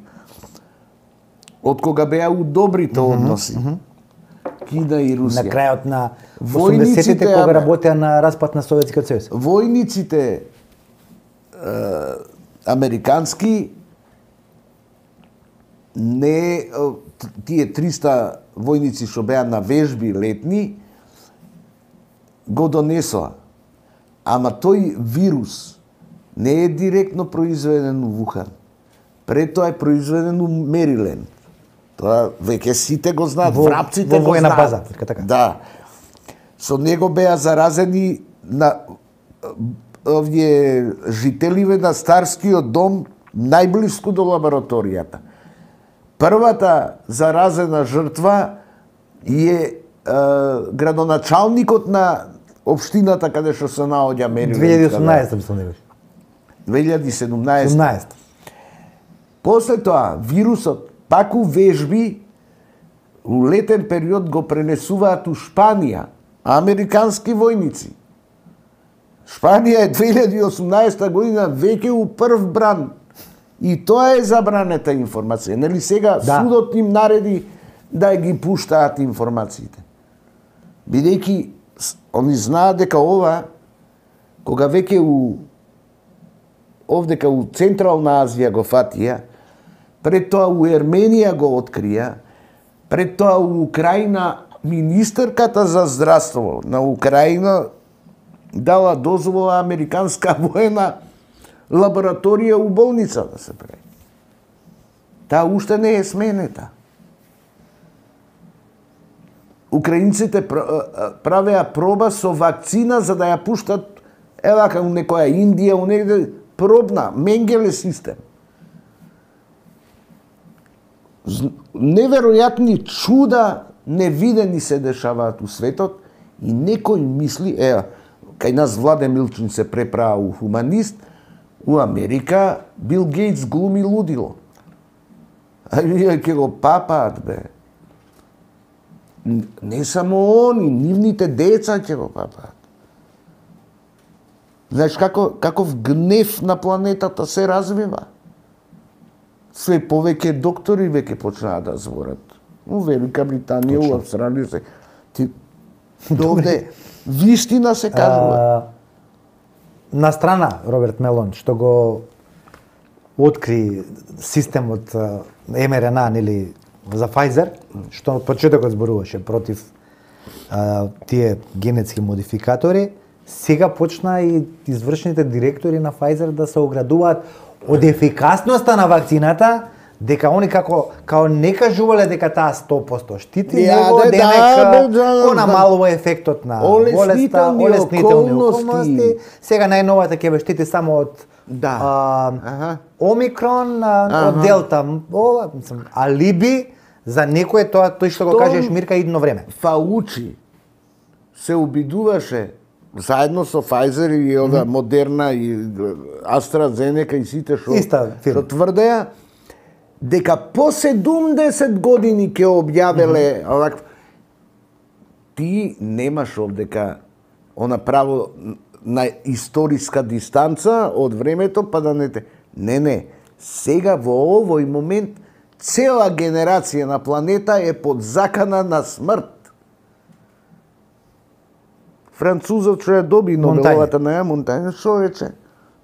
од кога беа у добрите односи. Кина и На Русија. крајот на Војниците, осумдесетите кога ама- работеа на распад на Советскиот сојуз. Војниците е, американски не е, тие триста војници што беа на вежби летни го донесоа. Ама тој вирус не е директно произведен у Вухан. Пред тоа е произведен у Мериленд. Тоа веќе сите го знаат, Во- врапците во го војна знаат. база, така, така. Да. Со него беа заразени на овие жителиве на Старскиот дом најблиску до лабораторијата. Првата заразена жртва е, е градоначалникот на општината каде што се наоѓа Мериленд. две илјади и осумнаесета мислам да беше. две илјади и седумнаесета. осумнаесета. После тоа, вирусот пак у вежби у летен период го пренесуваат у Шпанија, американски војници. Шпанија е две илјади и осумнаесета година веќе у прв бран. И тоа е забранета информација. Нели сега Да. судот им нареди да ги пуштаат информациите. Бидејќи с- они знаат дека ова, кога веќе у овдека у Централна Азија го фатија, пред тоа у Ерменија го открија, пред тоа у Украина министерката за здравство на Украина дала дозвола американска воена лабораторија у болница да се прави. Таа уште не е сменета. Украинците правеа проба со вакцина за да ја пуштат ева како некоја Индија, у негде пробна, Менгеле систем. Неверојатни чуда невидени се дешаваат у светот и некој мисли, еа, кај нас Владе Милчин се преправа у хуманист, у Америка Бил Гейтс глуми лудило. А вие ќе го папаат, бе. Не само они, нивните деца ќе го папаат. Знаеш како, каков гнев на планетата се развива? Све повеќе доктори веќе почнаа да зборат. У Велика Британија, у Австралија се. Ти, довде, вистина се кажува. А, на страна Роберт Мелон што го откри системот Ем Ер Ен А нели за Pfizer, што од почетокот зборуваше против а, тие генетски модификатори, сега почна и извршните директори на Pfizer да се оградуваат од ефикасноста на вакцината, дека они како као не кажувале дека таа сто проценти штити, Ја, него да, дека да, да, го намалува ефектот на Олеснителни болеста, олеснителни околности. околности. Сега најновата ќе ве штити само од Да. а, Аха. Омикрон, а, од Аха. Делта, ова, мислам, алиби за некој тоа тој што го Штом кажеш Мирка идно време. Фаучи се обидуваше заедно со Pfizer и ова Модерна и AstraZeneca и сите што Иста фирма. што тврдеа дека по седумдесет години ќе објавеле овак. Ти немаш овдека она право на историска дистанца од времето па да не те. Не, не. Сега во овој момент цела генерација на планета е под закана на смрт. Французот што ја доби Нобеловата наја Монтање, што рече?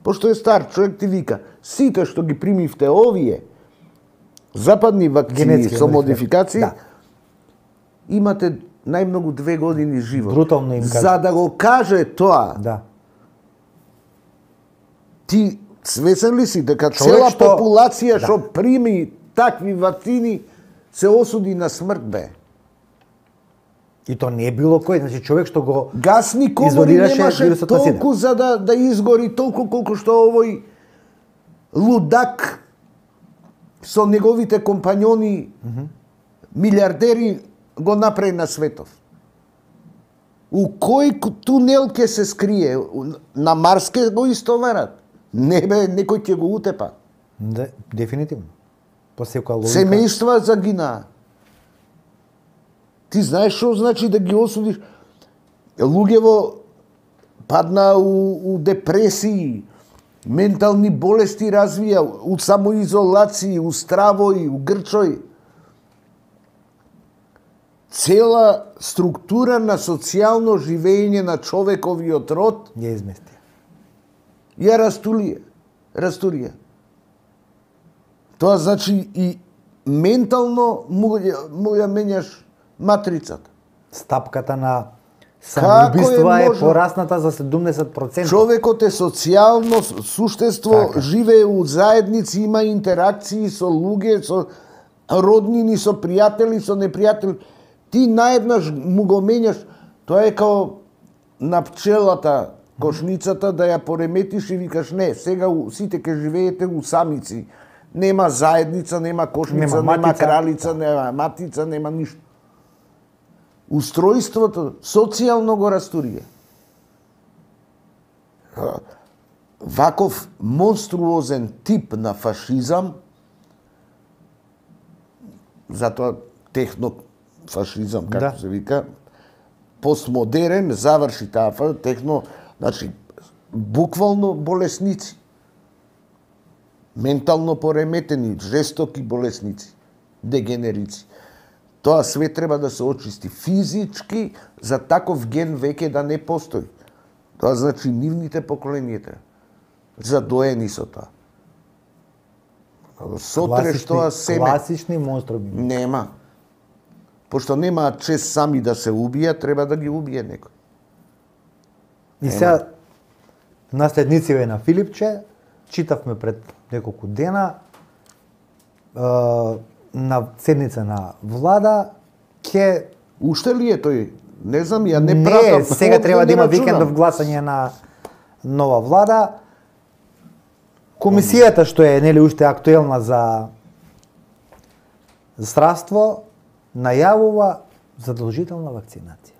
Пошто е стар човек ти вика, сите што ги примивте овие западни вакцини Генетски со модификации, модификации, да. имате најмногу две години живот. Брутално им кажа. За да го каже тоа, Да. ти свесен ли си дека Човек цела што- популација Да. што прими такви вакцини се осуди на смрт, бе? И то не е било кој, значи човек што го Гасни комори изолираше немаше вирусот на сида. толку за да, да изгори толку колку што овој лудак со неговите компањони милиардери го направи на светов. У кој ку- тунел ќе се скрие? У- На Марс ќе го истоварат? Не бе, некој ќе го утепа. Да, дефинитивно. По секоја логика. Семејства загинаа. Ти знаеш што значи да ги осудиш? Луѓево падна у, у депресии, ментални болести развија, у самоизолации, у стравој, у грчој. Цела структура на социјално живење на човековиот род ја измести. Ја растулија. Растурија. Тоа значи и ментално му, му ја менјаш матрицата. Стапката на самоубиства е, е порасната за седумдесет проценти. Човекот е социјално суштество, така. Живее у заедници, има интеракции со луѓе, со роднини, со пријатели, со непријатели. Ти наеднаш му го менјаш, тоа е као на пчелата, кошницата, да ја пореметиш и викаш не, сега сите ке живеете у самици. Нема заедница, нема кошница, нема, нема кралица, нема матица, нема ништо. Устројството социјално го растурија. Ваков монструозен тип на фашизам, затоа технофашизам, како да. Се вика, постмодерен, заврши таа техно, значи, буквално болесници. Ментално пореметени, жестоки болесници, дегенерици. Тоа све треба да се очисти физички, за таков ген веќе да не постои. Тоа значи нивните поколенијата задоени со тоа. Сотреш тоа семе. Класични монструми. Нема. Пошто немаат чест сами да се убијат, треба да ги убие некој. И сега наследниците на Филипче, читавме пред неколку дена, на седница на влада, ке... Уште ли е тој? Не знам, ја не, не пратам. Не, сега треба да има викендов гласање на нова влада. Комисијата што е нели уште актуелна за здравство најавува задолжителна вакцинација.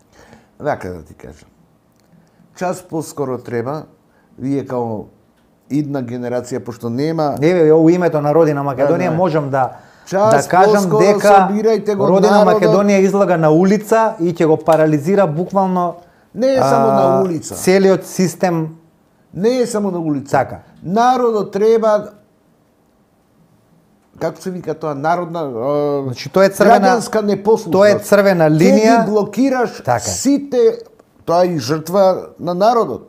Вака да ти кажам. Час поскоро треба, вие као идна генерација, пошто нема... Еве, у името на Родина Македонија да, можам да час да кажам дека Родина народот... Македонија излага на улица и ќе го парализира буквално не е само на улица. Целиот систем. Не е само на улица. Така. Народот треба, како се вика тоа, народна, значи тоа е црвена граѓанска непослушност. Тоа е црвена линија. Ке ги блокираш така. Сите, тоа е и жртва на народот.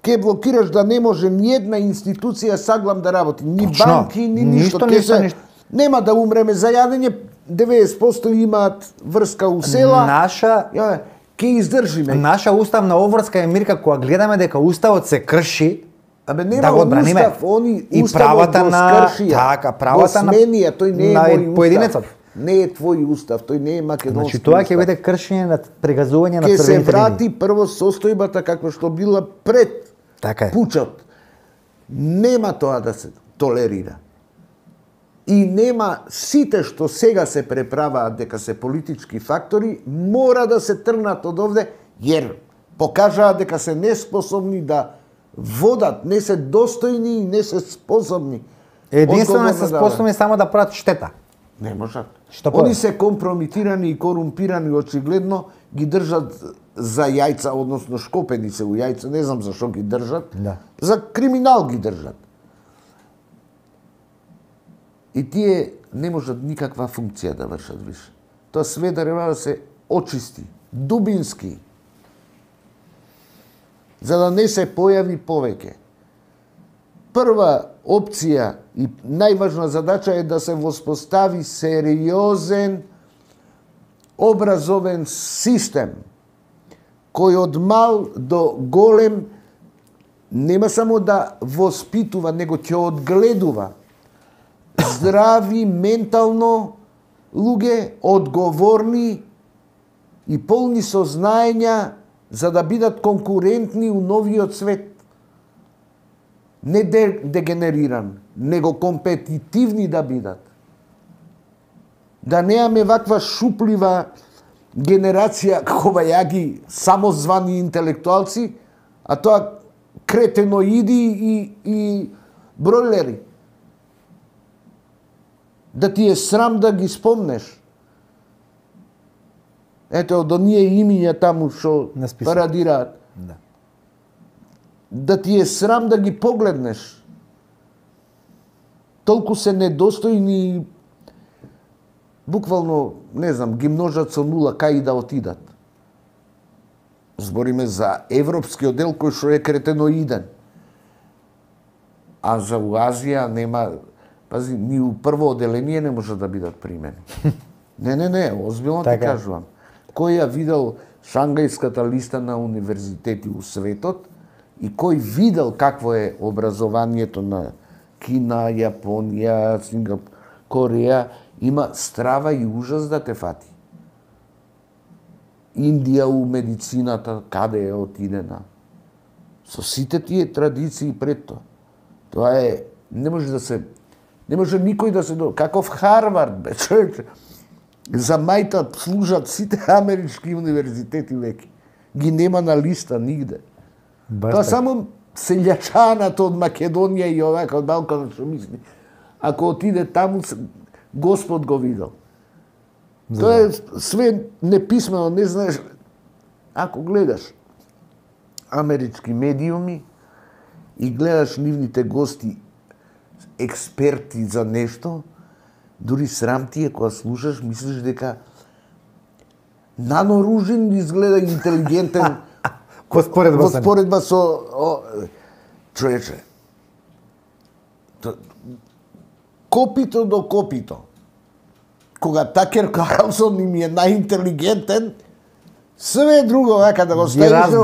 Ке блокираш да не може ни една институција саглам да работи, ни Точно. банки, ни ништо. Ништо, ништо, ништо. Нема да умреме за јадење, деветдесет проценти имаат врска у села. Наша ја, ке издржиме. Наша уставна обврска е, Мирка, кога гледаме дека уставот се крши, абе нема да го одбраниме. Устав, они и уставот правата го на скршија. така, правата на сменија, тој не е на мој поединецот. устав. Не е твој устав, тој не е македонски. Значи тоа ќе устав. биде кршење на прегазување на Ке се црвените врати линии. прво состојбата како што била пред Така е. пучот. Нема тоа да се толерира. И нема сите што сега се преправаат дека се политички фактори, мора да се тргнат од овде, jer покажаат дека се неспособни да водат, не се достојни и не се способни. Единствено се да способни само да прават штета. Не можат. Што Они повеќе? се компромитирани и корумпирани, очигледно ги држат за јајца, односно шкопени се у јајца, не знам зашо ги држат. Да. За криминал ги држат. И тие не можат никаква функција да вршат више. Тоа све треба да се очисти, дубински, за да не се појави повеќе. Прва опција и најважна задача е да се воспостави сериозен образовен систем кој од мал до голем нема само да воспитува, него ќе одгледува здрави ментално луѓе, одговорни и полни со знаења за да бидат конкурентни у новиот свет. Не дегенериран, него компетитивни да бидат. Да неаме ваква шуплива генерација кобајаги, самозвани интелектуалци, а тоа кретеноиди и, и бройлери. да ти е срам да ги спомнеш. Ето, од оние имиња таму што парадираат. Да. Да ти е срам да ги погледнеш. Толку се недостојни, буквално, не знам, ги множат со нула кај и да отидат. Збориме за европскиот дел кој што е кретеноиден. А за Азија нема, пази, ни у прво оделение не може да бидат примени. Не, не, не, озбилно ти кажувам. Кој ја видел Шангајската листа на универзитети у светот и кој видел какво е образованието на Кина, Јапонија, Сингапур, Кореја, има страва и ужас да те фати. Индија у медицината, каде е отидена. Со сите тие традиции пред тоа. Тоа е, не може да се, не може никој да се, каков Харвард, бе, човече. За мајта служат сите амерички универзитети веќе. Ги нема на листа нигде. Тоа само селјачаната од Македонија и овака од Балкана што мисли. Ако отиде таму, Господ го видел. Тоа е све неписмено, не знаеш. Ако гледаш амерички медиуми и гледаш нивните гости, експерти за нешто, дури срам ти е кога слушаш, мислиш дека Нано Ружин изгледа интелигентен во споредба, во споредба со о, човече. Копито до копито. Кога Такер Карлсон им е најинтелигентен, све друго вака да го ставиш.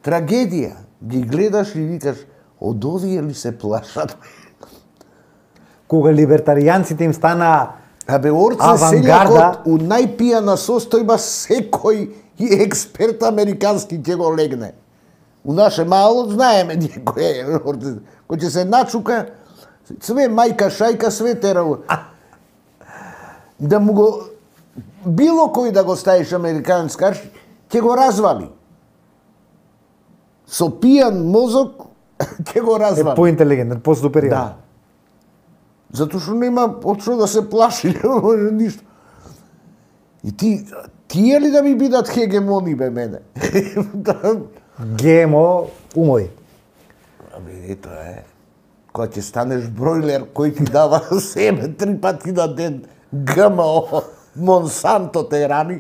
Трагедија. Ги гледаш и викаш, од овие ли се плашат? Кога либертаријанците им стана Абе, орце селјакот у најпијана состојба секој и експерт американски ќе го легне. У наше мало знаеме некој е орце. Кој ќе се начука, све мајка, шајка, све тера. Да му го, било кој да го ставиш американски карш, ќе го развали. Со пијан мозок ќе го развали. Е поинтелигентен, по-супериорен. Да. Затоа што нема од што да се плаши, не може ништо. И ти, тие ли да ми бидат хегемони, бе, мене? ГМО умови. Абе, ето е. Кога ќе станеш бройлер, кој ти дава себе три пати на ден ГМО, Монсанто те рани,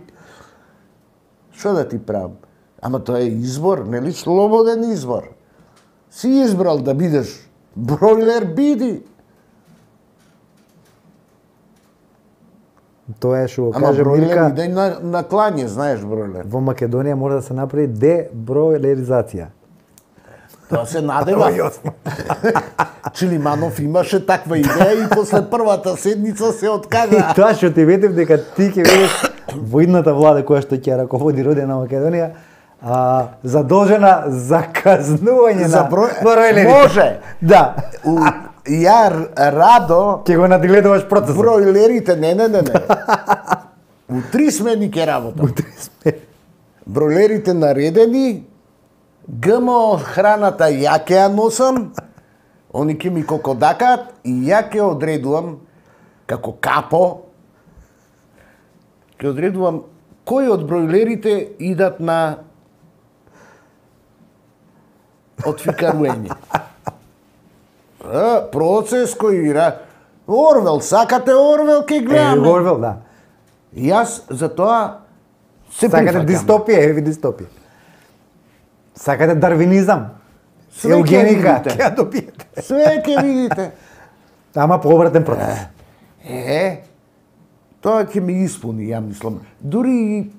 што да ти правам? Ама тоа е избор, нели слободен избор. Си избрал да бидеш бройлер, биди. Тоа е што го Ама каже бройлер Милка. иде на, на клање, знаеш бройлер. Во Македонија мора да се направи дебройлеризација. Тоа се надева. Чилиманов имаше таква идеја и после првата седница се И откажа. тоа што ти ветев дека ти ќе бидеш во идната влада која што ќе раководи родена Македонија, а, задолжена за казнување За на број- бройлерите. Може. Да. У, ја радо Ќе го надгледуваш процесот. бройлерите, не, не, не, не. У три смени ќе работам. Бройлерите наредени, ГМО храната ја ќе ја носам, они ќе ми кокодакаат и ја ќе одредувам како капо, ќе одредувам кои од бройлерите идат на отфикаруење. А, процес кој ира. Орвел, сакате Орвел, ќе Е, гледаме. Орвел, да. И јас за тоа се Сакате прифаќам. дистопија, еви дистопија. Сакате дарвинизам. Све ќе Еугеника, видите. ќе ја добиете. Све ќе видите. Ама по обратен процес. Е, тоа ќе ми испуни, ја мислам. Дури и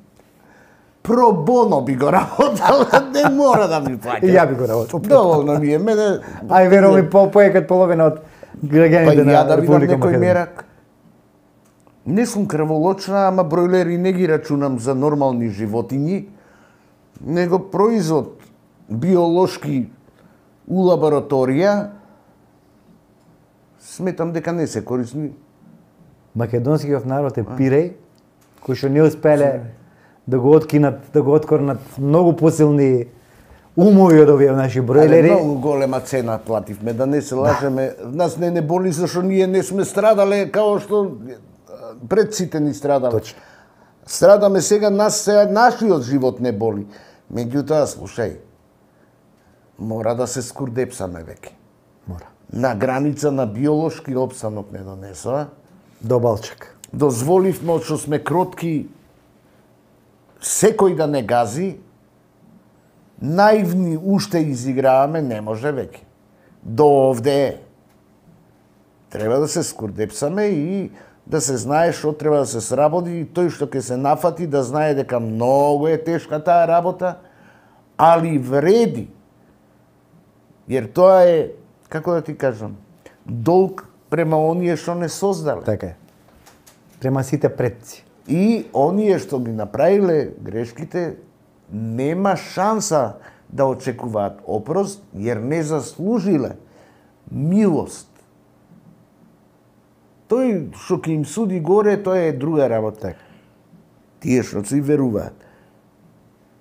про боно би го работал, не мора да ми плаќа. И ја би го работил. Доволно ми е, мене... Ај верувам по поекат половина од Па граѓаните и на ја да видам Република некој Македонија. мерак. Не сум крволочна, ама бройлери не ги рачунам за нормални животињи, него производ биолошки у лабораторија, сметам дека не се корисни. Македонскиот народ е пиреј, кој што не успеле да го откинат, да го откорнат многу посилни умови од овие наши бройлери. Многу голема цена плативме, да не се лажеме. Нас не не боли зашто ние не сме страдале као што пред сите ни страдале. Точно. Страдаме сега, нас сега нашиот живот не боли. Меѓутоа, слушај, мора да се скурдепсаме веќе. Мора. На граница на биолошки опстанок не донесоа. До балчак. Дозволивме од што сме кротки секој да не гази, наивни уште изиграваме, не може веќе. До овде треба да се скурдепсаме и да се знае што треба да се сработи и тој што ќе се нафати да знае дека многу е тешка таа работа, али вреди. Jer тоа е, како да ти кажам, долг према оние што не создале. Така е. Према сите предци. И оние што ги направиле грешките, нема шанса да очекуваат опрост, jer не заслужиле милост. Тој што ќе им суди горе, тоа е друга работа. Тие што си веруваат.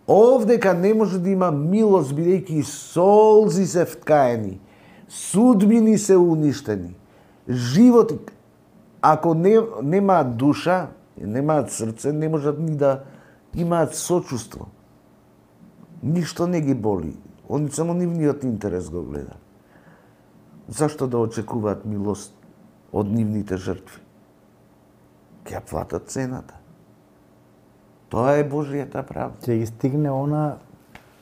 Овдека не може да има милост, бидејќи солзи се вткаени, судбини се уништени, животи, ако не, немаат душа, немаат срце, не можат ни да имаат сочувство. Ништо не ги боли. Они само нивниот интерес го гледа. Зашто да очекуваат милост од нивните жртви? Ќе ја платат цената. Тоа е Божијата правда. Ќе ги стигне она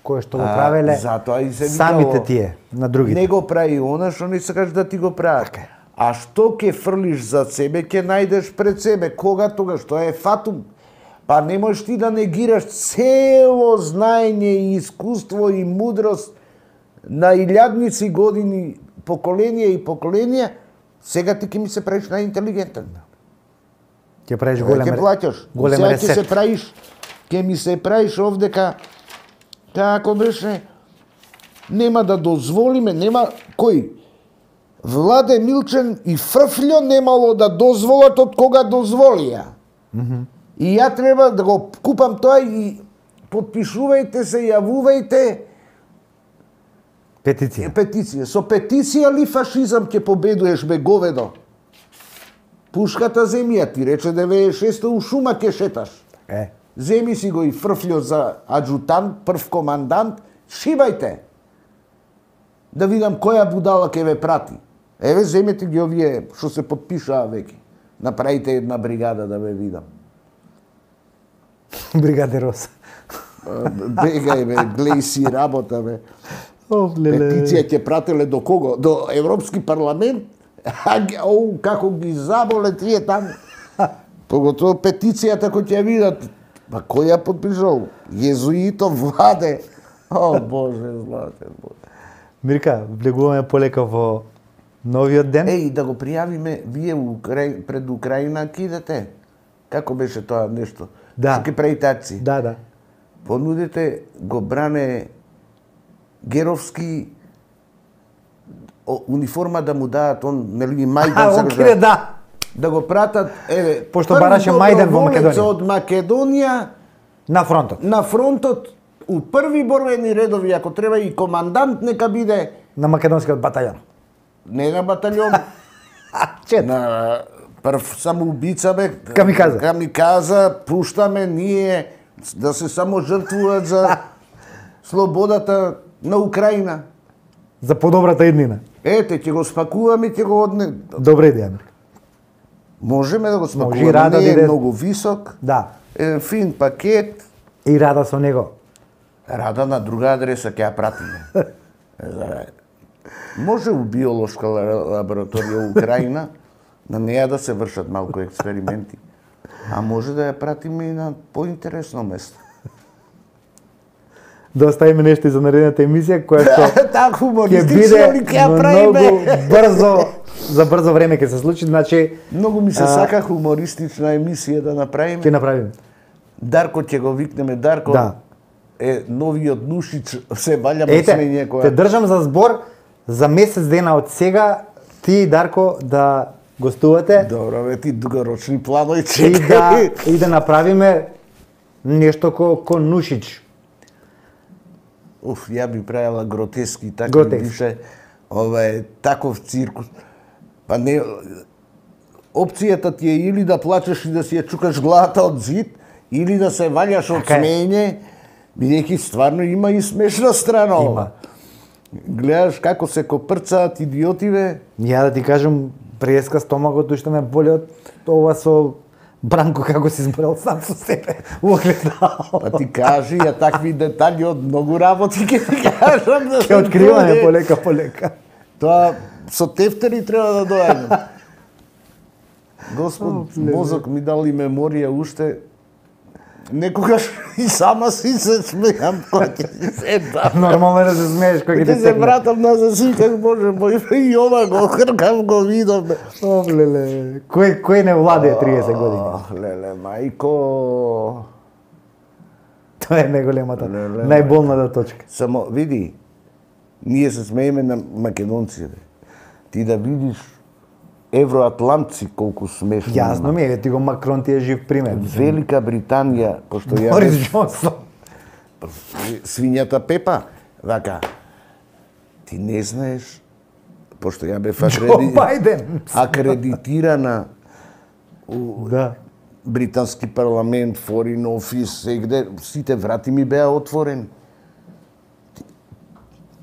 кое што го правеле затоа и се самите тие на другите. Не го прави она што не сакаш да ти го прават. А што ќе фрлиш за себе, ќе најдеш пред себе. Кога тогаш? Тоа е фатум. Па не можеш ти да негираш цело знаење и искуство и мудрост на илјадници години, поколенија и поколенија, сега ти ќе ми се правиш најинтелигентен. Ќе правиш голем Ќе плаќаш. голем Сега ќе ресет. се правиш, ќе ми се правиш овдека, како беше, нема да дозволиме, нема, кој? Владе Милчен и Фрфљо немало да дозволат од кога дозволија. Mm-hmm. И ја треба да го купам тоа и подпишувајте се, јавувајте. Петиција. Петиција. Со петиција ли фашизам ќе победуеш, бе говедо? Пушката земја ти рече деветдесет и шеста у шума ќе шеташ. Е. Земи си го и Фрфљо за аджутант, прв командант, шибајте. Да видам која будала ќе ве прати. Еве, земете ги овие што се подпишаа веќе. Направите една бригада да ве видам. Бригаде Роса. Бегај, бе, глеј си работа, бе. Оф, леле. Петиција ќе прателе до кого? До Европски парламент? Оу, како ги заболе тие таму. Поготово петицијата кој ќе видат. Па кој ја подпишал? Језуито Владе. О, Боже, златен Боже. Мирка, влегуваме полека во новиот ден. Еј, да го пријавиме, вие Украј... пред Украина кидате. Како беше тоа нешто? Да. Ќе правите акции. Да, да. Понудите го бране Геровски униформа да му дадат, он, нели, Мајдан. А, окей, да. Да го пратат, еве, Пошто бараше Мајдан во Македонија. од Македонија На фронтот. на фронтот, у први борбени редови, ако треба и командант нека биде, На македонскиот батаљон. не на батаљон, Чет. на прв самоубица, бе, Камиказа. камиказа, пуштаме ние да се само жртвуваат за слободата на Украина. За подобрата иднина. Ете, ќе го спакуваме, ќе го одне. Добра идеја. Можеме да го Може и спакуваме, Рада не е биде- многу висок, Да. е фин пакет. И Рада со него. Рада на друга адреса ќе ја пратиме. Е, за- Може у биолошка лабораторија у Украина на неја да се вршат малку експерименти. А може да ја пратиме и на поинтересно место. Да оставиме нешто и за наредната емисија која што Така ќе хумористично биде ли ќе ја многу правиме? брзо, за брзо време ќе се случи, значи Многу ми се А, сака хумористична емисија да направиме. ќе направиме. Дарко ќе го викнеме, Дарко Да. е новиот Нушич, се валјамо Ете, сме ние те која. држам за збор за месец дена од сега ти и Дарко да гостувате Добро, бе, ти дугорочни планови и чекај. да и да направиме нешто ко ко Нушич. Уф, ја би правила гротески, така Гротески. бише, ова е таков циркус. Па не, опцијата ти е или да плачеш и да си ја чукаш главата од зид, или да се ваѓаш од Така е. смење, бидејќи стварно има и смешна страна ова. Има. Гледаш како се копрцаат идиотиве. Ја да ти кажам, преска стомакот уште ме боли од ова со Бранко како си изборал сам со себе во огледало. Па ти кажи, ја такви детали од многу работи ќе ти кажам. Да Ке откриваме полека полека. Тоа со тефтери треба да доаѓам. Господ, мозок ми дал и меморија уште. Некогаш и сама си се смејам кога ќе си седам. Нормално е да се смееш кога ќе Ќе те се секне. вратам назад си как може, бој и ова го хркам го видам. О, леле. Кој кој не владее триесет години? Ох, леле, мајко. Тоа е најголемата, Леле, најболната точка. Само види, ние се смееме на македонците. Ти да видиш евроатлантци колку смешно. Јасно има. ми е, ти го Макрон ти е жив пример. Велика Британија, пошто ја Борис бев- Џонсон. свињата Пепа, вака, ти не знаеш, пошто ја бев Џо акреди... Бајден. акредитирана у Да. британски парламент, Foreign Office, сегде, сите врати ми беа отворени.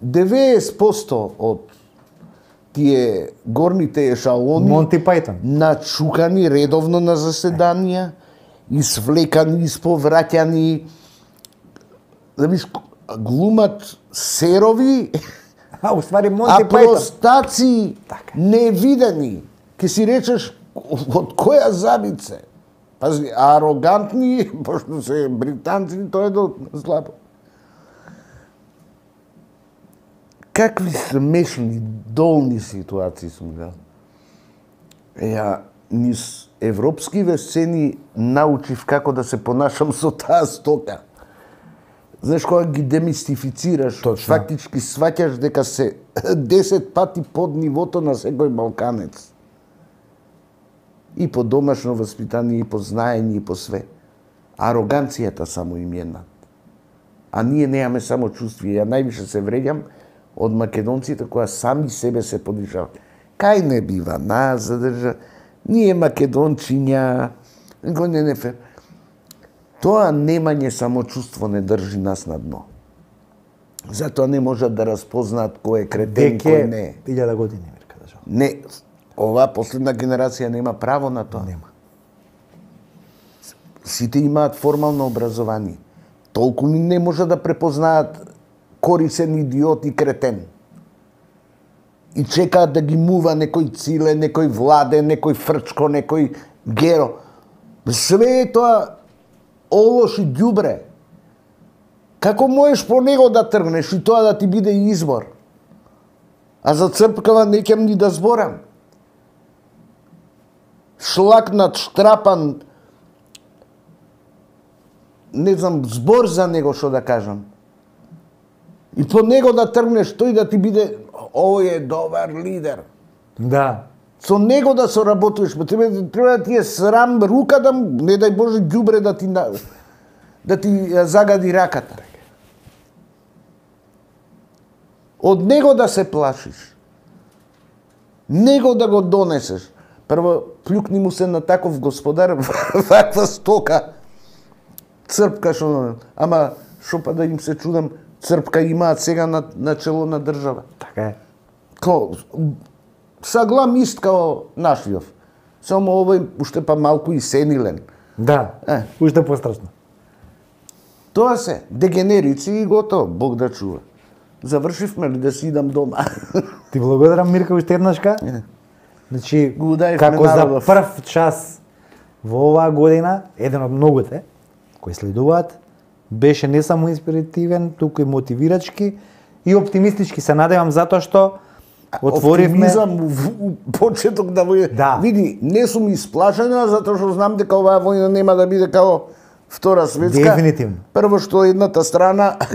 деветдесет проценти од тие горните ешалони Монти Пајтон. начукани редовно на заседанија, извлекани, исповраќани, да видиш, глумат серови, А, уствари а Монти Пајтон. простаци невидени. Ке си речеш, од која забице? Пази, арогантни, пошто се британци, тоа е до слабо. Какви смешни, долни ситуации сум гледал. Ја, низ европскиве сцени научив како да се понашам со таа стока. Знаеш, кога ги демистифицираш, Точно. фактички сваќаш дека се десет пати под нивото на секој балканец. И по домашно воспитание, и по знаење, и по све. Ароганцијата само им е над. А ние немаме само чувствие. Ја највише се вреѓам од македонците која сами себе се подишават. Кај не бива нас задржа, ние македончиња, го не не фер. Тоа немање самочувство не држи нас на дно. Затоа не можат да распознаат кој е кретен, кој не е. Веќе илјада години, Мирка, да жал. Не, оваа последна генерација нема право на тоа. Нема. Сите имаат формално образование. Толку ни не може да препознаат корисен идиот и кретен. И чекаат да ги мува некој Циле, некој Владе, некој Фрчко, некој Геро. Све е тоа олош и ѓубре. Како можеш по него да тргнеш и тоа да ти биде избор? А за црпкава не ќам ни да зборам. Шлакнат, штрапан, не знам, збор за него што да кажам. И по него да тргнеш, тој да ти биде, овој е добар лидер. Да. Со него да соработуваш, па треба, треба да ти е срам рука да, не дај Боже, ѓубре да ти на- да ти ја загади раката. Од него да се плашиш. Него да го донесеш. Прво, плюкни му се на таков господар, ваква стока. Црпка што, ама што па да им се чудам, црпка имаат сега на, на чело на држава. Така е. Ко, саглам ист као нашиов. Само овој уште па малку и сенилен. Да. Е. Уште пострашно. Тоа се, дегенерици и готово, Бог да чува. Завршивме ли да си идам дома? Ти благодарам, Мирка, уште еднашка. Значи, Го ударивме како за народов. прв час во оваа година, еден од многуте кои следуваат, беше не само инспиративен, туку и мотивирачки и оптимистички. Се надевам затоа што отворивме... Оптимизам у, у почеток да војна. Да. Види, не сум исплашена, затоа што знам дека оваа војна нема да биде као Втора светска. Дефинитивно. Прво што едната страна Ако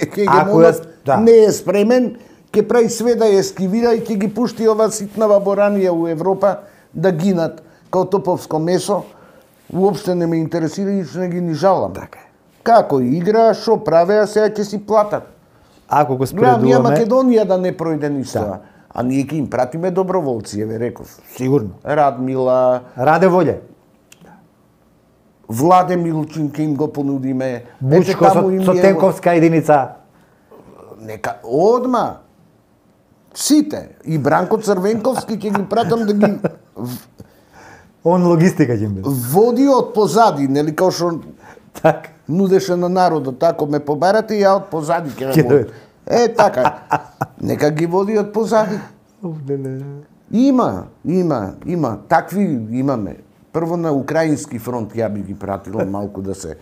хегемонот ја- да. не е спремен, ќе прави све да ја ескивира и ќе ги пушти ова ситна ваборанија у Европа да гинат као топовско месо. Уопште не ме интересира и што не ги ни жалам. Така е. Како игра, што правеа, сега ќе си платат. ако го Гледам, ние споредуваме... Македонија да не пројде ништо. Да. А ние ќе им пратиме доброволци, еве реков. Сигурно. Радмила, Раде Волје. Владе Милчин ќе им го понудиме. Бучко Ете, таму со, им со е- тенковска единица. Нека одма. Сите. И Бранко Црвенковски ќе ги пратам да ги Он логистика ќе им биде. води од позади, нели као што Так. нудеше на народот, тако ме побарате и ја од позади ќе Ќе ме дојде. води. Е, така. Нека ги води од позади. Има, има, има. Такви имаме. Прво на украински фронт ја би ги пратила малку да се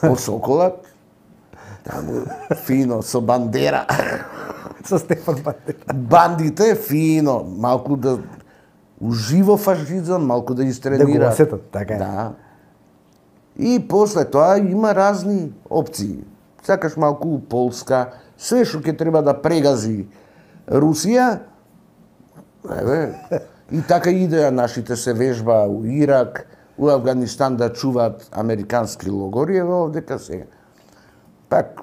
осоколат. Таму фино со бандера. Со Стефан Бандера. Бандите фино, малку да уживо фашизам, малку да истренира. Да го осетат, така е. Да. И после тоа има разни опции. Сакаш малку Полска, све што ќе треба да прегази Русија, еве, и така идеја нашите се вежба у Ирак, у Афганистан да чуваат американски логори, еве овдека сега. Пак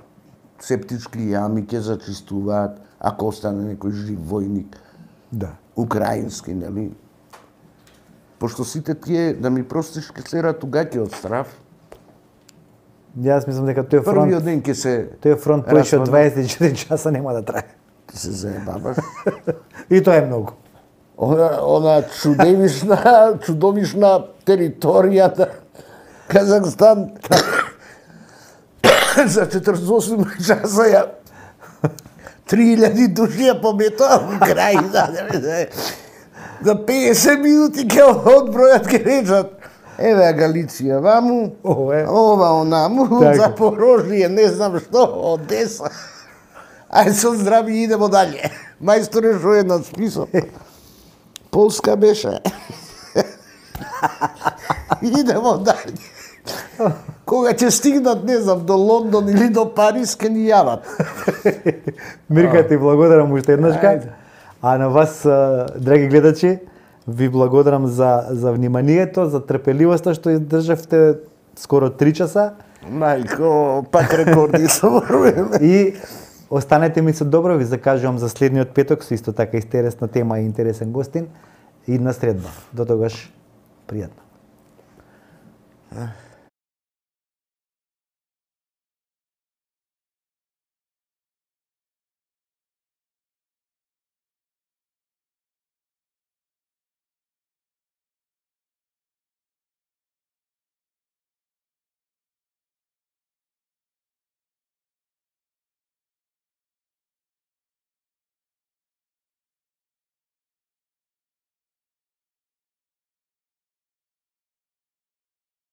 септички јами ќе зачистуваат, ако остане некој жив војник, Да. украински, нели? Пошто сите тие, да ми простиш, ке се ратугаќи од страв. Јас мислам дека тој фронт, Првиот ден ке се тој фронт повеќе од распадна. дваесет и четири часа нема да трае. Ке се заебаваш. И тоа е многу. Она, она чудовишна, чудовишна територија на Казахстан за четиридесет и осум часа ја три илјади души ја пометоа во крај, да, за песет минути ќе одбројат, ќе речат еве Галиција ваму, Ова е. ова онаму, Така. Запорожје, не знам што, Одеса. Ајде со здрави идемо далje. Мајсторе, што е на список? Полска беше. Идемо далje. Кога ќе стигнат, не знам, до Лондон или до Париз, ке ни јават. Мирка, ти благодарам уште еднашка. Ајде. А на вас, а, драги гледачи, ви благодарам за, за вниманието, за трпеливоста што издржавте скоро три часа. Мајко, пак рекорди соборуваме. И останете ми со добро, ви закажувам за следниот петок со исто така интересна тема и интересен гостин. Идна средба. До тогаш, пријатно.